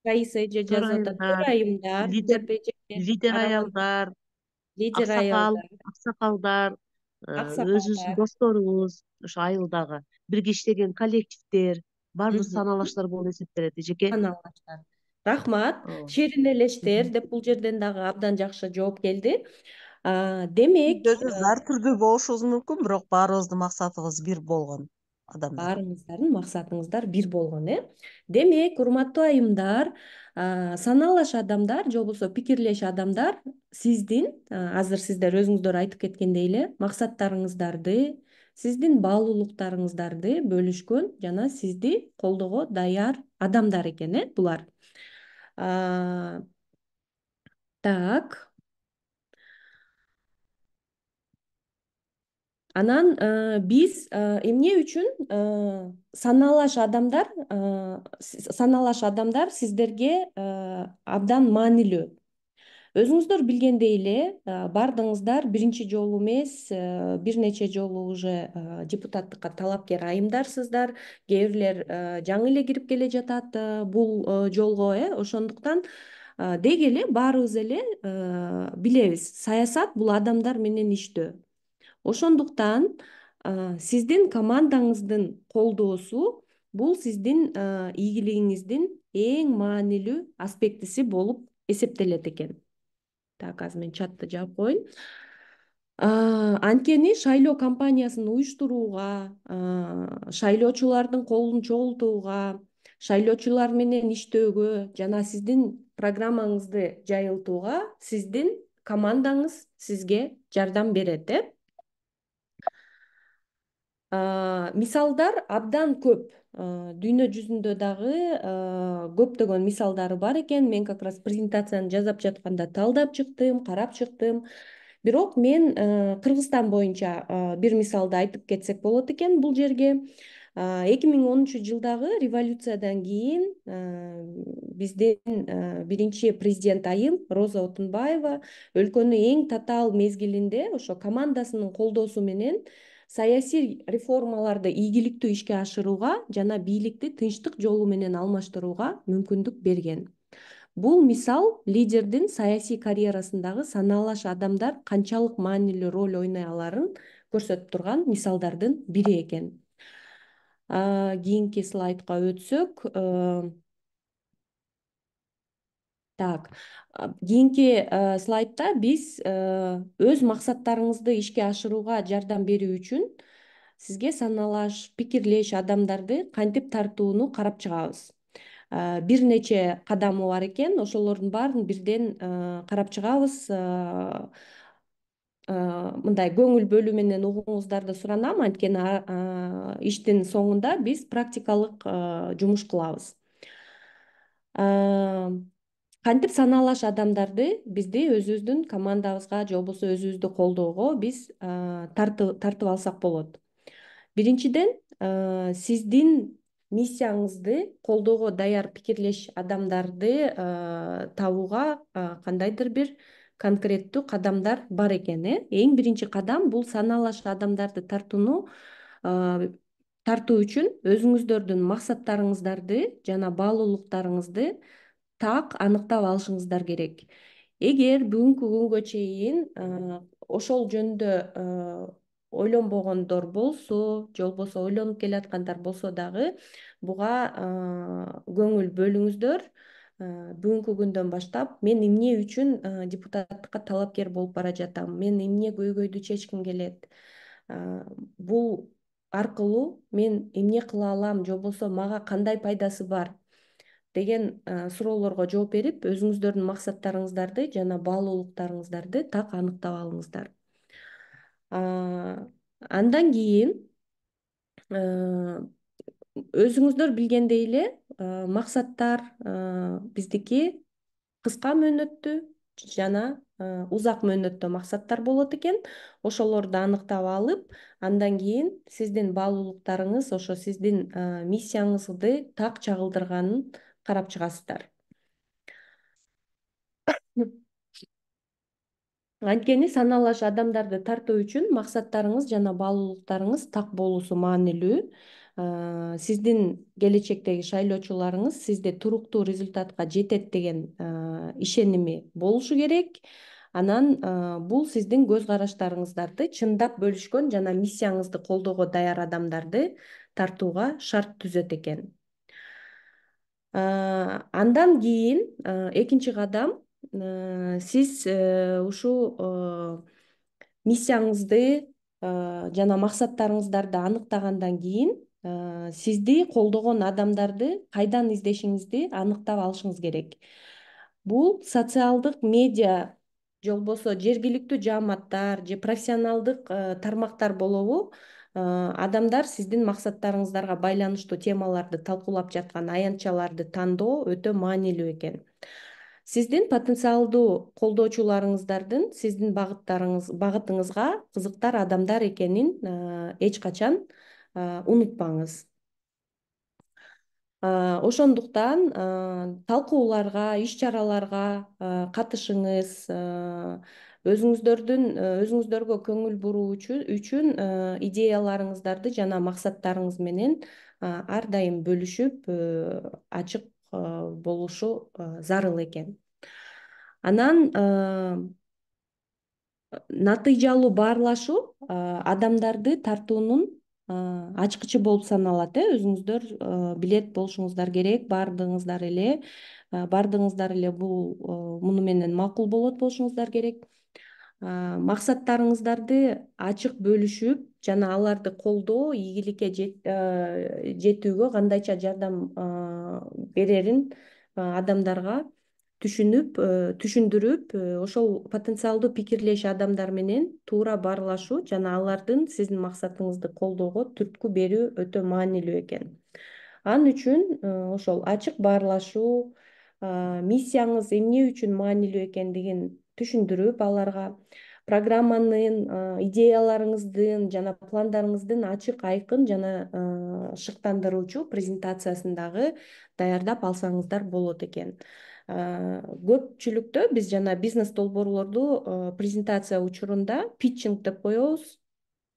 Speaker 2: Раиса эже жазып атат. Төрайымдар деп эжеке.
Speaker 3: Лидер аялдар,
Speaker 2: Лидер
Speaker 3: аксакал,
Speaker 2: аялдар,
Speaker 3: аксакалдар, өзүбүздүн
Speaker 2: аксакалдар.
Speaker 3: досторубуз, ошо айылдагы бирге иштеген коллективдер, баардыгы санаалаштар болуп эсептелет эжеке.
Speaker 2: Санаалаштар. Рахмат.
Speaker 3: Ооба.
Speaker 2: Шеринелештер деп бул жерден дагы абдан жакшы жооп келди. Демек,
Speaker 3: Өзүбүз ар түрдүү болушубуз мүмкүн, бирок баарыбыздын максатыбыз бир болгон адамдар.
Speaker 2: баарыңыздардын максатыңыздар бир болгон, э? Демек, урматтуу айымдар, санаалаш адамдар же болбосо пикирлеш адамдар сиздин, азыр сиздер өзүңүздөр айтып кеткендей эле, максаттарыңыздарды, сиздин баалуулуктарыңыздарды бөлүшкөн жана сизди колдоого даяр адамдар экен, э, булар. Так. Анан биз эмне үчүн санаалаш адамдар санаалаш адамдар сиздерге абдан маанилүү. Өзүңүздөр билгендей эле, баардыгыңыздар биринчи жолу эмес, бир нече жолу уже депутаттыкка талапкер айымдарсыздар. Кээ бирлер жаңы эле кирип келе жатат бул жолго, э. Ошондуктан деги эле баарыбыз эле билебиз, саясат бул адамдар менен иштөө. Ошондуктан сиздин командаңыздын колдоосу бул сиздин ийгилигиңиздин эң маанилүү аспектиси болуп эсептелет экен. Так, азыр мен чатты жаап коеюн. Анткени шайлоо кампаниясын уюштурууга, шайлоочулардын колун чогултууга, шайлоочулар менен иштөөгө жана сиздин программаңызды жайылтууга сиздин командаңыз сизге жардам берет, э? Мисалдар абдан көп. Дүйнө жүзүндө дагы көптөгөн мисалдары бар экен. Мен как раз презентацияны жасап жатканда талдап чыктым, карап чыктым. Бирок мен Кыргызстан боюнча бир мисалды айтып кетсек болот экен бул жерге. эки миң онунчу жылдагы революциядан кийин биздин биринчи президент айым Роза Отунбаева өлкөнү эң татаал мезгилинде ошо командасынын колдоосу менен саясий реформаларды ийгиликтүү ишке ашырууга жана бийликти тынчтык жолу менен алмаштырууга мүмкүндүк берген. Бул мисал лидердин саясий карьерасындагы санаалаш адамдар канчалык маанилүү роль ойной аларын көрсөтүп турган мисалдардын бири экен. Кийинки слайдка өтсөк, так, кийинки слайдта биз өз максаттарыңызды ишке ашырууга жардам берүү үчүн сизге санаалаш, пикирлеш адамдарды кантип тартууну карап чыгабыз. Бир нече кадамы бар экен, ошолордун баарын бирден карап чыгабыз. Мындай көңүл бөлүү менен угууңуздарды суранам, анткени иштин соңунда биз практикалык жумуш кылабыз. Кантип санаалаш адамдарды бизди өзүбүздүн командабызга же болбосо өзүбүздү колдоого биз тартып алсак болот. Биринчиден, сиздин миссияңызды колдоого даяр пикирлеш адамдарды табууга кандайдыр бир конкреттүү кадамдар бар экен. э Эң биринчи кадам бул санаалаш адамдарды тартууну тартуу үчүн өзүңүздөрдүн максаттарыңыздарды жана баалуулуктарыңызды так аныктап алышыңыздар керек. Эгер бүгүнкү күнгө чейин ошол жөнүндө ойлонбогондор болсо, же болбосо ойлонуп келаткандар болсо дагы буга көңүл бөлүңүздөр. Бүгүнкү күндөн баштап мен эмне үчүн депутаттыкка талапкер болуп бара жатам, мен эмне көйгөйдү чечким келет, бул аркылуу мен эмне кыла алам, же болбосо мага кандай пайдасы бар деген суроолорго жооп берип, өзүңүздөрдүн максаттарыңыздарды жана баалуулуктарыңыздарды так аныктап алыңыздар. Андан кийин өзүңүздөр билгендей эле максаттар биздики кыска мөөнөттүү жана узак мөөнөттүү максаттар болот экен. Ошолорду аныктап алып, андан кийин сиздин баалуулуктарыңыз ошо сиздин миссияңызды так чагылдырганын карап чыгасыздар. Анткени санаалаш адамдарды тартуу үчүн максаттарыңыз жана баалуулуктарыңыз так болуусу маанилүү. Сиздин келечектеги шайлоочуларыңыз сизде туруктуу результатка жетет деген ишеними болушу керек. Анан бул сиздин көз караштарыңыздарды чындап бөлүшкөн жана миссияңызды колдоого даяр адамдарды тартууга шарт түзөт экен. Андан кийин экинчи кадам, сиз ушул миссияңызды жана максаттарыңыздарды аныктагандан кийин сизди колдогон адамдарды кайдан издешиңизди аныктап алышыңыз керек. Бул социалдык медиа же болбосо жергиликтүү жааматтар же профессионалдык тармактар болобу, адамдар сиздин максаттарыңыздарга байланыштуу темаларды талкуулап жаткан аянтчаларды тандоо өтө маанилүү экен. Сиздин потенциалдуу колдоочуларыңыздардын сиздин багыттарыңыз багытыңызга кызыктар адамдар экенин эч качан унутпаңыз. Ошондуктан талкууларга, иш-чараларга катышыңыз, өзүңүздөрдүн өзүңүздөргө көңүл буруу үчүн идеяларыңыздарды жана максаттарыңыз менен ар дайым бөлүшүп, ачык болушу зарыл экен. Анан натыйжалуу баарлашуу адамдарды тартуунун ачкычы болуп саналат. э Өзүңүздөр билет болушуңуздар керек, баардыгыңыздар эле баардыгыңыздар эле бул муну менен макул болот болушуңуздар керек. Максаттарыңыздарды ачык бөлүшүп жана аларды колдоо, ийгиликке жетүүгө кандайча жардам берерин адамдарга түшүнүп, түшүндүрүп, ошол потенциалдуу пикирлеш адамдар менен туура баарлашуу жана алардын сиздин максатыңызды колдоого түрткү берүү өтө маанилүү экен. Ал үчүн ошол ачык баарлашуу, миссияңыз эмне үчүн маанилүү экендигин түшүндүрүп, аларга программанын, идеяларыңыздын жана пландарыңыздын ачык, айкын жана шыктандыруучу презентациясын дагы даярдап алсаңыздар болот экен. Көпчүлүктө биз жана бизнес долбоорлорду презентация учурунда питчинг деп коебуз.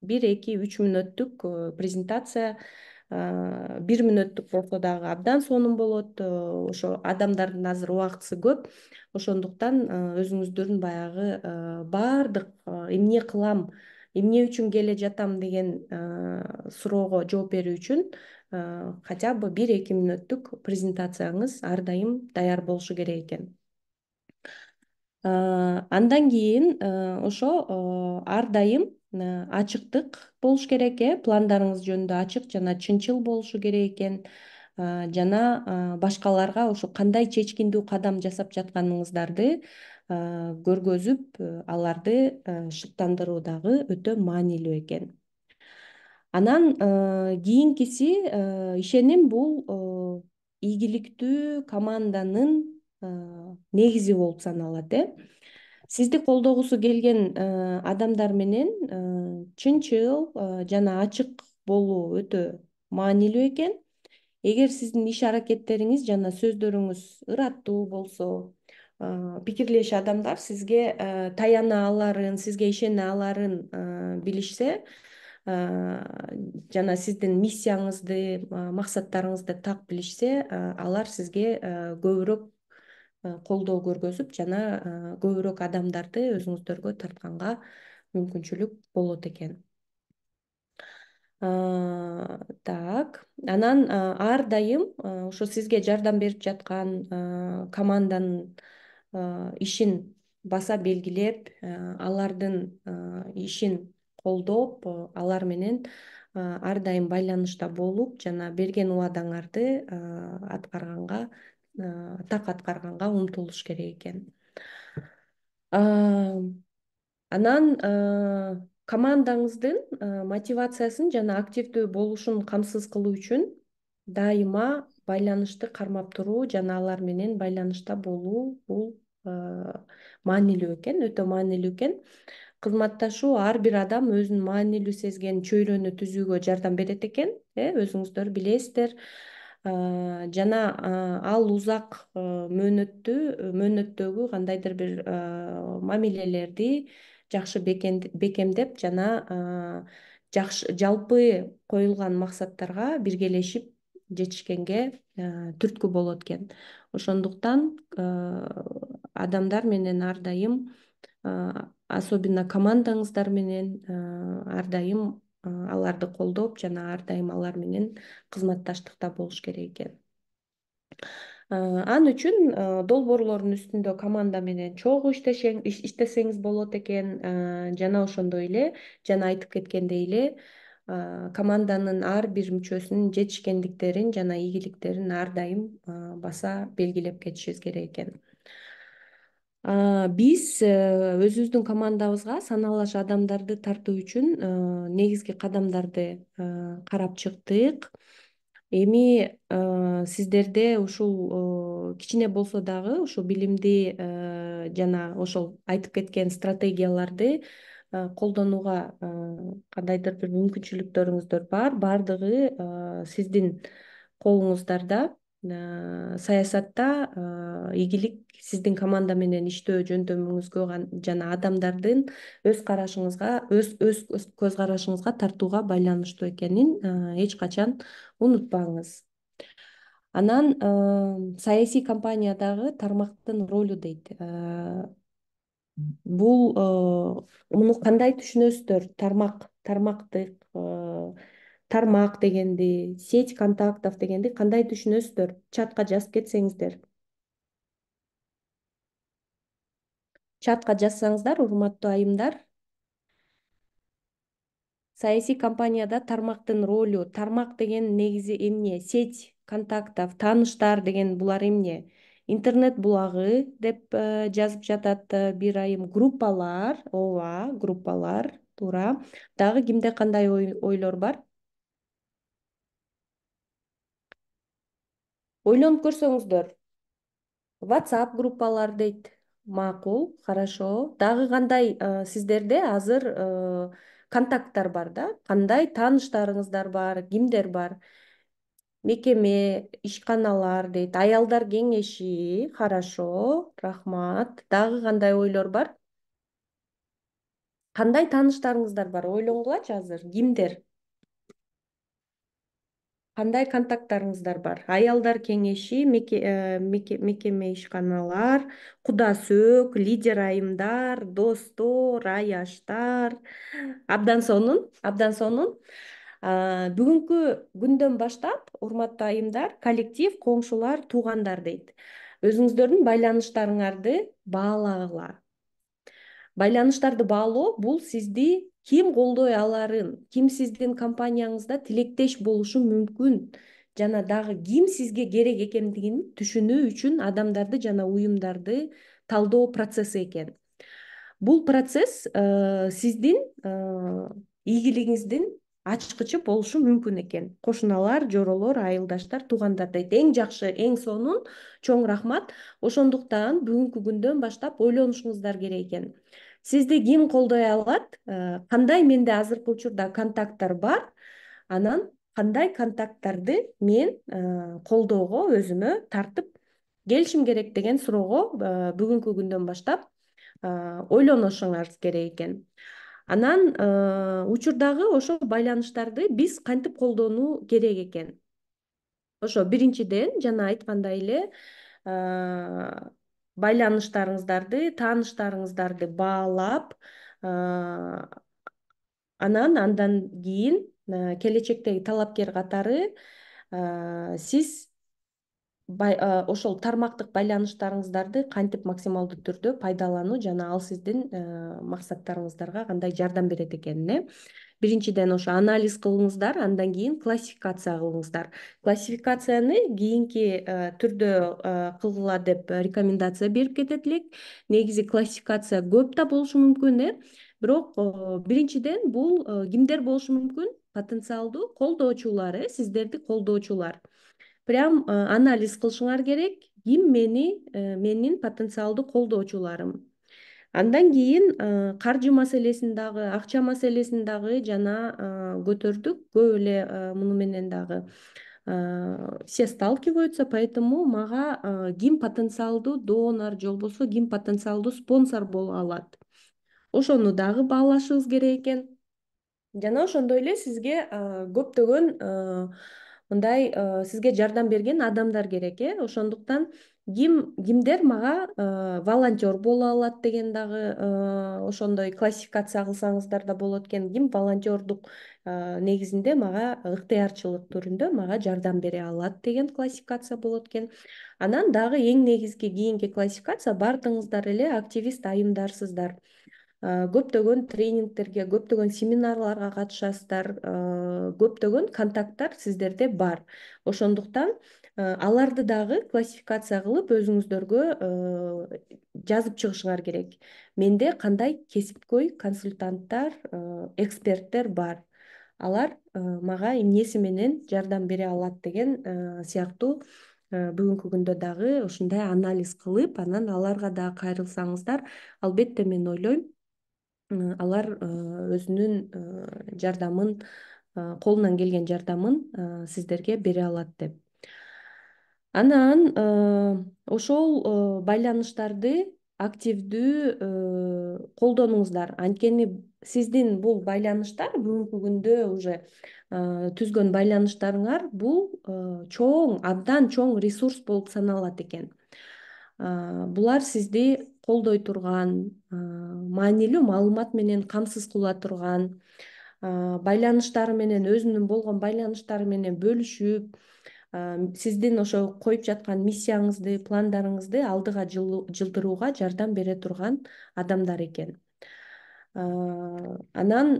Speaker 2: бир, эки, үч мүнөттүк презентация, бир мүнөттүк болсо дагы абдан сонун болот. Ошо адамдардын азыр убактысы көп. Ошондуктан өзүңүздөрдүн баягы баардык эмне кылам, эмне үчүн келе жатам деген суроого жооп берүү үчүн хотя бы бир, эки мүнөттүк презентацияңыз ар дайым даяр болушу керек экен. Андан кийин ошо ар дайым ачыктык болуш керек, э пландарыңыз жөнүндө ачык жана чынчыл болушу керек экен. Жана башкаларга ошо кандай чечкиндүү кадам жасап жатканыңыздарды көргөзүп, аларды шыктандыруу дагы өтө маанилүү экен. Анан кийинкиси, ишеним бул ийгиликтүү команданын негизи болуп саналат. э Сизди колдогусу келген адамдар менен чынчыл жана ачык болуу өтө маанилүү экен. Эгер сиздин иш аракеттериңиз жана сөздөрүңүз ыраттуу болсо, пикирлеши адамдар сизге таяна аларын, сизге ишене аларын билишсе, жана сиздин миссияңызды, максаттарыңызды так билишсе, алар сизге көбүрөөк колдоо көргөзүп жана көбүрөөк адамдарды өзүңүздөргө тартканга мүмкүнчүлүк болот экен. Так, анан ар дайым ошо сизге жардам берип жаткан команданын ишин баса белгилеп, алардын ишин колдоп, алар менен ар дайым байланышта болуп жана берген убадаңарды аткарганга, так аткарганга умтулуш керек экен. Анан командаңыздын мотивациясын жана активдүү болушун камсыз кылуу үчүн дайыма байланышты кармап туруу жана алар менен байланышта болуу бул маанилүү экен, өтө маанилүү экен. Кызматташуу ар бир адам өзүн маанилүү сезген чөйрөнү түзүүгө жардам берет экен, өзүңүздөр билесиздер. Жана ал узак мөөнөттүү мөөнөттөгү кандайдыр бир мамилелерди жакшы бекемдеп жана жакшы жалпы коюлган максаттарга биргелешип жетишкенге түрткү болот экен. Ошондуктан адамдар менен ар дайым, особенно командаңыздар менен ар дайым аларды колдоп жана ар дайым алар менен кызматташтыкта болуш керек экен. Ал үчүн долбоорлордун үстүндө команда менен чогуу иштесеңиз болот экен, жана ошондой эле жана айтып кеткендей эле команданын ар бир мүчөсүнүн жетишкендиктерин жана ийгиликтерин ар дайым баса белгилеп кетишибиз керек экен. Биз өзүбүздүн командабызга саналаш адамдарды тартуу үчүн негизги кадамдарды карап чыктык. Эми сиздерде ушул кичине болсо дагы ушул билимди жана ошол айтып кеткен стратегияларды колдонууга кандайдыр бир мүмкүнчүлүктөрүңүздөр бар. Бардыгы сиздин колуңуздарда. Саясатта ийгилик сиздин команда менен иштөө жөндөмүңүзгө жана адамдардын өз карашыңызга, өз өз көз карашыңызга тартууга байланыштуу экенин эч качан унутпаңыз. Анан саясий компаниядагы тармактын ролу дейт. Бул муну кандай түшүнөсүздөр? Тармак, тармактык, тармак дегенди, сеть контактов дегенди кандай түшүнөсүздөр? Чатка жазып кетсеңиздер. Чатка жазсаңыздар, урматтуу айымдар. Саясий компанияда тармактын ролу, тармак деген негизи эмне? Сеть контактов, тааныштар деген булар эмне? Интернет булагы деп жазып жатат бир айым. Группалар, ооба, группалар, туура. Дагы кимде кандай ойлор бар? Ойлонуп көрсөңүздөр. WhatsApp группалар дейт. Макул, хорошо. Дагы кандай сиздерде азыр контакттар бар да? Кандай тааныштарыңыздар бар? Кимдер бар? Мекеме, ишканалар дейт. Аялдар кеңеши, хорошо, рахмат. Дагы кандай ойлор бар? Кандай тааныштарыңыздар бар? Ойлонгулачы азыр. Кимдер? Кандай контакттарыңыздар бар? Аялдар кеңеши, мекеме, ишканалар, куда сөөк, лидер айымдар, достор, аяштар. Абдан сонун, абдан сонун. Бүгүнкү күндөн баштап, урматтуу айымдар, коллектив, коңшулар, туугандар дейт. Өзүңүздөрдүн байланыштарыңарды баалагыла. Байланыштарды баалоо бул сизди ким колдой аларын, ким сиздин компанияңызда тилектеш болушу мүмкүн жана дагы ким сизге керек экендигин түшүнүү үчүн адамдарды жана уюмдарды талдоо процесси экен. Бул процесс сиздин ийгилигиңиздин ачкычы болушу мүмкүн экен. Кошуналар, жоролор, айылдаштар, туугандар дейт. Эң жакшы, эң сонун, чоң рахмат. Ошондуктан бүгүнкү күндөн баштап ойлонушуңуздар керек экен. Сизди ким колдой алат? Кандай менде азыркы учурда контакттар бар? Анан кандай контакттарды мен колдоого өзүмө тартып келишим керек деген суроого бүгүнкү күндөн баштап ойлонушуңарыңыз керек экен. Анан учурдагы ошол байланыштарды биз кантип колдонуу керек экен? Ошо биринчиден жана айткандай эле байланыштарыңыздарды, тааныштарыңыздарды баалап, анан андан кийин келечектеги талапкер катары сиз ошол тармактык байланыштарыңыздарды кантип максималдуу түрдө пайдалануу жана ал сиздин максаттарыңыздарга кандай жардам берет экенине биринчиден ошо анализ кылыңыздар, андан кийин классификация кылыңыздар. Классификацияны кийинки түрдө кылгыла деп рекомендация берип кетет элек. Негизи классификация көп да болушу мүмкүн, э бирок биринчиден бул кимдер болушу мүмкүн? Потенциалдуу колдоочулар, э сиздерди колдоочулар. Прям анализ кылышыңар керек. Ким мени, менин потенциалдуу колдоочуларым. Андан кийин каржы маселесин дагы, акча маселесин дагы жана көтөрдүк. Көп эле муну менен дагы все сталкиваются, поэтому мага ким потенциалдуу донор же болбосо ким потенциалдуу спонсор боло алат. Ошону дагы баалашыбыз керек экен. Жана ошондой эле сизге көптөгөн мындай сизге жардам берген адамдар керек, э ошондуктан ким кимдер мага волонтер боло алат деген дагы ошондой классификация кылсаңыздар да болот экен. Ким волонтердук негизинде мага ыктыярчылык түрүндө мага жардам бере алат деген классификация болот экен. Анан дагы эң негизги кийинки классификация баардыгыңыздар эле активист айымдарсыздар. Көптөгөн тренингтерге, көптөгөн семинарларга катышасыздар, көптөгөн контакттар сиздерде бар. Ошондуктан аларды дагы классификация кылып өзүңүздөргө жазып чыгышыңар керек. Менде кандай кесипкөй консультанттар, эксперттер бар. Алар мага эмнеси менен жардам бере алат деген сыяктуу бүгүнкү күндө дагы ушундай анализ кылып, анан аларга дагы кайрылсаңыздар, албетте мен ойлойм, алар өзүнүн жардамын, колунан келген жардамын сиздерге бере алат деп. Анан ошол байланыштарды активдүү колдонуңуздар. Анткени сиздин бул байланыштар бүгүнкү күндө уже түзгөн байланыштарыңар бул чоң, абдан чоң ресурс болуп саналат экен. Булар сизди колдой турган, маанилүү маалымат менен камсыз кыла турган, байланыштары менен өзүнүн болгон байланыштары менен бөлүшүп, сиздин ошо коюп жаткан миссияңызды, пландарыңызды алдыга жылдырууга жардам бере турган адамдар экен. Анан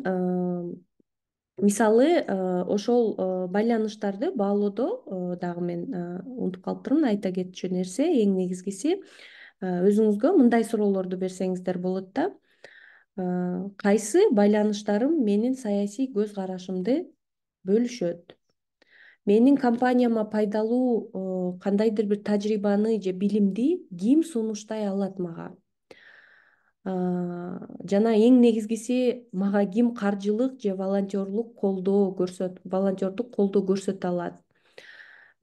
Speaker 2: мисалы ошол байланыштарды баалоодо дагы мен унутуп калыптырмын айта кетчү нерсе, эң негизгиси өзүңүзгө мындай суроолорду берсеңиздер болот да. Кайсы байланыштарым менин саясий көз карашымды бөлүшөт? Менин компанияма пайдалуу кандайдыр бир тажрыйбаны же билимди ким сунуштай алат мага? Жана эң негизгиси мага ким каржылык же волонтерлук колдоо көрсөт, волонтердук колдоо көрсөтө алат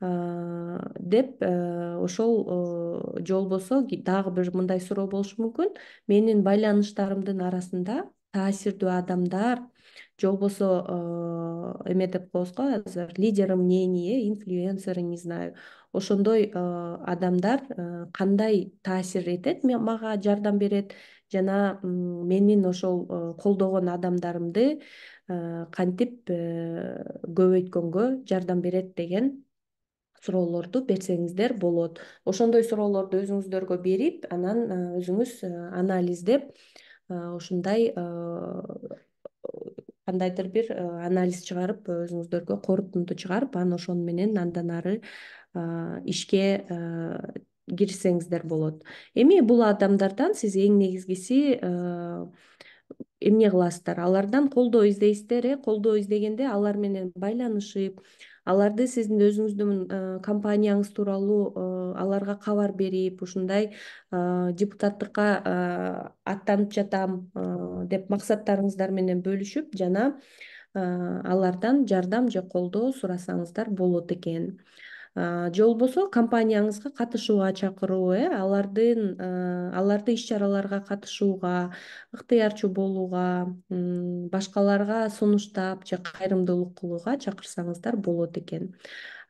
Speaker 2: деп ошол же болбосо дагы бир мындай суроо болушу мүмкүн. Менин байланыштарымдын арасында таасирдүү адамдар же болбосо эме деп коебуз го азыр лидеры мнений, инфлюенсеры, не знаю, ошондой адамдар кандай таасир этет, мага жардам берет жана менин ошол колдогон адамдарымды кантип көбөйткөнгө жардам берет деген суроолорду берсеңиздер болот. Ошондой суроолорду өзүңүздөргө берип, анан өзүңүз анализдеп, ушундай кандайдыр бир анализ чыгарып, өзүңүздөргө корутунду чыгарып, анан ошону менен андан ары ишке киришсеңиздер болот. Эми бул адамдардан сиз эң негизгиси эмне кыласыздар? Алардан колдоо издейсиздер, э колдоо издегенде алар менен байланышып, аларды сиздин өзүңүздүн компанияңыз тууралуу аларга кабар берип, ушундай депутаттыкка аттанып жатам деп максаттарыңыздар менен бөлүшүп, жана алардан жардам же колдоо сурасаңыздар болот экен. Же болбосо компанияңызга катышууга чакыруу, э алардын аларды иш чараларга катышууга, ыктыярчу болууга, башкаларга сунуштап же кайрымдуулук кылууга чакырсаңыздар болот экен.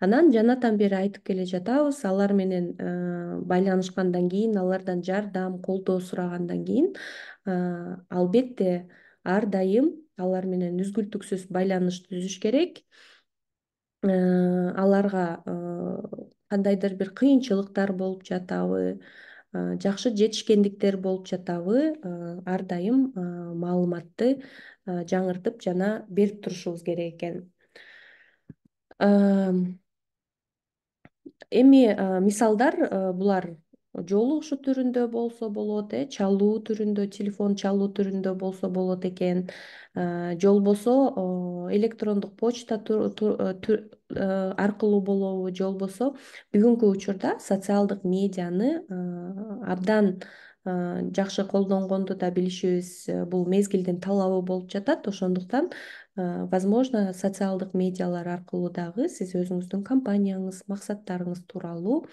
Speaker 2: Анан жанатан бери айтып келе жатабыз, алар менен байланышкандан кийин, алардан жардам, колдоо сурагандан кийин, албетте ар дайым алар менен үзгүлтүксүз байланыш түзүш керек. Аларга кандайдыр бир кыйынчылыктар болуп жатабы, жакшы жетишкендиктер болуп жатабы, ар дайым маалыматты жаңыртып жана берип турушубуз керек экен. Эми мисалдар булар жолугушуу түрүндө болсо болот, э чалуу түрүндө, телефон чалуу түрүндө болсо болот экен. Же болбосо электрондук почта аркылуу болобу, же болбосо бүгүнкү учурда социалдык медианы абдан жакшы колдонгонду да билишибиз. Бул мезгилдин талабы болуп жатат. Ошондуктан возможно социалдык медиалар аркылуу дагы сиз өзүңүздүн компанияңыз, максаттарыңыз тууралуу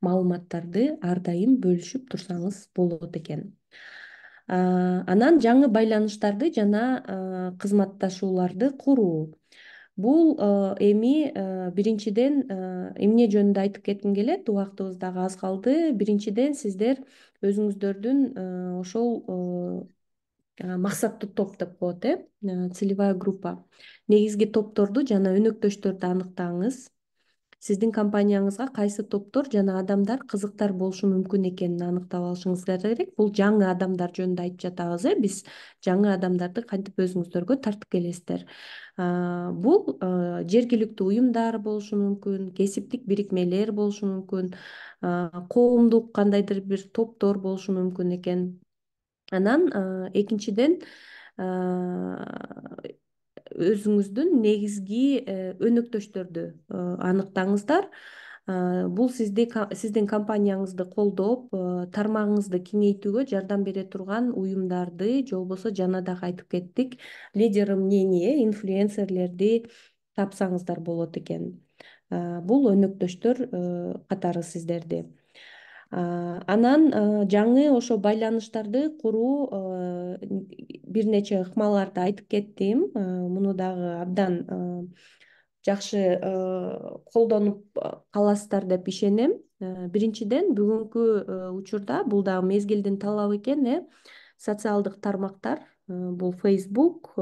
Speaker 2: маалыматтарды ар дайым бөлүшүп турсаңыз болот экен. Анан жаңы байланыштарды жана кызматташууларды куруу. Бул эми биринчиден эмне жөнүндө айтып кетким келет, убактыбыз дагы аз калды. Биринчиден сиздер өзүңүздөрдүн ошол максаттуу топ деп коет, э целевая группа. Негизги топторду жана өнөктөштөрдү аныктаңыз. Сиздин компанияңызга кайсы топтор жана адамдар кызыктар болушу мүмкүн экенин аныктап алышыңыздар керек. Бул жаңы адамдар жөнүндө айтып жатабыз, э биз жаңы адамдарды кантип өзүңүздөргө тартып келесиздер. Бул жергиликтүү уюмдар болушу мүмкүн, кесиптик бирикмелер болушу мүмкүн, коомдук кандайдыр бир топтор болушу мүмкүн экен. Анан экинчиден өзүңүздүн негизги өнөктөштөрдү аныктаңыздар. Бул сиздин компанияңызды колдоп, тармагыңызды кеңейтүүгө жардам бере турган уюмдарды, же болбосо жана дагы айтып кеттик, лидер мнения, инфлюенсерлерди тапсаңыздар болот экен. Бул өнөктөштөр катары сиздерди. Анан жаңы ошо байланыштарды куруу бир нече ыкмаларды айтып кеттим. Муну дагы абдан жакшы колдонуп каласыздар деп ишенем. Биринчиден бүгүнкү учурда бул дагы мезгилдин талабы экен, э социалдык тармактар. Бул Facebook,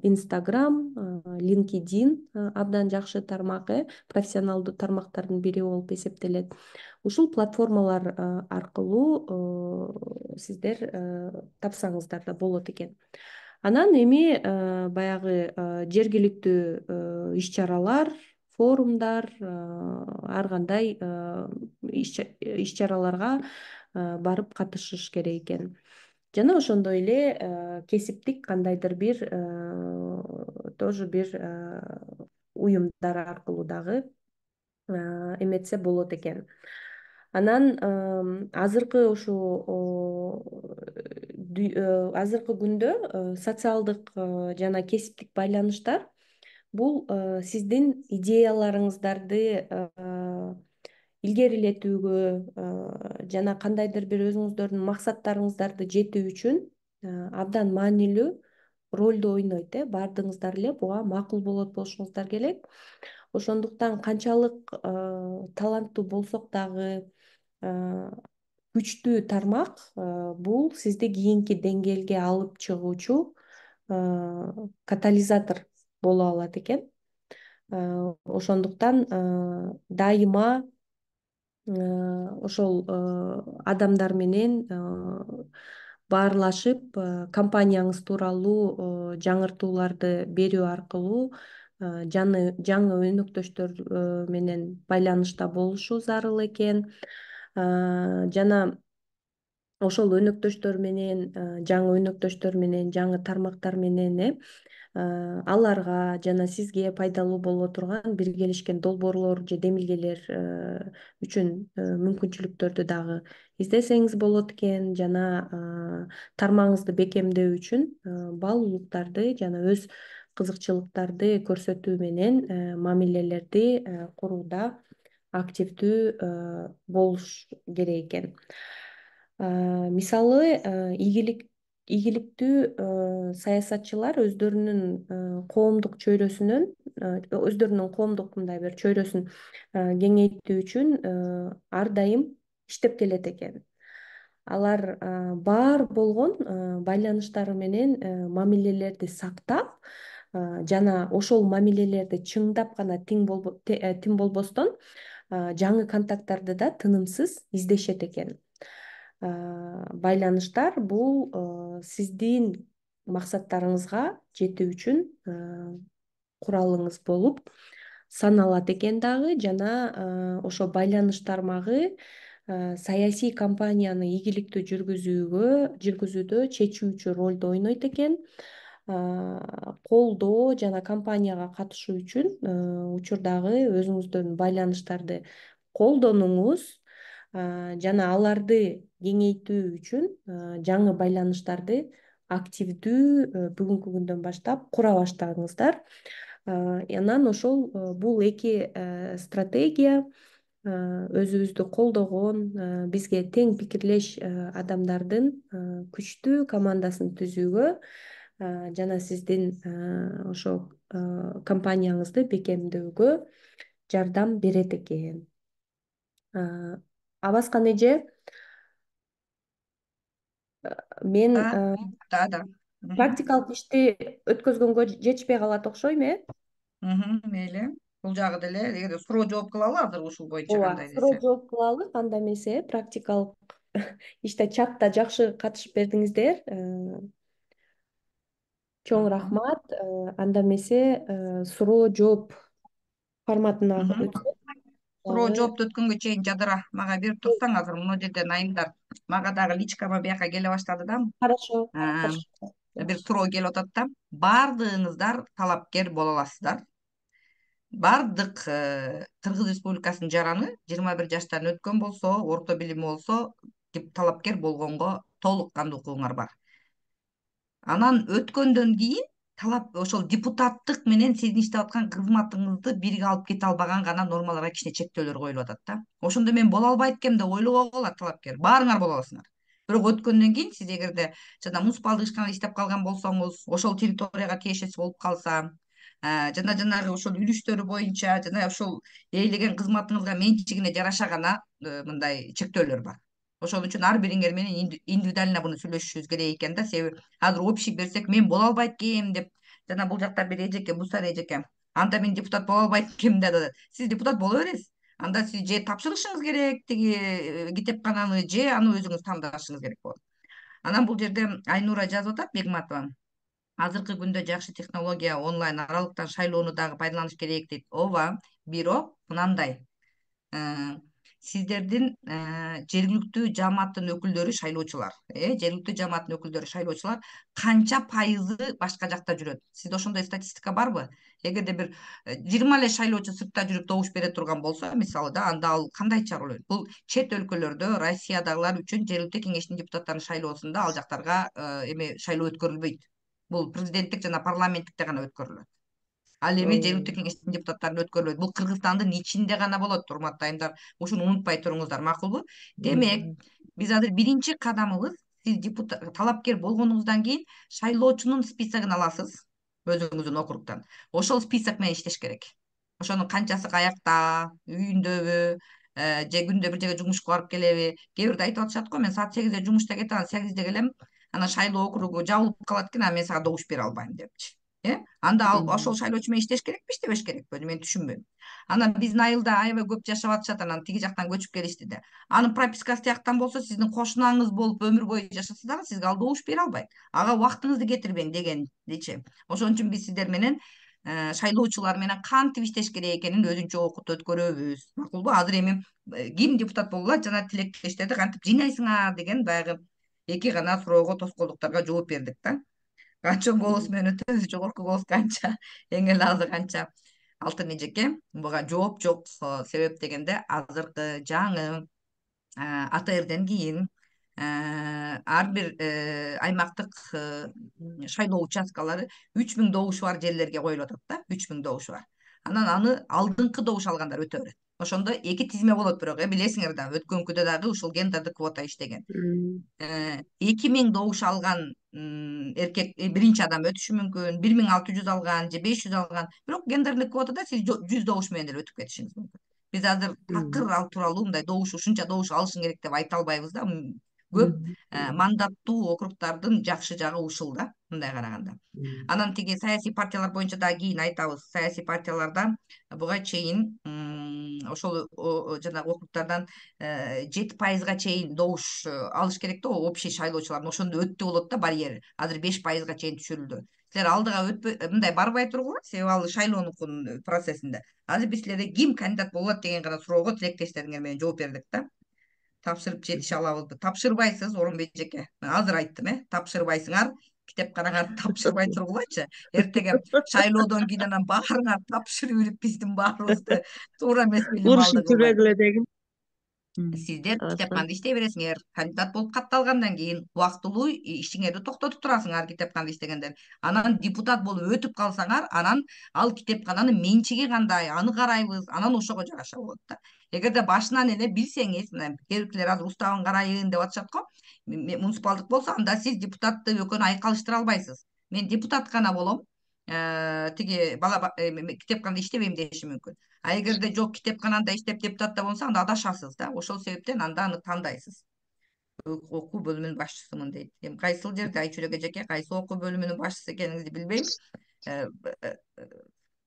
Speaker 2: Instagram, LinkedIn абдан жакшы тармак, э профессионалдуу тармактардын бири болуп эсептелет. Ушул платформалар аркылуу сиздер тапсаңыздар да болот экен. Анан эми баягы жергиликтүү иш-чаралар, форумдар, ар кандай иш-чараларга барып катышыш керек экен. Жана ошондой эле кесиптик кандайдыр бир тоже бир уюмдар аркылуу дагы эметсе болот экен. Анан азыркы ушу азыркы күндө социалдык жана кесиптик байланыштар бул сиздин идеяларыңыздарды илгерилетүүгө жана кандайдыр бир өзүңүздөрдүн максаттарыңыздарды жетүү үчүн абдан маанилүү ролду ойнойт, э баардыгыңыздар эле буга макул болот болушуңуздар керек. Ошондуктан канчалык таланттуу болсок дагы, күчтүү тармак бул сизди кийинки деңгээлге алып чыгуучу катализатор боло алат экен. Ошондуктан дайыма ошол адамдар менен баарлашып, компанияңыз тууралуу жаңыртууларды берүү аркылуу жаңы өнөктөштөр менен байланышта болушу зарыл экен. Жана ошол өнөктөштөр менен, жаңы өнөктөштөр менен, жаңы тармактар менен, э аларга жана сизге пайдалуу боло турган биргелешкен долбоорлор же демилгелер үчүн мүмкүнчүлүктөрдү дагы издесеңиз болот экен. Жана тармагыңызды бекемдөө үчүн баалуулуктарды жана өз кызыкчылыктарды көрсөтүү менен мамилелерди курууда активдүү болуш керек экен. Мисалы, ийгилик ийгиликтүү саясатчылар өздөрүнүн коомдук чөйрөсүнөн өздөрүнүн коомдук мындай бир чөйрөсүн кеңейтүү үчүн ар дайым иштеп келет экен. Алар бар болгон байланыштары менен мамилелерди сактап жана ошол мамилелерди чыңдап гана тиң болбостон жаңы контакттарды да тынымсыз издешет экен. Байланыштар бул сиздин максаттарыңызга жетүү үчүн куралыңыз болуп саналат экен дагы, жана ошо байланыш тармагы саясий кампанияны ийгиликтүү жүргүзүүгө жүргүзүүдө чечүүчү ролду ойнойт экен. Колдоо жана кампанияга катышуу үчүн учурдагы өзүңүздөрдүн байланыштарды колдонуңуз жана аларды кеңейтүү үчүн жаңы байланыштарды активдүү бүгүнкү күндөн баштап кура баштадыңыздар. Анан ошол бул эки стратегия өзүбүздү колдогон, бизге тең пикирлеш адамдардын күчтүү командасын түзүүгө жана сиздин ошо компанияңызды бекемдөөгө жардам берет экен. Абаскан эже, мен
Speaker 1: да да
Speaker 2: практикалык ишти өткөзгөнгө жетишпей калат окшойм, э?
Speaker 1: Мейли. Бул жагы деле эгерде суроо жооп кылалы азыр ушул боюнча
Speaker 2: Ооба,
Speaker 1: кандай
Speaker 2: суроо
Speaker 1: десе.
Speaker 2: жооп кылалы, кандай эмесе практикалык иште чатта жакшы катышып бердиңиздер. Чоң рахмат. Анда эмесе суроо жооп форматына өтсөк.
Speaker 1: Суроо жоопту өткөнгө чейин жадыра мага берип турсаң, азыр мына жерден айымдар мага дагы личкама бияка келе баштады да.
Speaker 2: Хорошо.
Speaker 1: Бир суроо келип атат да. Баардыгыңыздар талапкер боло аласыздар. Бардык Кыргыз Республикасынын жараны жыйырма бир жаштан өткөн болсо, орто билими болсо, талапкер болгонго толук кандуу укугуңар бар. Анан өткөндөн кийин талап ошол депутаттык менен сиздин иштеп аткан кызматыңызды бирге алып кете албаган гана нормаларга кичине чектөөлөр коюлуп атат да. Ошондо мен боло албайт экенм деп ойлобого болот талапкер. Баарыңар боло аласыңар. Бирок өткөндөн кийин сиз эгерде жана муниципалдык ишканада иштеп калган болсоңуз, ошол территорияга тиешеси болуп калса, жана жанагы ошол үлүштөрү боюнча жана ошол ээлеген кызматыңызга менчигине жараша гана мындай чектөөлөр бар. Ошон үчүн ар бириңер менен индивидуально буну сүйлөшүшүбүз керек экен да, себеби азыр общий берсек мен боло албайт экенм деп, жана бул жакта бир эжеке, Мусар эжеке, анда мен депутат боло албайт экенмин деп, сиз депутат боло бересиз. Анда сиз же тапшырышыңыз керек тиги китепкананы, же аны өзүңүз тандашыңыз керек болот. Анан бул жерде Айнура жазып атат, Бегматова. Азыркы күндө жакшы технология онлайн аралыктан шайлоону дагы пайдаланыш керек дейт. Ооба, бирок мынандай. Сиздердин жергиликтүү жамааттын өкүлдөрү шайлоочулар, э, жергиликтүү жамааттын өкүлдөрү шайлоочулар канча пайызы башка жакта жүрөт? Сизде ошондой статистика барбы? Эгерде бир жыйырма эле шайлоочу сыртта жүрүп добуш бере турган болсо, мисалы да, анда ал кандай чара болот? Бул чет өлкөлөрдө, Россиядагылар үчүн жергиликтүү кеңештин депутаттарынын шайлоосунда ал жактарга эме шайлоо өткөрүлбөйт. Бул президенттик жана парламенттикте гана өткөрүлөт. Ал эми жергиликтүү кеңештин депутаттарына өткөрүлөт. Бул Кыргызстандын ичинде гана болот, урматтуу айымдар. Ушуну унутпай туруңуздар, макулбу? Демек, биз азыр биринчи кадамыбыз, сиз депутат талапкер болгонуңуздан кийин шайлоочунун списогун аласыз өзүңүздүн округтан. Ошол список менен иштеш керек. Ошонун канчасы каякта, үйүндөбү, же күндө бир жерге жумушка барып келеби? Кээ бирде айтып атышат го, мен саат сегизде жумушта кетем, сегизде келем, анан шайлоо округу жабылып калат экен, анан мен сага добуш бере албайм депчи. Э? Анда ал ошол шайлоочу менен иштеш керекпи, иштебеш керекпи? Мен түшүнбөйм. Анан биздин айылда аябай көп жашап атышат, анан тиги жактан көчүп келишти да. Анын пропискасы тияктан болсо, сиздин кошунаңыз болуп өмүр бою жашаса дагы сизге ал добуш бере албайт. Ага убактыңызды кетирбең дегендичи. Ошон үчүн биз сиздер менен шайлоочулар менен кантип иштеш керек экенин өзүнчө окут өткөрөбүз. Макулбу? Азыр эми ким депутат боло алат жана тилектештерди кантип жыйнайсыңар деген баягы эки гана суроого, тоскоолдуктарга жооп бердик да. Канча голос менен өтөбүз, жогорку голос канча, эң эле азы канча. Алтын эжеке, буга жооп жок. Себеп дегенде азыркы жаңы А Т Рден кийин ар бир аймактык шайлоо участкалары үч миң добушу бар жерлерге коюлуп атат да, үч миң добушу бар. Анан аны алдыңкы добуш алгандар өтө берет. Ошондо эки тизме болот, бирок э билесиңер да, өткөнкүдө дагы ушул гендердик квота иштеген. эки миң добуш алган эркек биринчи адам өтүшү мүмкүн, бир миң алты жүз алган же беш жүз алган, бирок гендерлик квотада сиз жүз добуш менен деле өтүп кетишиңиз мүмкүн. Биз азыр такыр ал тууралуу мындай добуш ушунча добуш алышың керек деп айта албайбыз да. Көп мандаттуу округдардын жакшы жагы ушул да, мындай караганда. Анан тиги саясий партиялар боюнча дагы кийин айтабыз. Саясий партиялардан буга чейин ошол жанагы округдардан жети пайызга чейин добуш алыш керек да, общий шайлоочулардын. Ошондо өттү болот да барьер. Азыр беш пайызга чейин түшүрүлдү. Силер алдыга өтпөй мындай барбай тургула, себеби ал шайлоонукун процессинде. Азыр биз силерге ким кандидат болот деген гана суроого тилектештериңер менен жооп бердик да. Тапшырып жетише алабызбы? Тапшырбайсыз, Орунбек эжеке. Азыр айттым, э, тапшырбайсыңар. Китепканаңарды тапшырбай тургулачы. Эртеге шайлоодон кийин анан баарыңар тапшырып юрип биздин баарыбызды туура эмес билим алды кылбай.
Speaker 3: Урушуп дегин.
Speaker 1: Сиздер китепканда иштей бересиңер. Кандидат болуп катталгандан кийин убактылуу ишиңерди токтотуп турасыңар китепканда иштегендер. Анан депутат болуп өтүп калсаңар, анан ал китепкананын менчиги кандай, аны карайбыз, анан ошого жараша болот да. Эгерде башынан эле билсеңиз, мына кээбиркилер азыр уставын карайын деп атышат го. Муниципалдык болсо, анда сиз депутатты экөөнү айкалыштыра албайсыз. Мен депутат гана болом, тиги бала китепканда иштебейм деши мүмкүн. А эгерде жок, китепкананда иштеп депутатта болсо, анда адашасыз да. Ошол себептен анда аны тандайсыз. Окуу бөлүмүнүн башчысымын дейт. Эми кайсыл жерде Айчүрек эжеке кайсы окуу бөлүмүнүн башчысы экениңизди билбейм.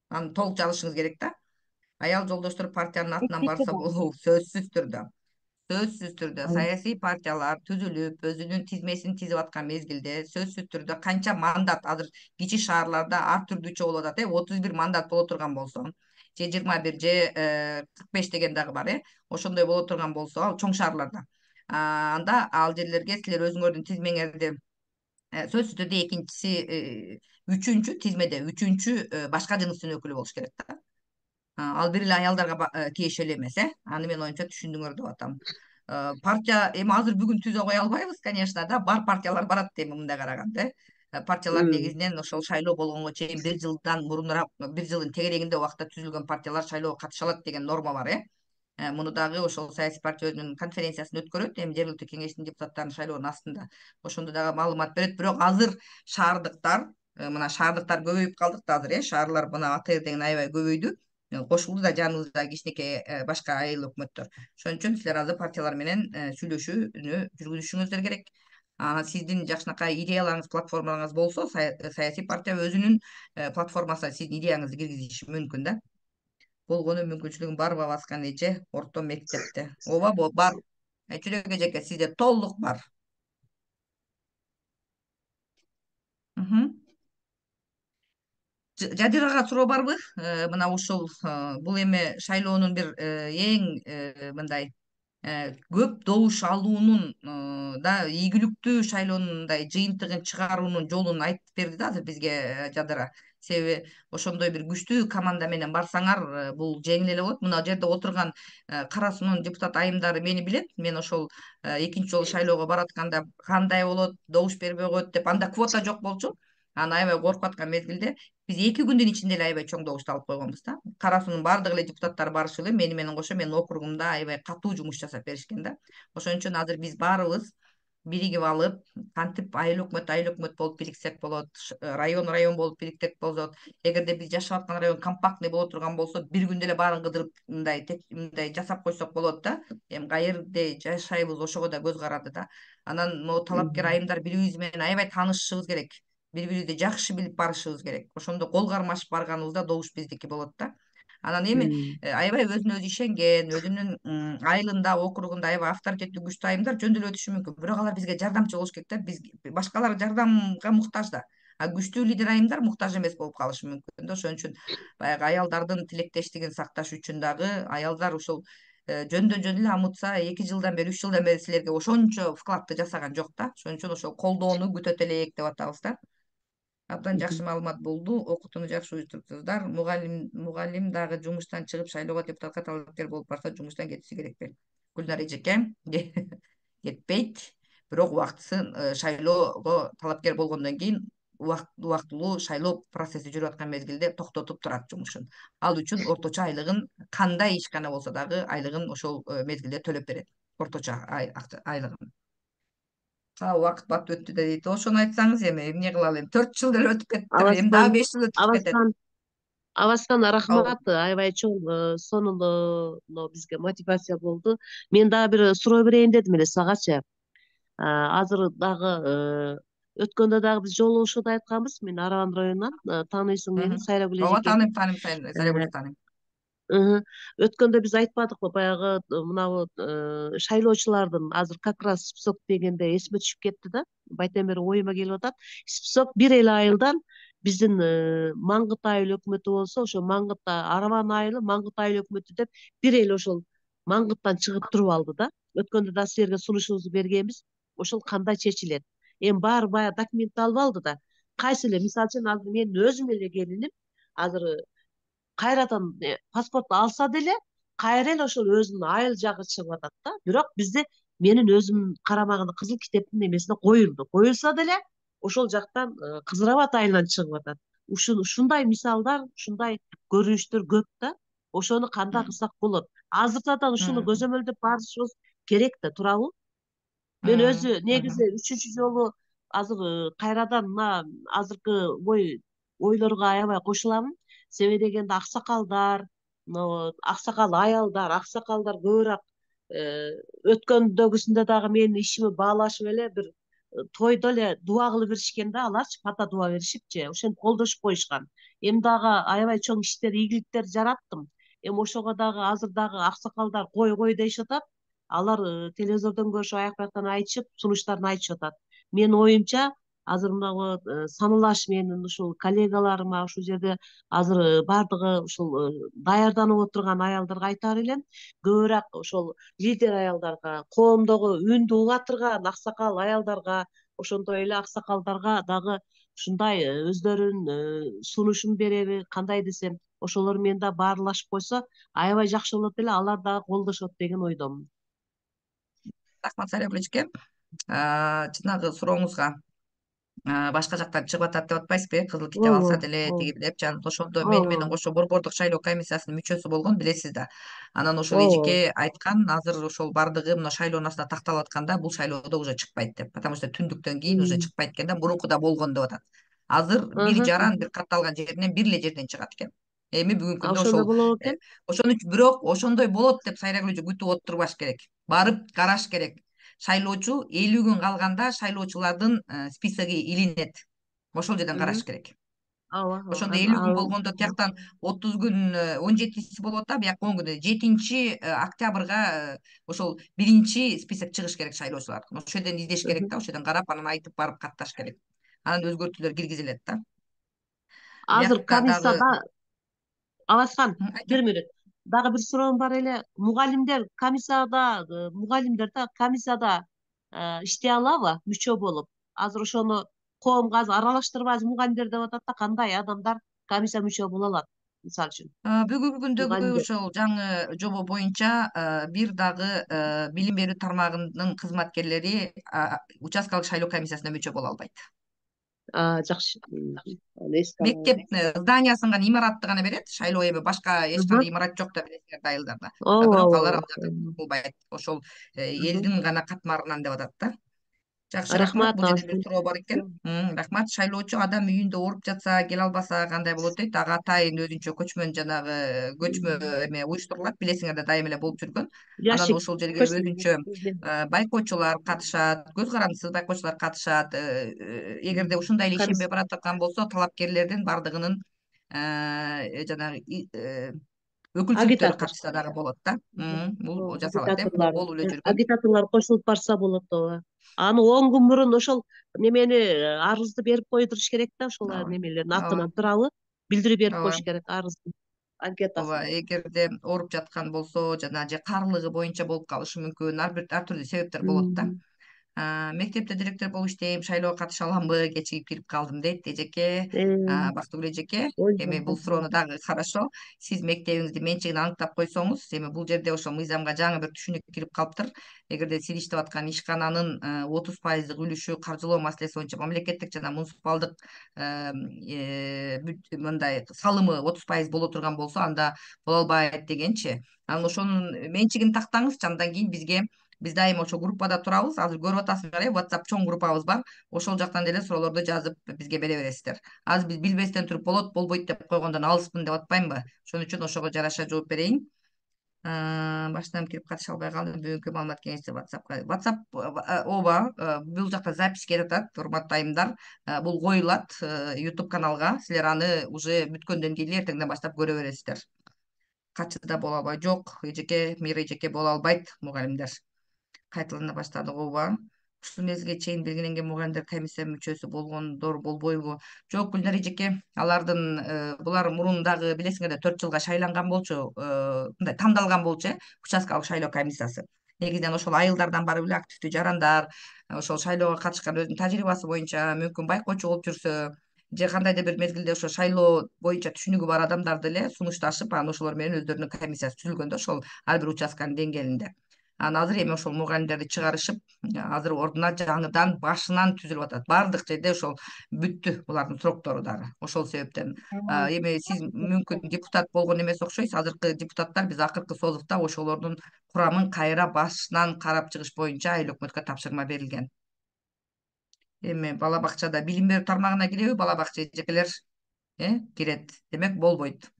Speaker 1: Аны толук жазышыңыз керек да. Аял жолдоштор партиянын атынан барса болобу? Сөзсүз түрдө. Сөзсүз түрдө саясий партиялар түзүлүп, өзүнүн тизмесин тизип аткан мезгилде сөзсүз түрдө канча мандат азыр кичи шаарларда ар түрдүүчө болуп атат, э, отуз бир мандат боло турган болсо, же жыйырма бир же кырк беш деген дагы бар, э. Ошондой боло турган болсо, ал чоң шаарларда. Анда ал жерлерге силер өзүңөрдүн тизмеңерди сөзсүз түрдө экинчиси, үчүнчү тизмеде үчүнчү башка жыныстын өкүлү болуш керек да. Ал бир эле аялдарга тиешелүү эмес, э. Аны мен оюмча түшүндүңөр деп атам. Партия эми азыр бүгүн түзө кое албайбыз, конечно да. Бар партиялар барат эми мындай караганда, э. Партиялар негизинен ошол шайлоо болгонго чейин бир жылдан мурунураак, бир жылдын тегерегинде убакытта түзүлгөн партиялар шайлоого катыша алат деген норма бар, э. Муну дагы ошол саясий партия өзүнүн конференциясын өткөрөт, эми жергиликтүү кеңештин депутаттарынын шайлоонун астында. Ошондо дагы маалымат берет. Бирок азыр шаардыктар, мына шаардыктар көбөйүп калдык да азыр, э. Шаарлар мына АТР деген аябай көбөйдү. Кошулду да жаныбызда кичинекей башка айыл өкмөттөр. Ошон үчүн силер азыр партиялар менен сүйлөшүүнү жүргүзүшүңүздөр керек. Анан сиздин жакшынакай идеяларыңыз, платформаларыңыз болсо, саясий партия өзүнүн платформасына сиздин идеяңызды киргизиши мүмкүн да. Болгону мүмкүнчүлүгүн бар баскан эже орто мектепте. Ооба, бар. Айчүрек эжеке, сизде толук бар. Жадирага суроо барбы? Мына ушул бул эми шайлоонун бир эң мындай көп добуш алуунун да ийгиликтүү шайлоонун мындай жыйынтыгын чыгаруунун жолун айтып берди да азыр бизге Жадыра. Себеби ошондой бир күчтүү команда менен барсаңар, бул жеңил эле болот. Мына жерде отурган Кара Суунун депутат айымдары мени билет. Мен ошол экинчи жолу шайлоого баратканда кандай болот, добуш бербей коет деп, анда квота жок болчу. Аны аябай коркуп аткан мезгилде биз эки күндүн ичинде эле аябай чоң добушту алып койгонбуз да. Кара Суунун баардык эле депутаттары барышы эле мени менен кошо менин округумда аябай катуу жумуш жасап беришкен да. Ошон үчүн азыр биз баарыбыз биригип алып, кантип айыл өкмөт айыл өкмөт болуп бириксек болот, район район болуп бириксек болот. Эгерде биз жашап аткан район компактный боло турган болсо, бир күндө эле баарын кыдырып мындай мындай жасап койсок болот да. Эми каерде жашайбыз ошого да көз каранды да. Анан могу талапкер айымдар бири-бирибиз менен аябай таанышышыбыз керек. Бири-бирибизди жакшы билип барышыбыз керек. Ошондо кол кармашып барганыбызда добуш биздики болот да. Анан эми аябай өзүнө өзү ишенген, өзүнүн айылында, округунда аябай авторитеттүү күчтүү айымдар жөндөп өтүшү мүмкүн. Бирок алар бизге жардамчы болуш керек да. Биз башкалар жардамга муктаж да. А күчтүү лидер айымдар муктаж эмес болуп калышы мүмкүн да. Ошон үчүн баягы аялдардын тилектештигин сакташ үчүн дагы аялдар ушул жөндөн жөн эле амытса эки жылдан бери, үч жылдан бери силерге ошончо вкладты жасаган жок да. Ошон үчүн ошол колдоону күтөт элек деп атабыз да. Абдан жакшы маалымат болду. Окутууну жакшы уюштуруптуңуздар. Мугалим мугалим дагы жумуштан чыгып шайлоого депутатка талапкер болуп барса, жумуштан кетиши керек беле? Гүлнар эжеке кетпейт. бирок убактысын шайлоого талапкер болгондон кийин убактылуу шайлоо процесси жүрүп аткан мезгилде токтотуп турат жумушун. Ал үчүн орточо айлыгын кандай ишкана болсо дагы айлыгын ошол мезгилде төлөп берет, орточо айлыгын. Убакыт бат өттү да дейт. Ошону айтсаңыз эми эмне кылалы, эми төрт жыл деле өтүп кетиптир, эми дагы беш жыл өтүп кетет.
Speaker 10: Абаскан рахмат, аябай чоң сонун бизге мотивация болду. Мен дагы бир суроо берейин дедим эле сагачы. Азыр дагы өткөндө дагы биз жолугушууда айтканбыз, мен Араган районунан, тааныйсың мени, Сайрагүл эжеке.
Speaker 1: Ооба, тааныйм, тааныйм, Сайрагүлдү тааныйм.
Speaker 10: Өткөндө биз айтпадыкпы, баягы мынабу шайлоочулардын азыр как раз список дегенде эсиме түшүп кетти да. Байтен бери оюма келип атат. Список бир эле айылдан биздин Маңгыт айыл өкмөтү болсо, ошо Маңгыт Араван айылы, Маңгыт айыл өкмөтү деп бир эле ошол Маңгыттан чыгып туруп алды да. Өткөндө да силерге сунушубузду бергенбиз. Ошол кандай чечилет? Эми баары баягы документталып алды да. Кайсы эле, мисалы үчүн азыр менин өзүм эле келиним азыр кайрадан паспорт алса деле кайра эле ошол өзүнүн айыл жагы чыгып атат да. Бирок бизде менин өзүмдүн карамагында кызыл китептин эмесине коюлду. Коюлса деле ошол жактан Кызыр Абад айылынан чыгып атат. Ушундай мисалдар, ушундай көрүнүштөр көп да. Ошону кандай кылсак болот? Азыртадан ушуну көзөмөлдөп барышыбыз керек да, туурабы? Мен өзү негизи үчүнчү жолу азыр кайрадан мына азыркы ой ойлорго аябай кошуламын. Себеби дегенде аксакалдар, аксакал аялдар, аксакалдар көбүрөөк өткөндөгүсүндө дагы менин ишими баалашып эле бир тойдо эле дуба кылып беришкен да, аларчы пата дуба беришипчи, ошентип колдошуп коюшкан. Эми дагы аябай чоң иштер, ийгиликтер жараттым. Эми ошого дагы азыр дагы аксакалдар кой кой дешип атат. Алар телевизордон көрүшүп, аяк бияктан айтышып, сунуштарын айтышып атат. Менин оюмча азыр мына саналаш менин ушул коллегаларыма ушул жерде азыр баардыгы ушул даярданып отурган аялдарга айтаар элем, көбүрөөк ошол лидер аялдарга, коомдогу үндү улатырган аксакал аялдарга, ошондой эле аксакалдарга дагы ушундай өздөрүнүн сунушун береби, кандай десем, ошолор менен да баарлашып койсо аябай жакшы болот эле, алар дагы колдошот деген ойдомун.
Speaker 1: Рахмат Сайрагүл эжеке. Жанагы сурооңузга башка жактан чыгып атат деп атпайсызбы, э, кызыл китеп алса деле тиги деп, жана ошондо мени менен кошо Борбордук шайлоо комиссиясынын мүчөсү болгон, билесиз да. Анан ошол эжеке айткан, азыр ошол баардыгы мына шайлоонун астына такталып атканда бул шайлоодо уже чыкпайт деп, потому что түндүктөн кийин уже чыкпайт экен да, мурункуда болгон деп атат. Азыр бир жаран бир катталган жеринен бир эле жерден чыгат экен. Эми бүгүнкү күндө ошол
Speaker 10: болобу экен?
Speaker 1: Ошону бирок ошондой болот деп Сайрагүл эже күтүп отурбаш керек. Барып караш керек. Шайлоочу элүү күн калганда шайлоочулардын списоги илинет. Ошол жерден караш керек.
Speaker 10: Ооба.
Speaker 1: Ошондо элүү күн болгондо тияктан отуз күн, он жетиси болуп атат, бияка он күн, жетинчи октябрга ошол биринчи список чыгыш керек шайлоочулар. Ошол жерден издеш керек да, ошол жерден карап, анан айтып барып катташ керек. Анан өзгөртүүлөр киргизилет да.
Speaker 10: Азыр комиссияда Абаскан, бир мүнөт. Дагы бир суроом бар эле. Мугалимдер комиссияда, мугалимдер да комиссияда иштей алабы, мүчө болуп? Азыр ошону коомго азыр аралаштырбайбыз мугалимдер деп атат да, кандай адамдар комиссия мүчө боло алат, мисалы үчүн?
Speaker 1: Бүгүнкү күндөгү ошол жаңы жобо боюнча бир дагы билим берүү тармагынын кызматкерлери участкалык шайлоо комиссиясына мүчө боло албайт.
Speaker 10: Жакшы.
Speaker 1: Мектеп зданиясын гана, имаратты гана берет. Шайлоо эми башка эч кандай имарат жок да, билесиңер, айылдарда. Бирок алар кылбайт. Ошол элдин гана катмарынан деп атат да. Жакшы, рахмат. Бул жерде бир суроо бар экен. Рахмат. Шайлоочу адам үйүндө ооруп жатса, келе албаса кандай болот дейт. Ага атайын өзүнчө көчмөн жанагы көчмө эме уюштурулат, билесиңер да, дайыма эле болуп жүргөн. Анан ошол жерге өзүнчө байкоочулар катышат, көз карандысыз байкоочулар катышат. Эгерде ушундай эле ишенбей бара турган болсо, талапкерлердин баардыгынын жанагы өкүлчүлүктөрү катышса дагы болот да. Бул жасалат, э, болуп эле жүргөн.
Speaker 10: Агитаторлор кошулуп барса болот, ооба. Аны он күн мурун ошол немени арызды берип койдуруш керек да, ошол немелердин атынан, туурабы? Билдирүү берип коюш керек, арыздын анкетасын.
Speaker 1: Ооба, эгерде ооруп жаткан болсо, жана же каарылыгы боюнча болуп калышы мүмкүн, ар бир ар түрдүү себептер болот да. Мектепте директор болуп иштейм, шайлоого катыша аламбы, кечигип кирип калдым дейт эжеке. Бактыгүл эжеке, эми бул суроону дагы хорошо. Сиз мектебиңиздин менчигин аныктап койсоңуз, эми бул жерде ошо мыйзамга жаңы бир түшүнүк кирип калыптыр. Эгерде сиз иштеп аткан ишкананын отуз пайыздык үлүшү каржылоо маселеси боюнча мамлекеттик жана муниципалдык мындай салымы отуз пайыз боло турган болсо, анда боло албайт дегенчи. Анан ошонун менчигин тактаңызчы, андан кийин бизге биз дайыма ошо группада турабыз. Азыр көрүп атасыңар, э, WhatsApp чоң группабыз бар. Ошол жактан деле суроолорду жазып бизге бере бересиздер. Азыр биз билбестен туруп болот, болбойт деп койгондон алыспын деп атпаймынбы? Ошон үчүн ошого жараша жооп берейин. Баштан кирип катыша албай калдым. Бүгүнкү маалымат кеңеши WhatsAppка. WhatsApp ооба, бул жакта запись кетип атат, урматтуу айымдар. Бул коюлат YouTube каналга. Силер аны уже бүткөндөн кийин эртеңден баштап көрө бересиздер. Качыда боло албай, жок, эжеке, Мира эжеке боло албайт мугалимдер. Кайталана баштадык, ооба. Ушул мезгилге чейин белгиленген мугалимдер комиссия мүчөсү болгондор болбойбу? Жок, Гүлнар эжеке, алардын булар мурун дагы билесиңер да төрт жылга шайланган болчу, мындай тандалган болчу, э, участкалык шайлоо комиссиясы. Негизинен ошол айылдардан барып эле активдүү жарандар, ошол шайлоого катышкан өзүнүн тажрыйбасы боюнча мүмкүн байкоочу болуп жүрсө, же кандайдыр бир мезгилде ошо шайлоо боюнча түшүнүгү бар адамдарды эле сунушташып, анан ошолор менен өздөрүнүн комиссиясы түзүлгөн да, ошол ар бир участканын деңгээлинде. Анан азыр эми ошол мугалимдерди чыгарышып, азыр ордуна жаңыдан башынан түзүлүп атат. Баардык жерде ошол бүттү булардын сроктору дагы. Ошол себептен эми сиз мүмкүн депутат болгон эмес окшойсуз. Азыркы депутаттар биз акыркы созувда ошолордун курамын кайра башынан карап чыгыш боюнча айыл өкмөткө тапшырма берилген. Эми бала бакчада билим берүү тармагына киреби бала бакча эжекелер? Э, кирет. Демек болбойт.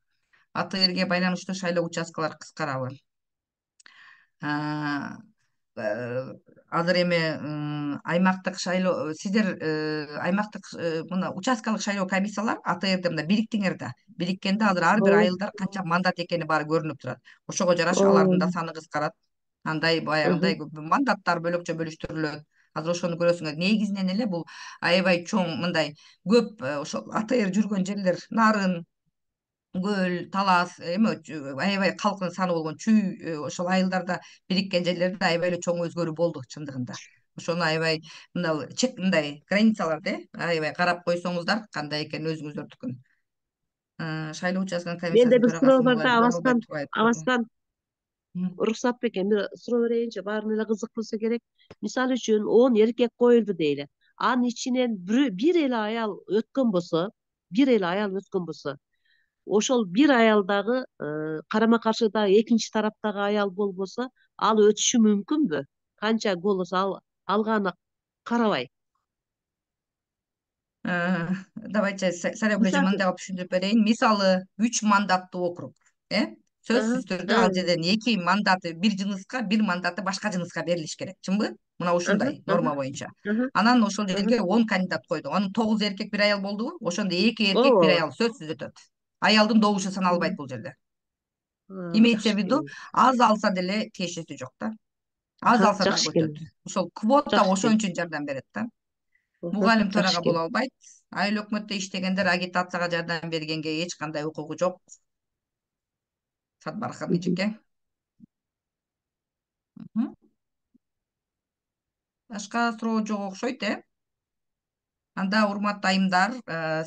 Speaker 1: А Т Рге байланыштуу шайлоо участкалары кыскарабы? Азыр эми аймактык шайлоо, сиздер аймактык мына участкалык шайлоо комиссиялар А Т Рде мына бириктиңер да. Бириккенде азыр ар бир айылдар канча мандат экени баары көрүнүп турат. Ошого жараша алардын да саны кыскарат. Андай баягындай мандаттар бөлөкчө бөлүштүрүлөт. Азыр ошону көрөсүңөр. Негизинен эле бул аябай чоң мындай көп ошол А Т Р жүргөн жерлер, Нарын, Көл, Талас, эми аябай калктын саны болгон чүй ошол айылдарда бириккен жерлерде аябай эле чоң өзгөрүү болду чындыгында. Ошону аябай мына чек мындай границаларды аябай карап койсоңуздар кандай экени өзүңүздөрдүкүн. Шайлоо участканын комиссиясынын
Speaker 10: Менде бир суроо бар да,
Speaker 1: төрагасы
Speaker 10: Абаскан, Абаскан уруксат бекен, бир суроо берейинчи, баарына эле кызык болсо керек. Мисалы үчүн он эркек коюлду дейли. Анын ичинен бир эле аял өткөн болсо, бир эле аял өткөн болсо, ошол бир аялдагы карама каршыдагы экинчи тараптагы аял болбосо, ал өтүшү мүмкүнбү? Канча голос алганына карабай.
Speaker 1: Давайте Сарайгүл эже мындай кылып түшүндүрүп берейин. Мисалы үч мандаттуу округ, э? Сөзсүз түрдө ал жерден эки мандаты бир жыныска, бир мандаты башка жыныска берилиш керек. Чынбы? Мына ушундай норма боюнча. Анан ошол жерге он кандидат койду. Анын тогуз эркек, бир аял болдубу? Ошондо эки эркек, бир аял сөзсүз өтөт. Аялдын добушу саналбайт бул жерде. Имеется в виду, аз алса деле тиешеси жок да. Аз алса дагы өтөт. Ошол квота ошон үчүн жардам берет да. Мугалим төрага боло албайт. Айыл өкмөттө иштегендер агитацияга жардам бергенге эч кандай укугу жок. Сатбархан эжеке. Башка суроо жок окшойт, э? Анда урматтуу айымдар,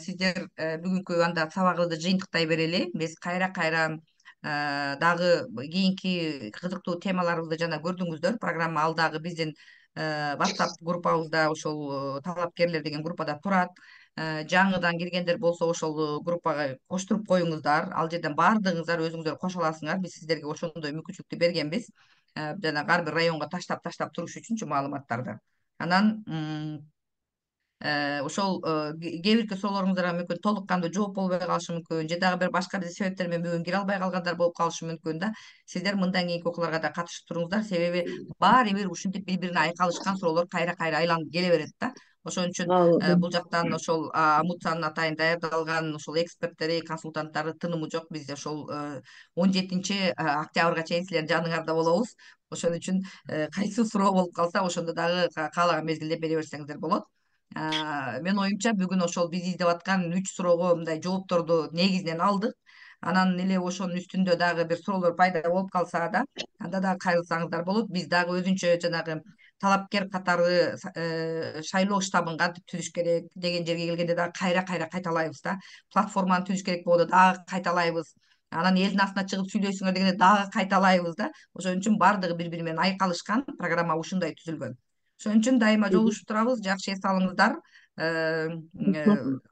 Speaker 1: сиздер бүгүнкү анда сабагыбызды жыйынтыктай берели. Биз кайра-кайра дагы кийинки кызыктуу темаларыбызды жана көрдүңүздөр. Программа ал дагы биздин WhatsApp группабызда, ошол талапкерлер деген группада турат. Жаңыдан киргендер болсо ошол группага коштуруп коюңуздар. Ал жерден баардыгыңыздар өзүңүздөр кошо аласыңар. Биз сиздерге ошондой мүмкүнчүлүктү бергенбиз. Жана ар бир районго таштап таштап туруш үчүнчү маалыматтарды. Анан ошол кээ бирки суроолоруңуздарга мүмкүн толук кандуу жооп болбой калышы мүмкүн, же дагы бир башка бир себептер менен бүгүн кире албай калгандар болуп калышы мүмкүн да. Сиздер мындан кийинки окууларга да катышып туруңуздар, себеби баары бир ушинтип бири-бирине айкалышкан суроолор кайра-кайра айланып келе берет да. Ошон үчүн бул жактан ошол Амутсанын атайын даярдалган ошол эксперттери, консультанттары тынымы жок. Биз ошол он жетинчи октябрга чейин силердин жаныңарда болобуз. Ошон үчүн кайсы суроо болуп калса, ошондо дагы каалаган мезгилде бере берсеңиздер болот. Мен оюмча бүгүн ошол биз издеп аткан үч суроого мындай жоопторду негизинен алдык. Анан эле ошонун үстүндө дагы бир суроолор пайда болуп калса да, анда дагы кайрылсаңыздар болот. Биз дагы өзүнчө жанагы талапкер катары шайлоо штабын кантип түзүш керек деген жерге келгенде дагы кайра кайра кайталайбыз да. Платформаны түзүш керек болду, дагы кайталайбыз. Анан элдин астына чыгып сүйлөшүңөр дегенде дагы кайталайбыз да. Ошон үчүн баардыгы бири бири менен айкалышкан программа ушундай түзүлгөн. Ошон үчүн дайыма жолугушуп турабыз, жакшы эс алыңыздар.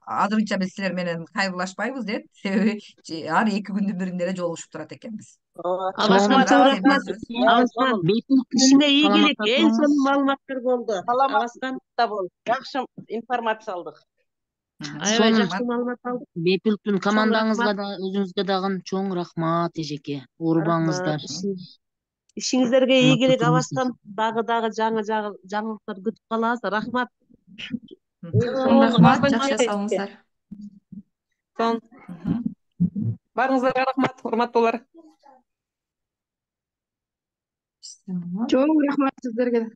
Speaker 1: Азырынча биз силер менен кайрылашпайбыз деп, себеби ар эки күндүн биринде эле жолугушуп турат экенбиз.
Speaker 10: Абаскан чоң рахмат. Абаскан ишиңе ийгилик, эң сонун маалыматтар болду. Абаскан
Speaker 7: бол, жакшы информация алдык.
Speaker 10: аябай жакшы маалымат алдык.
Speaker 5: Бепилктүн командаңызга да, өзүңүзгө дагы чоң рахмат эжеке. Урбаңыздар.
Speaker 10: Ишиңиздерге ийгилик Абаскан. Дагы дагы жаңы жаңылыктар күтүп калабыз. Рахмат.
Speaker 2: Рахмат, жакшы эс алыңыздар.
Speaker 6: Баарыңыздарга рахмат, урматтуулар.
Speaker 11: Чоң рахмат сиздерге.